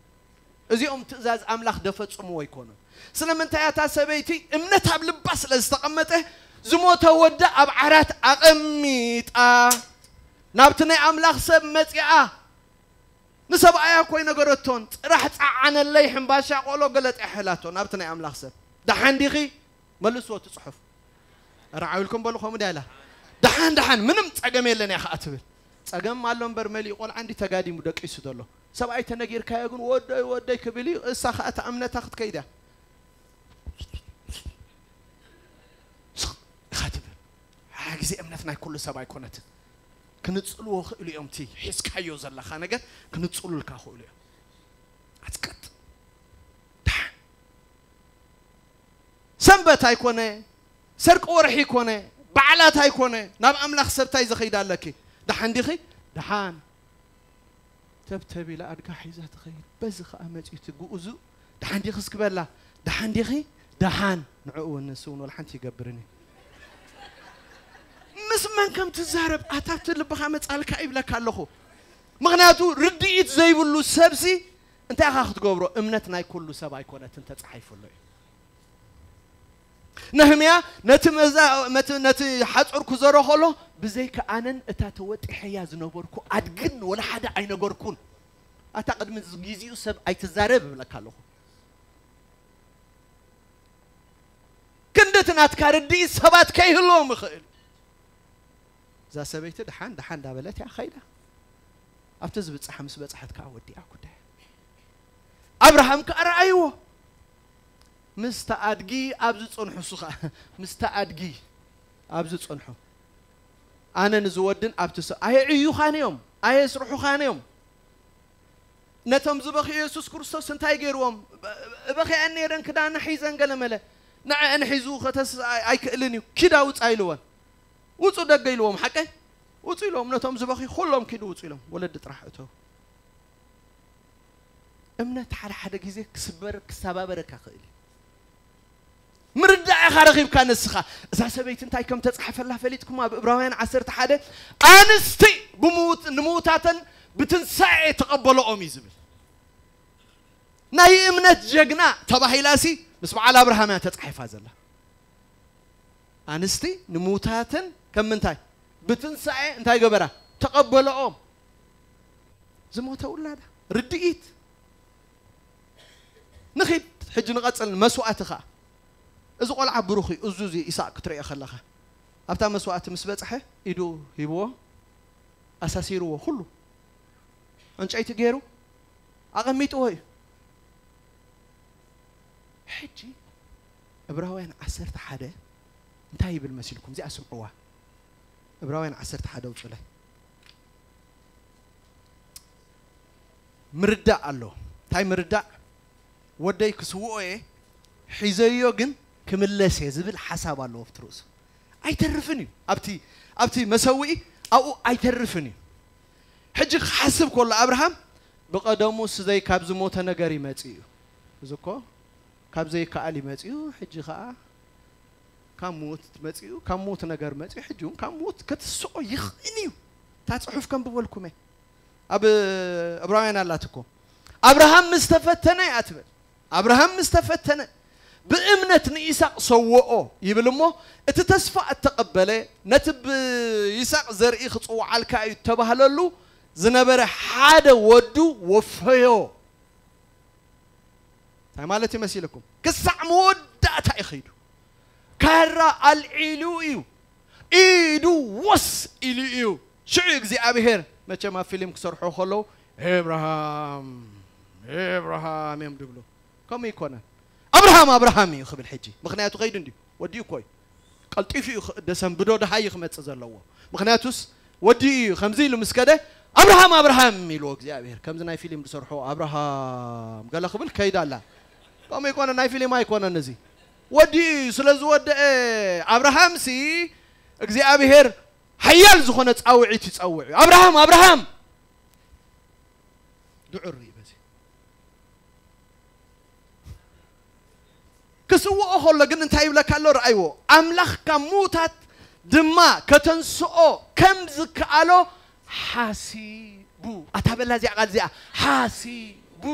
እዚኦም ትእዛዝ ኣምላኽ ደፈጽምዎ ኣይኮኑን። ስለምንታይ እታ ሰበይቲ እምነት ኣብ ልባ ስለ ዝተቐመጠ ዝሞተ ወዳ ኣብ ዓራት ኣቐሚጣ ናብቲ ናይ ኣምላኽ ሰብ መጺኣ ንሰብኣያ እኮ ኣይነገረቶን። ጽራሕ ጸዓነለይ ሕምባሻ ቆሎ ገለ ጥሕላቶ ናብቲ ናይ ኣምላኽ ሰብ። ደሓን ዲኺ? መልስዎ እቲ ጽሑፍ። ኧረ ዓው ኢልኩም በሉ፣ ከምኡ ድያ ኢላ? ደሓን፣ ደሓን፣ ምንም ጸገም የለን እያ ኸኣ ትብል። ጸገም ኣሎ እምበር መሊኡ ቆልዓ እንዲ ተጋዲሙ ደቂሱ ዘሎ። ሰብኣይ ተነጊርካዮ ግን ወደይ፣ ወደይ ክብል እዩ። እሳ ኸኣ እታ እምነታ ክትከይድ እያ። ስቕ ኢኻ ትብል። ሓደ ግዜ እምነት ናይ ኩሉ ሰብ ኣይኮነትን። ክንጽልዎ ክእሉ እዮም። እቲ ሒዝካዮ ዘለኻ ነገር ክንጽሉልካ ክእሉ እዮም። ኣትቀጥ። ደሓን። ሰንበት ኣይኮነ፣ ሰርቂ ወርሒ ኣይኮነ፣ በዓላት ኣይኮነ፣ ናብ ኣምላኽ ሰብ እንታይ ዘኸይድ ኣለኪ? ደሓን ዲኺ? ደሓን። ተብተብ ኢላ ኣድጋ ሒዛ ትኸይድ። በዚ ኸኣ መጺኡ እቲ ግኡዙ፣ "ደሓን ዲኺ?" እስኪ በላ። "ደሓን ዲኺ?" "ደሓን." ንዕኡ እውን ንሱ እውን ወላ ሓንቲ ይገብርን እዩ። ምስ መን ከም ትዛረብ ኣታ እቲ ልብኻ መጻልካ ይብለካ ኣለኹ። ምኽንያቱ ርድኢት ዘይብሉ ሰብሲ እንታይ ኢኻ ክትገብሮ? እምነት ናይ ኩሉ ሰብ ኣይኮነትን ተጻሒፉ ኣሎ እዩ። ነህምያ ነቲ መዛ-፣ ነቲ፣ ነቲ ሓጹር ክዘሮ ከሎ፣ "ብዘይካ ኣነን እታ ተወጢሐያ ዝነበርኩ ኣድግን ወላ ሓደ ኣይነገርኩን። ኣታ ቅድሚ ግዜኡ ሰብ ኣይትዛረብ እብለካ ኣለኹ። ክንዲ እቲ ናትካ ርድኢት ሰባት ከይህልዎም ይኽእል እዩ።" እዛ ሰበይቲ ደሓን ደሓን እንዳበለት እያ ኸይዳ። ኣብቲ ዝብጻሕ ምስ በጽሐት ከኣ ወዲኣ ጉዳያ። ኣብርሃም ከኣ ረኣይዎ። ምስቲ ኣድጊ ኣብ ዝጸንሑ፣ እሱ ኸኣ ምስቲ ኣድጊ ኣብ ዝጸንሑ። ኣነ ንዝወድን ኣብቲ ሰ-፣ ኣየዕዩኻን እዮም፣ ኣየስርሑኻን እዮም። ነቶም ዝበኽዩ የሱስ ክርስቶስ እንታይ ገይርዎም? እበኽየን ነይረን፣ ክዳና ሒዘን ገለ መለ። ንዐአን ሒዙ ከተስ-፣ ኣይ-፣ ኣይክእልን እዩ። ኪዳ ውጻ ኢልወን። ውጹ ደገ ኢልዎም፣ ሓቀይ? ውጹ ኢሎም፣ ነቶም ዝበኽዩ ኩሎም ኪዱ ውጹ ኢሎም። ወለዲ ጥራሕ እተው። እምነት ሓደ ሓደ ግዜ ክስበር ክሰባበረካ ክእል እዩ። ምርዳእ ኢኻ ረኺብካ ንስኻ። እዛ ሰበይቲ እንታይ ከም ተጻሕፈላ ፈሊጥኩም? ኣብ እብራውያን ዓሰርተ ሓደ ኣንስቲ ብምውት- ንምውታተን ብትንሳኤ ተቐበለኦም እዩ ዝብል። ናይ እምነት ጀግና ተባሂላሲ ምስ በዓል ኣብርሃም እያ ተጻሒፋ ዘላ። ኣንስቲ ንምውታተን ከም ምንታይ ብትንሳኤ እንታይ ገበራ? ተቐበለኦም። ዝሞተ ውላዳ ርድኢት። ንኺድ ሕጂ ንቐጽል መስዋእቲ ኸኣ። እዚ ቆልዓ ብሩኽ እዩ። እዚ እዚ ኢሳቅ ክትርእዮ ከለኻ ኣብታ መስዋእቲ ምስ በጽሐ ኢዱ ሂብዎ፣ ኣሳሲርዎ፣ ኩሉ ዕንጨይቲ ገይሩ ኣቐሚጥዎ እዩ። ሕጂ ዕብራውያን ዓሰርተ ሓደ እንታይ ይብል መሲልኩም? እዚኣ ስምዕዋ። ዕብራውያን ዓሰርተ ሓደ ኣውጹለይ። ምርዳእ ኣሎ። እንታይ ምርዳእ? ወደይ ክስውኦ እየ፣ ሒዘዮ ግን ክምለስ እየ ዝብል ሓሳብ ኣለዎ ኣብቲ ርእሱ። ኣይተርፍን እዩ። ኣብቲ ኣብቲ መሰውኢ ኣብኡ ኣይተርፍን እዩ። ሕጂ ክሓስብ ከሎ ኣብርሃም ብቐደሙ ስዘይ ካብ ዝሞተ ነገር ይመጽእ እዩ። እዚ እኮ ካብ ዘይከኣል ይመጽእ እዩ። ሕጂ ኸኣ ካብ ምዉት መጽኡ፣ ካብ ምዉት ነገር መጽኡ፣ ሕጂ እውን ካብ ምዉት ክትስኦ ይኽእል እዩ። እታ ጽሑፍ ከንብበልኩም እየ። ኣብ እብራውያን ኣላት እኮ። ኣብርሃም ምስ ተፈተነ እያ ትብል። ኣብርሃም ምስ ተፈተነ ብእምነት ንኢሳቅ ሰወኦ ይብል እሞ፣ እቲ ተስፋ እተቐበለ ነቲ ብይሳቅ ዘርኢ ክጽውዓልካ እዩ እተባህለሉ ዝነበረ ሓደ ወዱ ወፈዮ። እንታይ ማለት ይመሲልኩም? ክሳዕ መወዳእታ እዩ ኸይዱ። ካራ ኣልዒሉ እዩ። ኢዱ ወስ ኢሉ እዩ። ሽዑ እግዚኣብሔር መቸም ኣብ ፊልም ክሰርሑ ከለዉ ኤብርሃም ኤብርሃም እዮም ድብሉ። ከምኡ ይኮነን። ኣብርሃም ኣብርሃም እዩ ክብል ሕጂ። ምኽንያቱ ኸይዱ እንድዩ። ወዲኡ እኮ እዩ። ቀልጢፉ እዩ ኽ- ደሰንብዶ ደሃይ እዩ ክመጽእ ዘለዎ። ምኽንያቱስ ወዲኡ እዩ። ከምዚ ኢሉ ምስ ከደ ኣብርሃም ኣብርሃም ኢልዎ እግዚኣብሔር። ከምዚ ናይ ፊልም ዝሰርሑ ኣብርሃም ገለ ክብል ከይዳ ኣላ። ከምኡ ይኮነ፣ ናይ ፊልም ኣይኮነን እዚ። ወዲኡ እዩ። ስለ ዝወደአ ኣብርሃምሲ እግዚኣብሔር ሓያል ዝኾነ ጻውዒት ይጸውዕ እዩ። ኣብርሃም ኣብርሃም ድዑር እዩ በዚ። ክስውኦ ከሎ ግን እንታይ ይብለካ ኣሎ? ረኣይዎ። ኣምላኽ ካብ ምዉታት ድማ ከተንስኦ ከም ዝከኣሎ ሓሲቡ። ኣታ በላ እዚኣ ቃል እዚኣ ሓሲቡ።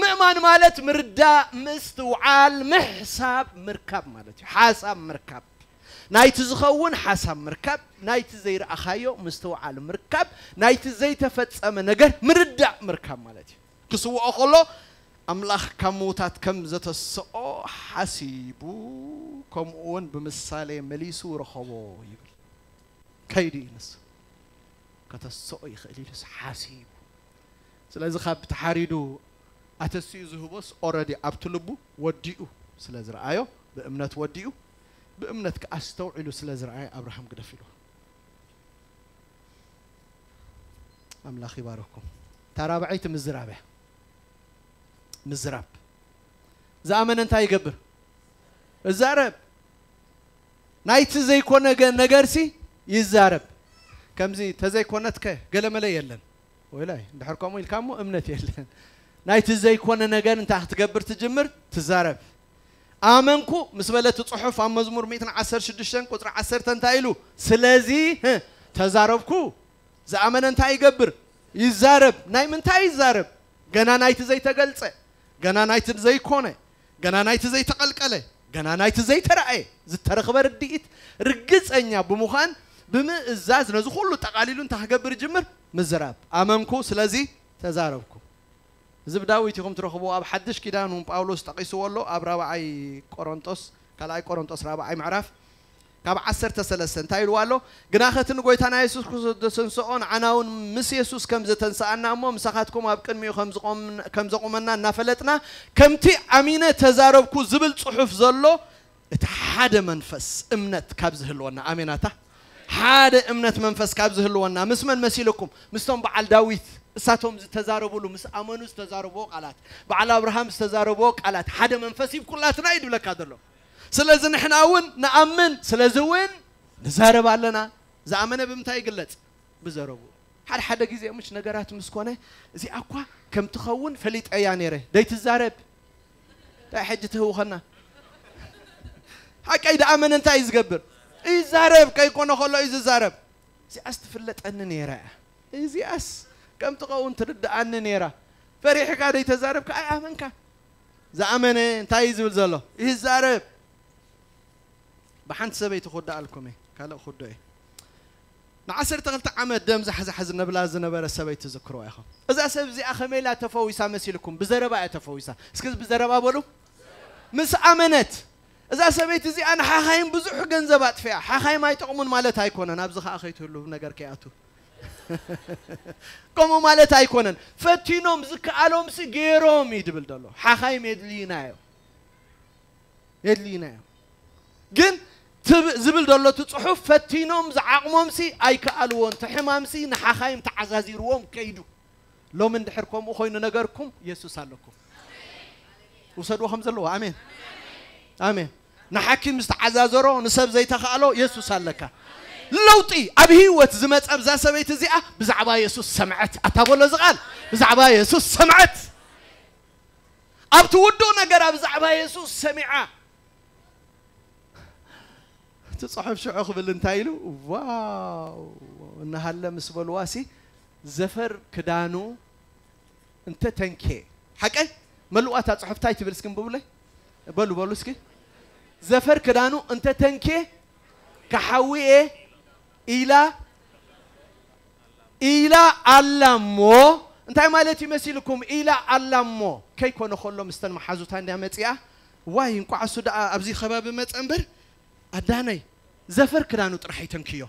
ምእማን ማለት ምርዳእ፣ ምስትውዓል፣ ምሕሳብ፣ ምርካብ ማለት እዩ። ሓሳብ ምርካብ። ናይቲ ዝኸውን ሓሳብ ምርካብ፣ ናይቲ ዘይረኣኻዮ ምስትውዓል ምርካብ፣ ናይቲ ዘይተፈጸመ ነገር ምርዳእ ምርካብ ማለት እዩ። ክስውኦ ከሎ ኣምላኽ ካብ ምዉታት ከም ዘተስኦ ሓሲቡ፣ ከምኡ እውን ብምሳሌ መሊሱ ረኸቦ ይብል። ከይዱ እዩ ንሱ። ከተስኦ ይኽእል ኢሉስ ሓሲቡ። ስለዚ ካብ ተሓሪዱ ኣተሲኡ ዝህቦስ ኦረዲ ኣብቲ ልቡ ወዲኡ ስለ ዝረኣዮ፣ ብእምነት ወዲኡ፣ ብእምነት ከኣ ኣስተውዒሉ ስለ ዝረኣየ ኣብርሃም ግደፍ ኢልዎ። ኣምላኽ ይባረኩም። እታ ራብዐይቲ ምዝራብ እያ። ምዝራብ። ዝኣመነ እንታይ ይገብር? እዛረብ። ናይቲ ዘይኮነ ገ- ነገርሲ ይዛረብ። ከምዚ ተዘይኮነትከ ገለመለ የለን። ወይላይ እንድሕር ከምኡ ኢልካ እሞ እምነት የለን። ናይቲ ዘይኮነ ነገር እንታይ ክትገብር ትጅምር? ትዛረብ። ኣመንኩ ምስ በለ እቲ ጽሑፍ ኣብ መዝሙር ሚእትን ዓሰርተ ሽዱሽተን ቁጽሪ ዓሰርተ እንታይ ኢሉ? ስለዚ ህ፣ ተዛረብኩ። ዝኣመነ እንታይ ይገብር? ይዛረብ። ናይ ምንታይ ይዛረብ? ገና ናይቲ ዘይተገልጸ፣ ገና ናይቲ ዘይኮነ፣ ገና ናይቲ ዘይተቐልቀለ፣ ገና ናይቲ ዘይተራእየ ዝተረኽበ ርድኢት ርግጸኛ ብምዃን ብምእዛዝ ነዚ ኩሉ ጠቓሊሉ እንታይ ክገብር ይጅምር? ምዝራብ። ኣመንኩ፣ ስለዚ ተዛረብኩ። እዚ ብዳዊት ኢኹም ትረኽብዎ። ኣብ ሓድሽ ኪዳን እውን ጳውሎስ ጠቒስዎ ኣሎ። ኣብ ራብዓይ ቆሮንጦስ፣ ካልኣይ ቆሮንጦስ ራብዓይ ምዕራፍ ካብ ዓሰርተ ሰለስተ እንታይ ኢልዋ ኣሎ? ግናኸ እቲ ንጎይታና የሱስ ክርስቶስ ዘተንስኦ ንዓና እውን ምስ የሱስ ከም ዘተንስኣና እሞ ምሳኻትኩም ኣብ ቅድሚኡ ከም ዝቖም- ከም ዘቑመና እናፈለጥና ከምቲ ኣሚነ ተዛረብኩ ዝብል ጽሑፍ ዘሎ እቲ ሓደ መንፈስ እምነት ካብ ዝህልወና፣ ኣሜን ኣታ ሓደ እምነት መንፈስ ካብ ዝህልወና ምስ መን መሲልኩም? ምስቶም በዓል ዳዊት እሳቶም ዝተዛረቡሉ ምስ ኣመኑ ዝተዛረብዎ ቃላት በዓል ኣብርሃም ዝተዛረብዎ ቃላት ሓደ መንፈስ ይብኩላትና እዩ ድብለካ ዘሎ። ስለዚ ንሕና እውን ንኣምን፣ ስለዚ እውን ንዛረብ ኣለና። ዝኣመነ ብምንታይ ይግለጽ? ብዘረቡ። ሓደ ሓደ ግዜ ምሽ ነገራት ምስ ኮነ፣ እዚኣ እኳ ከም ትኸውን ፈሊጠያ ነይረ። ደይትዛረብ። እንታይ ሕጂ ትህውኸና? ሓቀይ ደኣመነ እንታይ እዩ ዝገብር? ይዛረብ፣ ከይኮነ ከሎ እዩ ዝዛረብ። እዚኣስ ትፍለጠኒ ነይራ እያ። እዚኣስ ከም ትኸውን ትርድኣኒ ነይራ። ፈሪሕካ ደይተዛረብካ ኣይኣመንካ። ዝኣመነ እንታይ እዩ ዝብል ዘሎ? ይዛረብ። ብሓንቲ ሰበይቲ ክውዳኣልኩም እየ። ካልእ ክውዶ እየ። ንዓሰርተ ክልተ ዓመት ደም ዛሕዛሕ ዝነብላ ዝነበረ ሰበይቲ ትዝክርዋ ኢኹም። እዛ ሰብ እዚኣ ከመይ ኢላ ተፈዊሳ መሲልኩም? ብዘረባ እያ ተፈዊሳ። እስኪ ብዘረባ በሉ። ምስ ኣመነት። እዛ ሰበይቲ እዚኣ ንሓኻይም ብዙሕ ገንዘብ ኣጥፊኣ። ሓኻይም ኣይጠቕሙን ማለት ኣይኮነን። ኣብዚ ኸኣ ከይትህሉ ነገር ከይኣቱ። ከምኡ ማለት ኣይኮነን። ፈቲኖም ዝከኣሎምሲ ገይሮም እዩ ድብል ዘሎ። ሓኻይም የድልዩና እዮም። የድልዩና እዮም። ግን ትብ-፣ ዝብል ዘሎ እቲ ጽሑፍ ፈቲኖም ዝዓቕሞምሲ ኣይከኣልዎን። እቲ ሕማምሲ ንሓኻይም ተዓዛዚርዎም ከይዱ። ሎሚ እንድሕር ከምኡ ኮይኑ ነገርኩም፣ የሱስ ኣለኩም። ውሰድዎ ከም ዘለዎ። ኣሜን። ኣሜን። ንሓኪም ዝተዓዛዘሮ፣ ንሰብ ዘይተኻእሎ፣ የሱስ ኣለካ። ለውጢ ኣብ ህይወት ዝመጸ ኣብዛ ሰበይቲ እዚኣ ብዛዕባ የሱስ ሰምዐት። ኣታ በሎ እዚ ቃል፣ ብዛዕባ የሱስ ሰምዐት። ኣብ ትውድኡ ነገር ኣብ ብዛዕባ የሱስ ሰሚዓ። እቲ ጽሑፍ ሽዑ ክብል እንታይ ኢሉ? ዋው! እናሃለ ምስ በልዋሲ፣ ዘፈር ክዳኑ እንተ ተንኬ። ሓቀይ? መልዋታ ጽሑፍ እንታይ ትብል እስኪ እንብብለይ? በሉ፣ በሉ እስኪ። ዘፈር ክዳኑ እንተ ተንኬ፣ ክሓዊ እየ ኢላ፣ ኢላ ኣላ እሞ፣ እንታይ ማለት እዩ መሲልኩም? ኢላ ኣላ እሞ፣ ከይኮነ ከሎ ምስተን መሓዙታ እንድያ መጺኣ፣ ዋይ፣ እንቋዕ እሱ ደኣ ኣብዚ ከባቢ መጸ እምበር፣ ኣዳነይ፣ ዘፈር ክዳኑ ጥራሕ ይተንክዮ።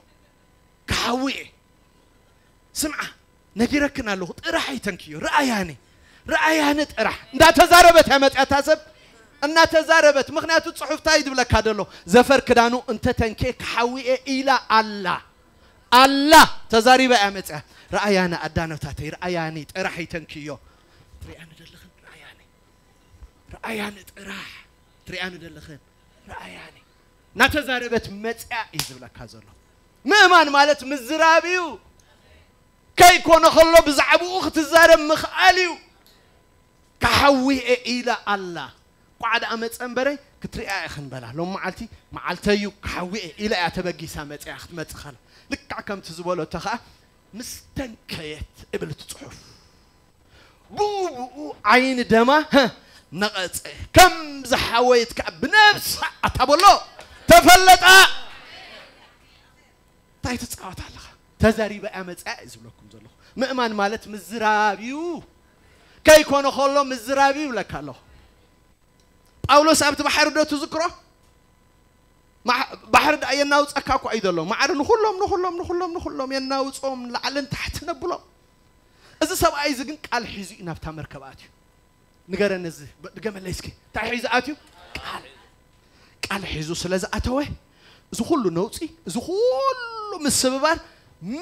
ክሓዊ እየ። ስምዓ፣ ነጊረክን ኣለኹ፣ ጥራሕ ኣይተንክዮ። ረኣያኒ፣ ረኣያኒ ጥራሕ። እንዳተዛረበት እያ መጺኣ እታ ሰብ፣ እናተዛረበት። ምኽንያቱ ጽሑፍ እንታይ እዩ ዝብለካ ዘሎ? ዘፈር ክዳኑ እንተ ተንኬ ክሓዊ እየ ኢላ ኣላ። ኣላ፣ ተዛሪባ እያ መጺኣ። ረኣያኒ ኣዳነታተይ፣ ረኣያኒ ጥራሕ ኣይተንክዮ። ትሪኣኒ ደለኽን? ረኣያኒ። ረኣያኒ ጥራሕ። ትሪኣኒ ደለኽን? ረኣያኒ። እናተዛረበት መጺኣ እዩ ዝብለካ ዘሎ። ምእማን ማለት ምዝራብ እዩ። ከይኮነ ከሎ ብዛዕባኡ ክትዛረብ ምኽኣል እዩ። ክሓዊ እየ ኢላ ኣላ። ቋዕ ደኣ መጸ እምበረ ክትሪኣ ኢኽን በላ። ሎም መዓልቲ መዓልተይ እዩ፣ ክሓዊ እየ ኢላ እያ ተበጊሳ መጺኣ ክትመጽእ ከላ። ልክዕ ከምቲ ዝበለቶ ኸኣ ምስ ተንከየት እብል እቲ ጽሑፍ። ብኡ ብኡ ዓይኒ ደማ፣ ህ፣ ነቐጸ። ከም ዝሓወየት ከኣ ብነብሳ ኣታ በሎ ተፈለጣ። እንታይ ትጻወት ኣለኻ? ተዛሪባ እያ መጺኣ እዩ ዝብለኩም ዘለኹ። ምእማን ማለት ምዝራብ እዩ። ከይኮነ ከሎ ምዝራብ እዩ ይብለካ ኣለኹ። ጳውሎስ ኣብቲ ባሕሪ ዶ ትዝክሮ? ማሕ-፣ ባሕሪ ደኣ የናውጸካ እኳ እዩ ዘሎ። ማዕረ ንኹሎም፣ ንኹሎም፣ ንኹሎም፣ ንኹሎም የናውጾም፣ ንላዕልን ታሕትን ኣብሎም። እዚ ሰብኣይ እዚ ግን ቃል ሒዙ እዩ ናብታ መርከብ ኣትዩ። ንገረኒ፣ እዚ ብ-፣ ድገመለይ እስኪ። እንታይ ሒዙ ኣትዩ? ቃል። ቃል ሒዙ ስለ ዝኣተወ፣ እዚ ኩሉ ነውጺ፣ እዚ ኩሉ ምስብባር፣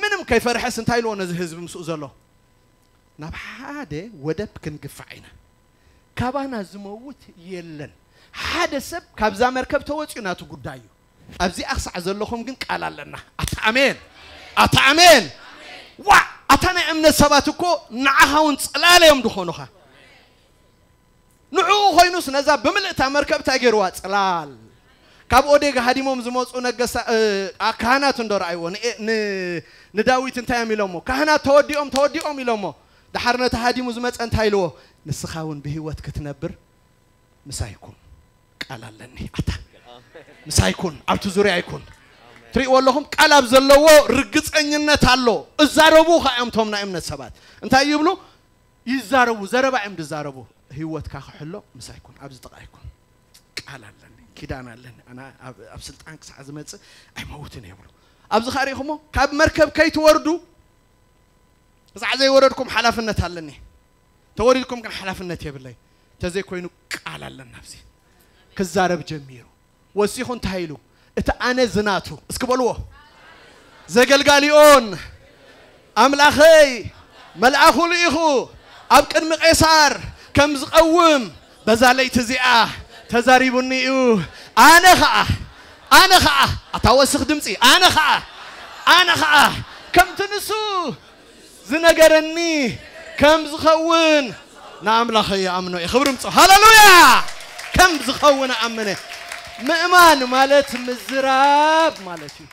ምንም ከይፈርሐስ እንታይ ኢልዎ ነዚ ህዝቢ ምስኡ ዘሎ? ናብ ሓደ ወደብ ክንግፋዕ ኢና። ካባና ዝመውት የለን። ሓደ ሰብ ካብዛ መርከብ ተወጺኡ ናቱ ጉዳይ እዩ። ኣብዚኣ ክሳዕ ዘለኹም ግን ቃል ኣለና። ኣታ ኣሜን። ኣታ ኣሜን። ዋ፣ ኣታ ናይ እምነት ሰባት እኮ ንዓኻ እውን ጽላል እዮም ዝኾኑኻ። ንዕኡ ኮይኑስ ነዛ ብምልእታ መርከብ እንታይ ገይርዋ? ጽላል። ካብ ኦዴግ ሃዲሞም ዝመጹ ነገሳ-፣ እ፣ ኣ-፣ ካህናት እንዶ ረኣይዎ። ን-፣ እ፣ ን-፣ ንዳዊት እንታይ እዮም ኢሎሞ? ካህናት ተወዲኦም፣ ተወዲኦም ኢሎሞ። ደሓር ነቲ ሃዲሙ ዝመጸ እንታይ ኢልዎ? ንስኻ እውን ብህይወት ክትነብር ምሳይ ኩን። ቃል ኣለኒ። ኣታ ምሳይ ኩን፣ ኣብቲ ዙርያ ይኩን። ትሪእዎ ኣለኹም? ቃል ኣብ ዘለዎ ርግጸኝነት ኣሎ። እዛረቡ ኸዓ እዮም እቶም ናይ እምነት ሰባት። እንታይ ይብሉ? ይዛረቡ፣ ዘረባ እዮም ዝዛረቡ። ህይወትካ ክሕሎ ምሳይ ኩን፣ ኣብዚ ጥቓ ይኩን። ቃል ኣለኒ፣ ኪዳን ኣለኒ። ኣና ኣብ፣ ኣብ ስልጣን ክሳዕ ዝመጽእ ኣይመውትን እየ ይብሉ። ኣብዚ ኸዓ ርኢኹሞ፣ ካብ መርከብ ከይትወርዱ፣ ክሳዕ ዘይወረድኩም ሓላፍነት ኣለኒ። ተወሪድኩም ግን ሓላፍነት የብለይ። ተዘይኮይኑ ቃል ኣለና ኣብዚ። ክዛረብ ጀሚሩ። ወሲኹ እንታይ ኢሉ? እቲ ኣነ ዝናቱ፣ እስኪ በልዎ። ዘገልጋሊኦን ኣምላኸይ መልኣኹ ልኢኹ ኣብ ቅድሚ ቄሳር ከም ዝቐውም በዛ ለይቲ እዚኣ ተዛሪቡኒ እዩ። ኣነ ኸዓ፣ ኣነ ኸዓ፣ ኣታ ወስኽ ድምፂ፣ ኣነ ኸዓ፣ ኣነ ኸዓ ከምቲ ንሱ ዝነገረኒ ከም ዝኸውን ንኣምላኸ ይኣምኖ እየ። ክብሪ ምጽ ሃለሉያ። ከም ዝኸውን ኣምነ። ምእማን ማለት ምዝራብ ማለት እዩ።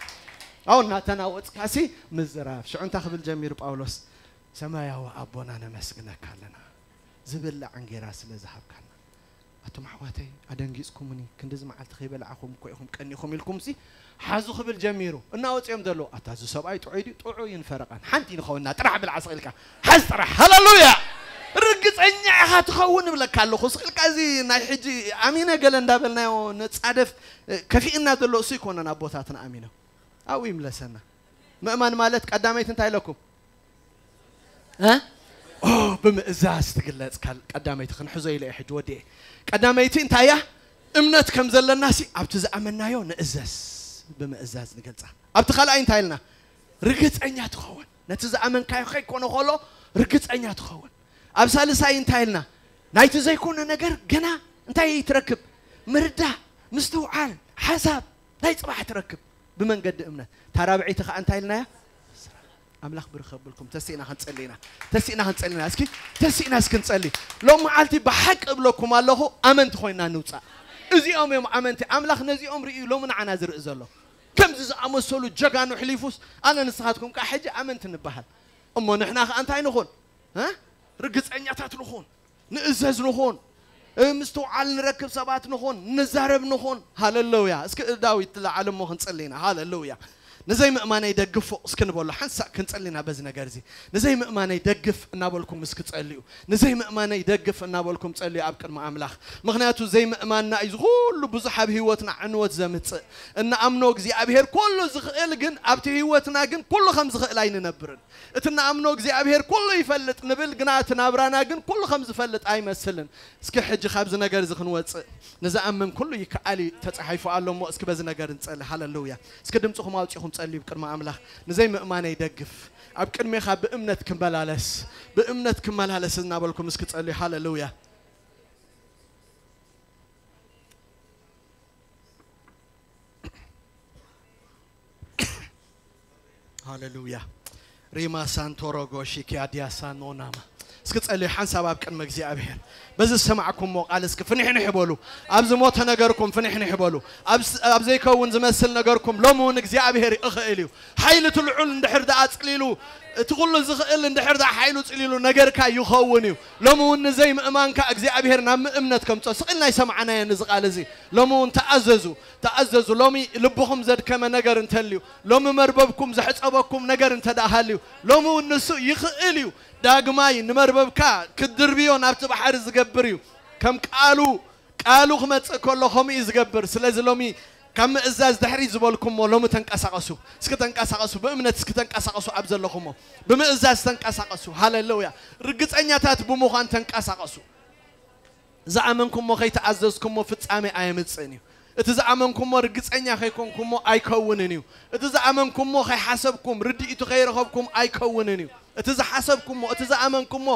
ኣው እናተናወጽካሲ ምዝራብ ሽዑ እንታይ ክብል ጀሚሩ ጳውሎስ? ሰማያዊ ኣቦና ነመስግነካ ኣለና፣ ዝብላዕ እንጌራ ስለ ዝሃብካና። ኣቱም ኣሕዋተይ ኣደንጊጽኩምኒ፣ ክንድዚ መዓልቲ ከይበላዕኹም እኮ ኢኹም ቀኒኹም ኢልኩምሲ ሓዙ ክብል ጀሚሩ። እናወጽኦም ዘለዉ ኣታ እዚ ሰብኣይ ጥዑይ ድዩ? ጥዑይን ፈረቓን ሓንቲ ንኸውንና ጥራሕ ብልዓ ስቕ ኢልካ ሓዝ ጥራሕ። ሃለሉያ። ርግጸኛ ኢኻ ትኸውን እብለካ ኣለኹ። ስቕ ኢልካ እዚ ናይ ሕጂ ኣሚነ ገለ እንዳበልናዮ ንጻደፍ ከፊእና ዘሎ እሱ ይኮነን ኣቦታትና ኣሚኖም ኣብኡ ይምለሰና። ምእማን ማለት ቀዳመይቲ እንታይ ኢለኩም? እ? ኦ፣ ብምእዛዝ ትግለጽ። ካል ቀዳመይቲ ክንሕዞ ኢለ እየ ሕጂ ወዲኤ። ቀዳመይቲ እንታይ እያ? እምነት ከም ዘለናሲ ኣብቲ ዝኣመናዮ ንእዘዝ። ብምእዛዝ ንገልጻ። ኣብቲ ካልኣይ እንታይ ኢልና? ርግጸኛ ትኸውን። ነቲ ዝኣመንካዮ ከይኮነ ከሎ ርግጸኛ ትኸውን። ኣብ ሳልሳይ እንታይ ኢልና? ናይቲ ዘይኮነ ነገር ገና እንታይ ትረክብ? ምርዳእ፣ ምስትውዓል፣ ሓሳብ ናይ ጽባሕ ትረክብ ብመንገዲ እምነት። እታ ራብዐይቲ ከኣ እንታይ ኢልናያ? ኣምላኽ ብርኽ ከብልኩም ተስኢና ክንጸሊ ኢና። ተስኢና ክንጸሊ ኢና። እስኪ ተስኢና እስኪ ንጸሊ። ሎም መዓልቲ ብሓቂ እብለኩም ኣለኹ፣ ኣመንቲ ኮይና ንውጻእ። እዚኦም እዮም ኣመንቲ። ኣምላኽ ነዚኦም ርእዩ ሎሚ ንዓና ዝርኢ ዘሎ። ከምዚ ዝኣመሰሉ ጀጋኑ ሕሊፉስ ኣነ ንስኻትኩም ከኣ ሕጂ ኣመንቲ ንበሃል። እሞ ንሕና ከኣ እንታይ ንኹን? እ? ርግጸኛታት ንኹን። ንእዘዝ ንኹን። እ፣ ምስትውዓል ንረክብ ሰባት ንኹን። ንዛረብ ንኹን። ሃለሉያ። እስኪ ዳዊት ለዓለ እሞ ክንጸሊ ኢና። ሃለሉያ። ንዘይ ምእማነይ ደግፎ እስኪ ንበሎ። ሓንሳእ ክንጸሊ ኢና በዚ ነገር እዚ። ንዘይ ምእማነይ ደግፍ እናበልኩም እስኪ ጸልዩ። ንዘይ ምእማነይ ደግፍ እናበልኩም ጸልዩ ኣብ ቅድሚ ኣምላኽ። ምኽንያቱ ዘይምእማንና እዩ ዝኹሉ ብዙሕ ኣብ ህይወትና ዕንወት ዘምጽእ። እንኣምኖ እግዚኣብሔር ኩሉ ዝኽእል ግን ኣብቲ ህይወትና ግን ኩሉ ከም ዝኽእል ኣይንነብርን። እቲ እንኣምኖ እግዚኣብሔር ኩሉ ይፈልጥ ንብል ግና እቲ ናብራና ግን ኩሉ ከም ዝፈልጥ ኣይመስልን። እስኪ ሕጂ ካብዚ ነገር እዚ ክንወጽእ ንዝኣምን ኩሉ ይከኣል እዩ ተጻሒፉ ኣሎ እሞ እስኪ በዚ ነገር ንጸሊ። ሃለሉያ። እስኪ ድምፅኹም ኣውፂኹም ጸልዩ ቅድሚ ኣምላኽ። ንዘይ ምእማነይ ደግፍ ኣብ ቅድሜኻ ብእምነት ክመላለስ ብእምነት ክመላለስ እናበልኩም እስኪ ጸልዩ። ሃለሉያ። ሃሌሉያ። ሪማ ሳንቶሮጎ ሺኪያ ዲያሳኖናማ። እስኪ ጸልዩ ሓንሳብ ኣብ ቅድሚ እግዚኣብሔር። በዚ ዝሰማዕኩምዎ ቃል እስኪ ፍንሕንሕ በሉ። ኣብ ዝሞተ ነገርኩም ፍንሕንሕ በሉ። ኣብ ስ-፣ ኣብ ዘይከውን ዝመስል ነገርኩም ሎሚ እውን እግዚኣብሔር ይኽእል እዩ። ሓይሊ እቲ ልዑል እንድሕር ደኣ ጽሊሉ፣ እቲ ኩሉ ዝኽእል እንድሕር ደኣ ሓይሉ ጽሊሉ ነገርካ ይኸውን እዩ። ሎሚ እውን ንዘይምእማንካ እግዚኣብሔር ናብ ምእምነት ከምጾ። ስቕ ኢልና ኣይሰማዕናዮን እዚ ቃል እዚ። ሎሚ እውን ተኣዘዙ፣ ተኣዘዙ። ሎሚ ልብኹም ዘድከመ ነገር እንተልዩ፣ ሎሚ መርበብኩም ዘሕጸበኩም ነገር እንተ ደኣ ሃልዩ፣ ሎሚ እውን ንሱ ይኽእል እዩ። ዳግማይ ንመርበብካ ክትድርብዮ ናብቲ ባሕሪ ዝገብር እዩ። ከም ቃሉ፣ ቃሉ ክመጽእ ከሎ ከምኡ እዩ ዝገብር። ስለዚ ሎሚ ካብ ምእዛዝ ድሕሪት ዝበልኩሞ ሎሚ ተንቀሳቐሱ። እስኪ ተንቀሳቐሱ፣ ብእምነት እስኪ ተንቀሳቐሱ። ኣብ ዘለኹሞ ብምእዛዝ ተንቀሳቐሱ። ሃሌሉያ። ርግጸኛታት ብምዃን ተንቀሳቐሱ። ዝኣመንኩሞ ከይተኣዘዝኩሞ ፍጻሜ ኣየምጽእን እዩ። እቲ ዝኣመንኩሞ ርግጸኛ ከይኮንኩሞ ኣይከውንን እዩ። እቲ ዝኣመንኩሞ ከይሓሰብኩም ርድኢቱ ከይረኸብኩም ኣይከውንን እዩ። እቲ ዝሓሰብኩሞ፣ እቲ ዝኣመንኩሞ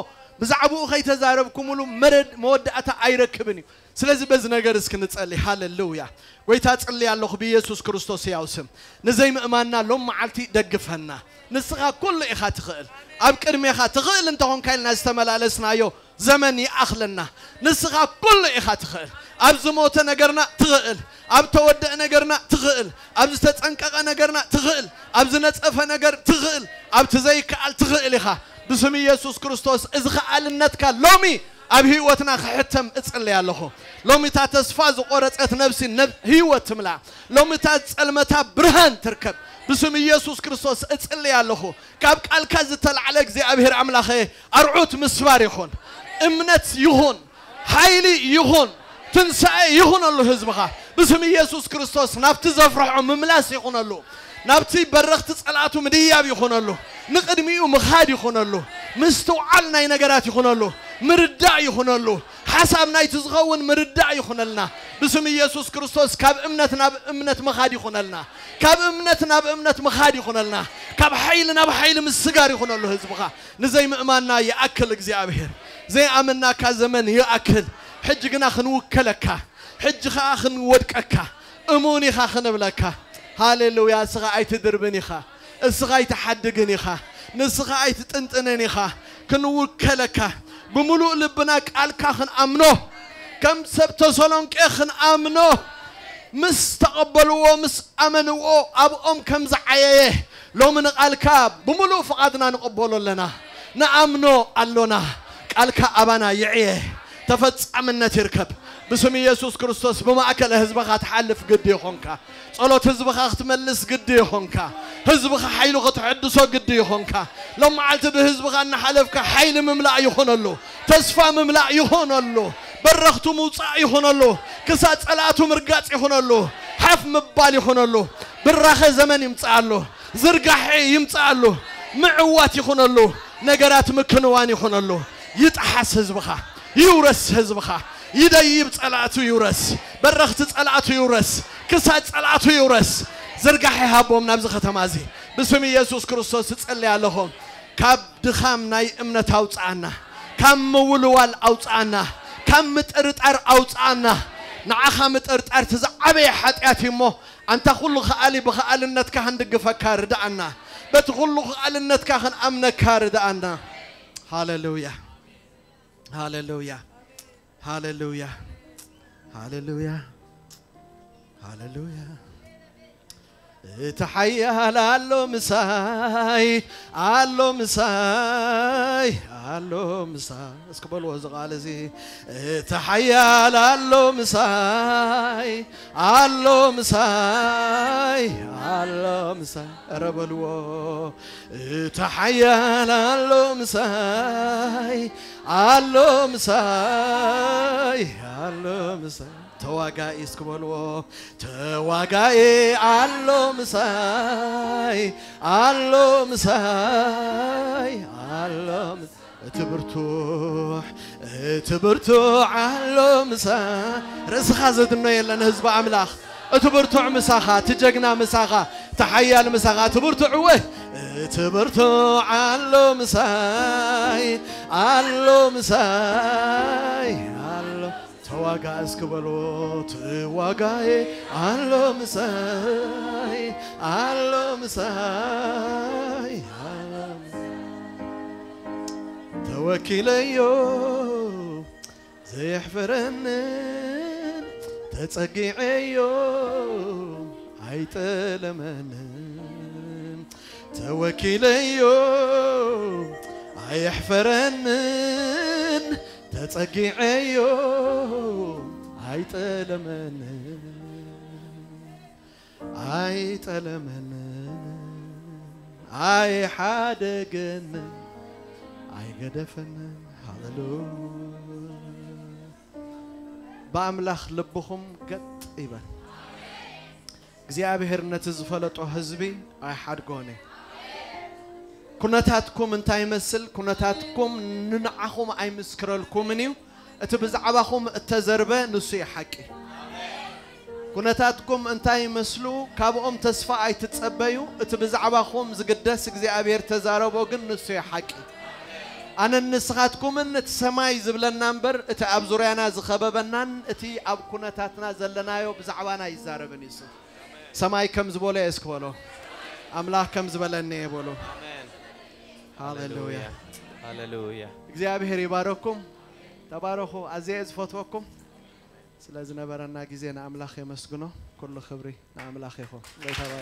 ብዛዕባኡ ከይተዛረብኩምሉ መረድ-፣ መወዳእታ ኣይረክብን እዩ። ስለዚ በዚ ነገር እስኪ ንጸሊ። ሃሌሉያ። ጎይታ ጽሊ ኣለኹ ብኢየሱስ ክርስቶስ ሕያው ስም። ንዘይምእማንና ሎም መዓልቲ ደግፈና። ንስኻ ኩሉ ኢኻ ትኽእል። ኣብ ቅድሜኻ ትኽእል እንተኾንካ ኢልና ዝተመላለስናዮ ዘመን ይኣኽለና። ንስኻ ኩሉ ኢኻ ትኽእል። ኣብ ዝሞተ ነገርና ትኽእል። ኣብ ተወደአ ነገርና ትኽእል። ኣብ ዝተጸንቀቐ ነገርና ትኽእል። ኣብ ዝነጸፈ ነገር ትኽእል። ኣብቲ ዘይከኣል ትኽእል ኢኻ። ብስም ኢየሱስ ክርስቶስ እዚ ከኣልነትካ ሎሚ ኣብ ህይወትና ክሕተም እጽልይ ኣለኹ። ሎሚ እታ ተስፋ ዝቖረጸት ነብሲ ነብ-፣ ህይወት ትምላ። ሎሚ እታ ጸልመታ ብርሃን ትርከብ። ብስም ኢየሱስ ክርስቶስ እጽልይ ኣለኹ። ካብ ቃልካ ዝተላዕለ እግዚኣብሔር ኣምላኸ ኣርዑት ምስባር ይኹን፣ እምነት ይኹን፣ ሓይሊ ይኹን፣ ትንሳኤ ይኹነሉ ህዝብኻ። ብስም ኢየሱስ ክርስቶስ ናብቲ ዘፍርሖ ምምላስ ይኹነሉ። ናብቲ በረኽቲ ጸላእቱ ምድያብ ይኹነሉ። ንቕድሚኡ ምኻድ ይኹነሉ። ምስትውዓል ናይ ነገራት ይኹነሉ። ምርዳእ ይኹነሉ። ሓሳብ ናይቲ ዝኸውን ምርዳእ ይኹነልና። ብስም ኢየሱስ ክርስቶስ ካብ እምነት ናብ እምነት ምኻድ ይኹነልና። ካብ እምነት ናብ እምነት ምኻድ ይኹነልና። ካብ ሓይሊ ናብ ሓይሊ ምስጋር ይኹነሉ ህዝብኻ። ንዘይምእማንና ይኣክል እግዚኣብሔር። ዘይኣመንናካ ዘመን ይኣክል። ሕጂ ግና ክንውከለካ፣ ሕጂ ኸኣ ክንወድቀካ፣ እሙን ኢኻ ክንብለካ። ሃሌሉያ። እስኻ ኣይትድርብን ኢኻ። እስኻ ኣይትሓድግን ኢኻ። ንስኻ ኣይትጥንጥንን ኢኻ። ክንውከለካ፣ ብምሉእ ልብና ቃልካ ክንኣምኖ፣ ከም ሰብ ተሰሎንቄ ክንኣምኖ፣ ምስ ተቐበልዎ፣ ምስ ኣመንዎ፣ ኣብኦም ከም ዝዓየየ፣ ሎሚ ንቓልካ ብምሉእ ፍቓድና ንቐበሎ ኣለና። ንኣምኖ ኣሎና። ቃልካ ኣባና ይዕየ፣ ተፈጻምነት ይርከብ። ብስም ኢየሱስ ክርስቶስ ብማእከል ህዝብኻ ትሓልፍ ግዲ ይኾንካ። ጸሎት ህዝብኻ ክትመልስ ግዲ ይኾንካ። ህዝብኻ ሓይሉ ክትሕድሶ ግዲ ይኾንካ። ሎም መዓልቲ ብህዝብኻ እናሓለፍካ ሓይሊ ምምላእ ይኾነሉ። ተስፋ ምምላእ ይኾነሉ። በረኽቱ ምውጻእ ይኾነሉ። ክሳብ ጸላእቱ ምርጋጽ ይኾነሉ። ሓፍ ምባል ይኾነሉ። ብራኸ ዘመን ይምጽኣሉ። ዝርጋሐ ይምጽኣሉ። ምዕዋት ይኾነሉ። ነገራት ምክንዋን ይኾነሉ። ይጥሓስ ህዝብኻ። ይውረስ ህዝብኻ። ይደይብ ጸላእቱ ይውረስ። በረኽቲ ጸላእቱ ይውረስ። ክሳድ ጸላእቱ ይውረስ። ዝርጋሐ ይሃቦም ናብዚ ከተማ እዚ። ብስም ኢየሱስ ክርስቶስ እጸልይ ኣለኹ። ካብ ድኻም ናይ እምነት ኣውጽኣና። ካብ ምውልዋል ኣውጽኣና። ካብ ምጥርጣር ኣውጽኣና። ንዓኻ ምጥርጣር እቲ ዝዓበየ ሓጢኣት እዩ እሞ፣ ኣንታ ኩሉ ከኣሊ ብኸኣልነትካ ክንድግፈካ ርድኣና። በቲ ኩሉ ከኣልነትካ ክንኣምነካ ርድኣና። ሃሌሉያ። ሃሌሉያ። ሃሌሉያ። ሃሌሉያ። ሃሌሉያ። እቲ ሓያል ኣሎ ምሳይ፣ ኣሎ ምሳይ፣ ኣሎ ምሳይ። እስኪ በልዎ እዚ ቃል እዚ። እቲ ሓያል ኣሎ ምሳይ፣ ኣሎ ምሳይ፣ ኣሎ ምሳይ። ኧረ በልዎ። እቲ ሓያል ኣሎ ምሳይ፣ ኣሎ ምሳይ፣ ኣሎ ምሳይ። ተዋጋኢ እስኪ በልዎ። ተዋጋኢ ኣሎ ምሳይ፣ ኣሎ ምሳይ፣ ኣሎ ምሳይ። እቲ ብርቱዕ፣ እቲ ብርቱዕ ኣሎ ምሳይ። ርእስኻ ዘድኖ የለን ህዝቢ ኣምላኽ። እቲ ብርቱዕ ምሳኻ፣ እቲ ጀግና ምሳኻ፣ እቲ ሓያል ምሳኻ፣ እቲ ብርቱዕ እወ። እቲ ብርቱዕ ኣሎ ምሳይ፣ ኣሎ ምሳይ፣ ኣሎ ተዋጋ እስኪ በሎ። ተዋጋኤ ኣሎ ምሳይ፣ ኣሎ ምሳይ፣ ኣሎ ምሳይ። ተወኪለዮ ዘየሕፈረንን ተጸጊዐዮ ኣይጠለመንን። ተወኪለዮ ኣየሕፈረንን ተጸጊዐዮ ኣይጠለመንን። ኣይጠለመንን፣ ኣይሓደገንን፣ ኣይገደፈንን። ሃሌሉያ። ብኣምላኽ ልብኹም ገጥ ይበል። እግዚኣብሔር ነቲ ዝፈለጦ ህዝቢ ኣይሓድጎን እዩ። ኩነታትኩም እንታይ ይመስል? ኩነታትኩም ንንዓኹም ኣይምስክረልኩምን እዩ። እቲ ብዛዕባኹም እተዘርበ ንሱ እዩ ሓቂ። ኩነታትኩም እንታይ ይመስሉ? ካብኦም ተስፋ ኣይትጸበዩ። እቲ ብዛዕባኹም ዝግደስ እግዚኣብሔር ተዛረቦ ግን ንሱ እዩ ሓቂ። ኣነን ንስኻትኩምን እቲ ሰማይ ዝብለና እምበር፣ እቲ ኣብ ዙርያና ዝኸበበናን እቲ ኣብ ኩነታትና ዘለናዮ ብዛዕባና ኣይዛረብን እዩ እሱ። ሰማይ ከም ዝበሎ እየ እስኪ በሎ። ኣምላኽ ከም ዝበለኒ እየ በሎ። ኣሜን። ሃሌሉያ። ሃሌሉያ። ሃሌሉያ። እግዚኣብሔር ይባረኩም። ተባረኹ። ኣዝየ እየ ዝፈትወኩም። ስለ ዝነበረና ግዜ ንኣምላኽ የመስግኖ። ኩሉ ክብሪ ንኣምላኽ ይኹን። ጎይታ ይባርክ።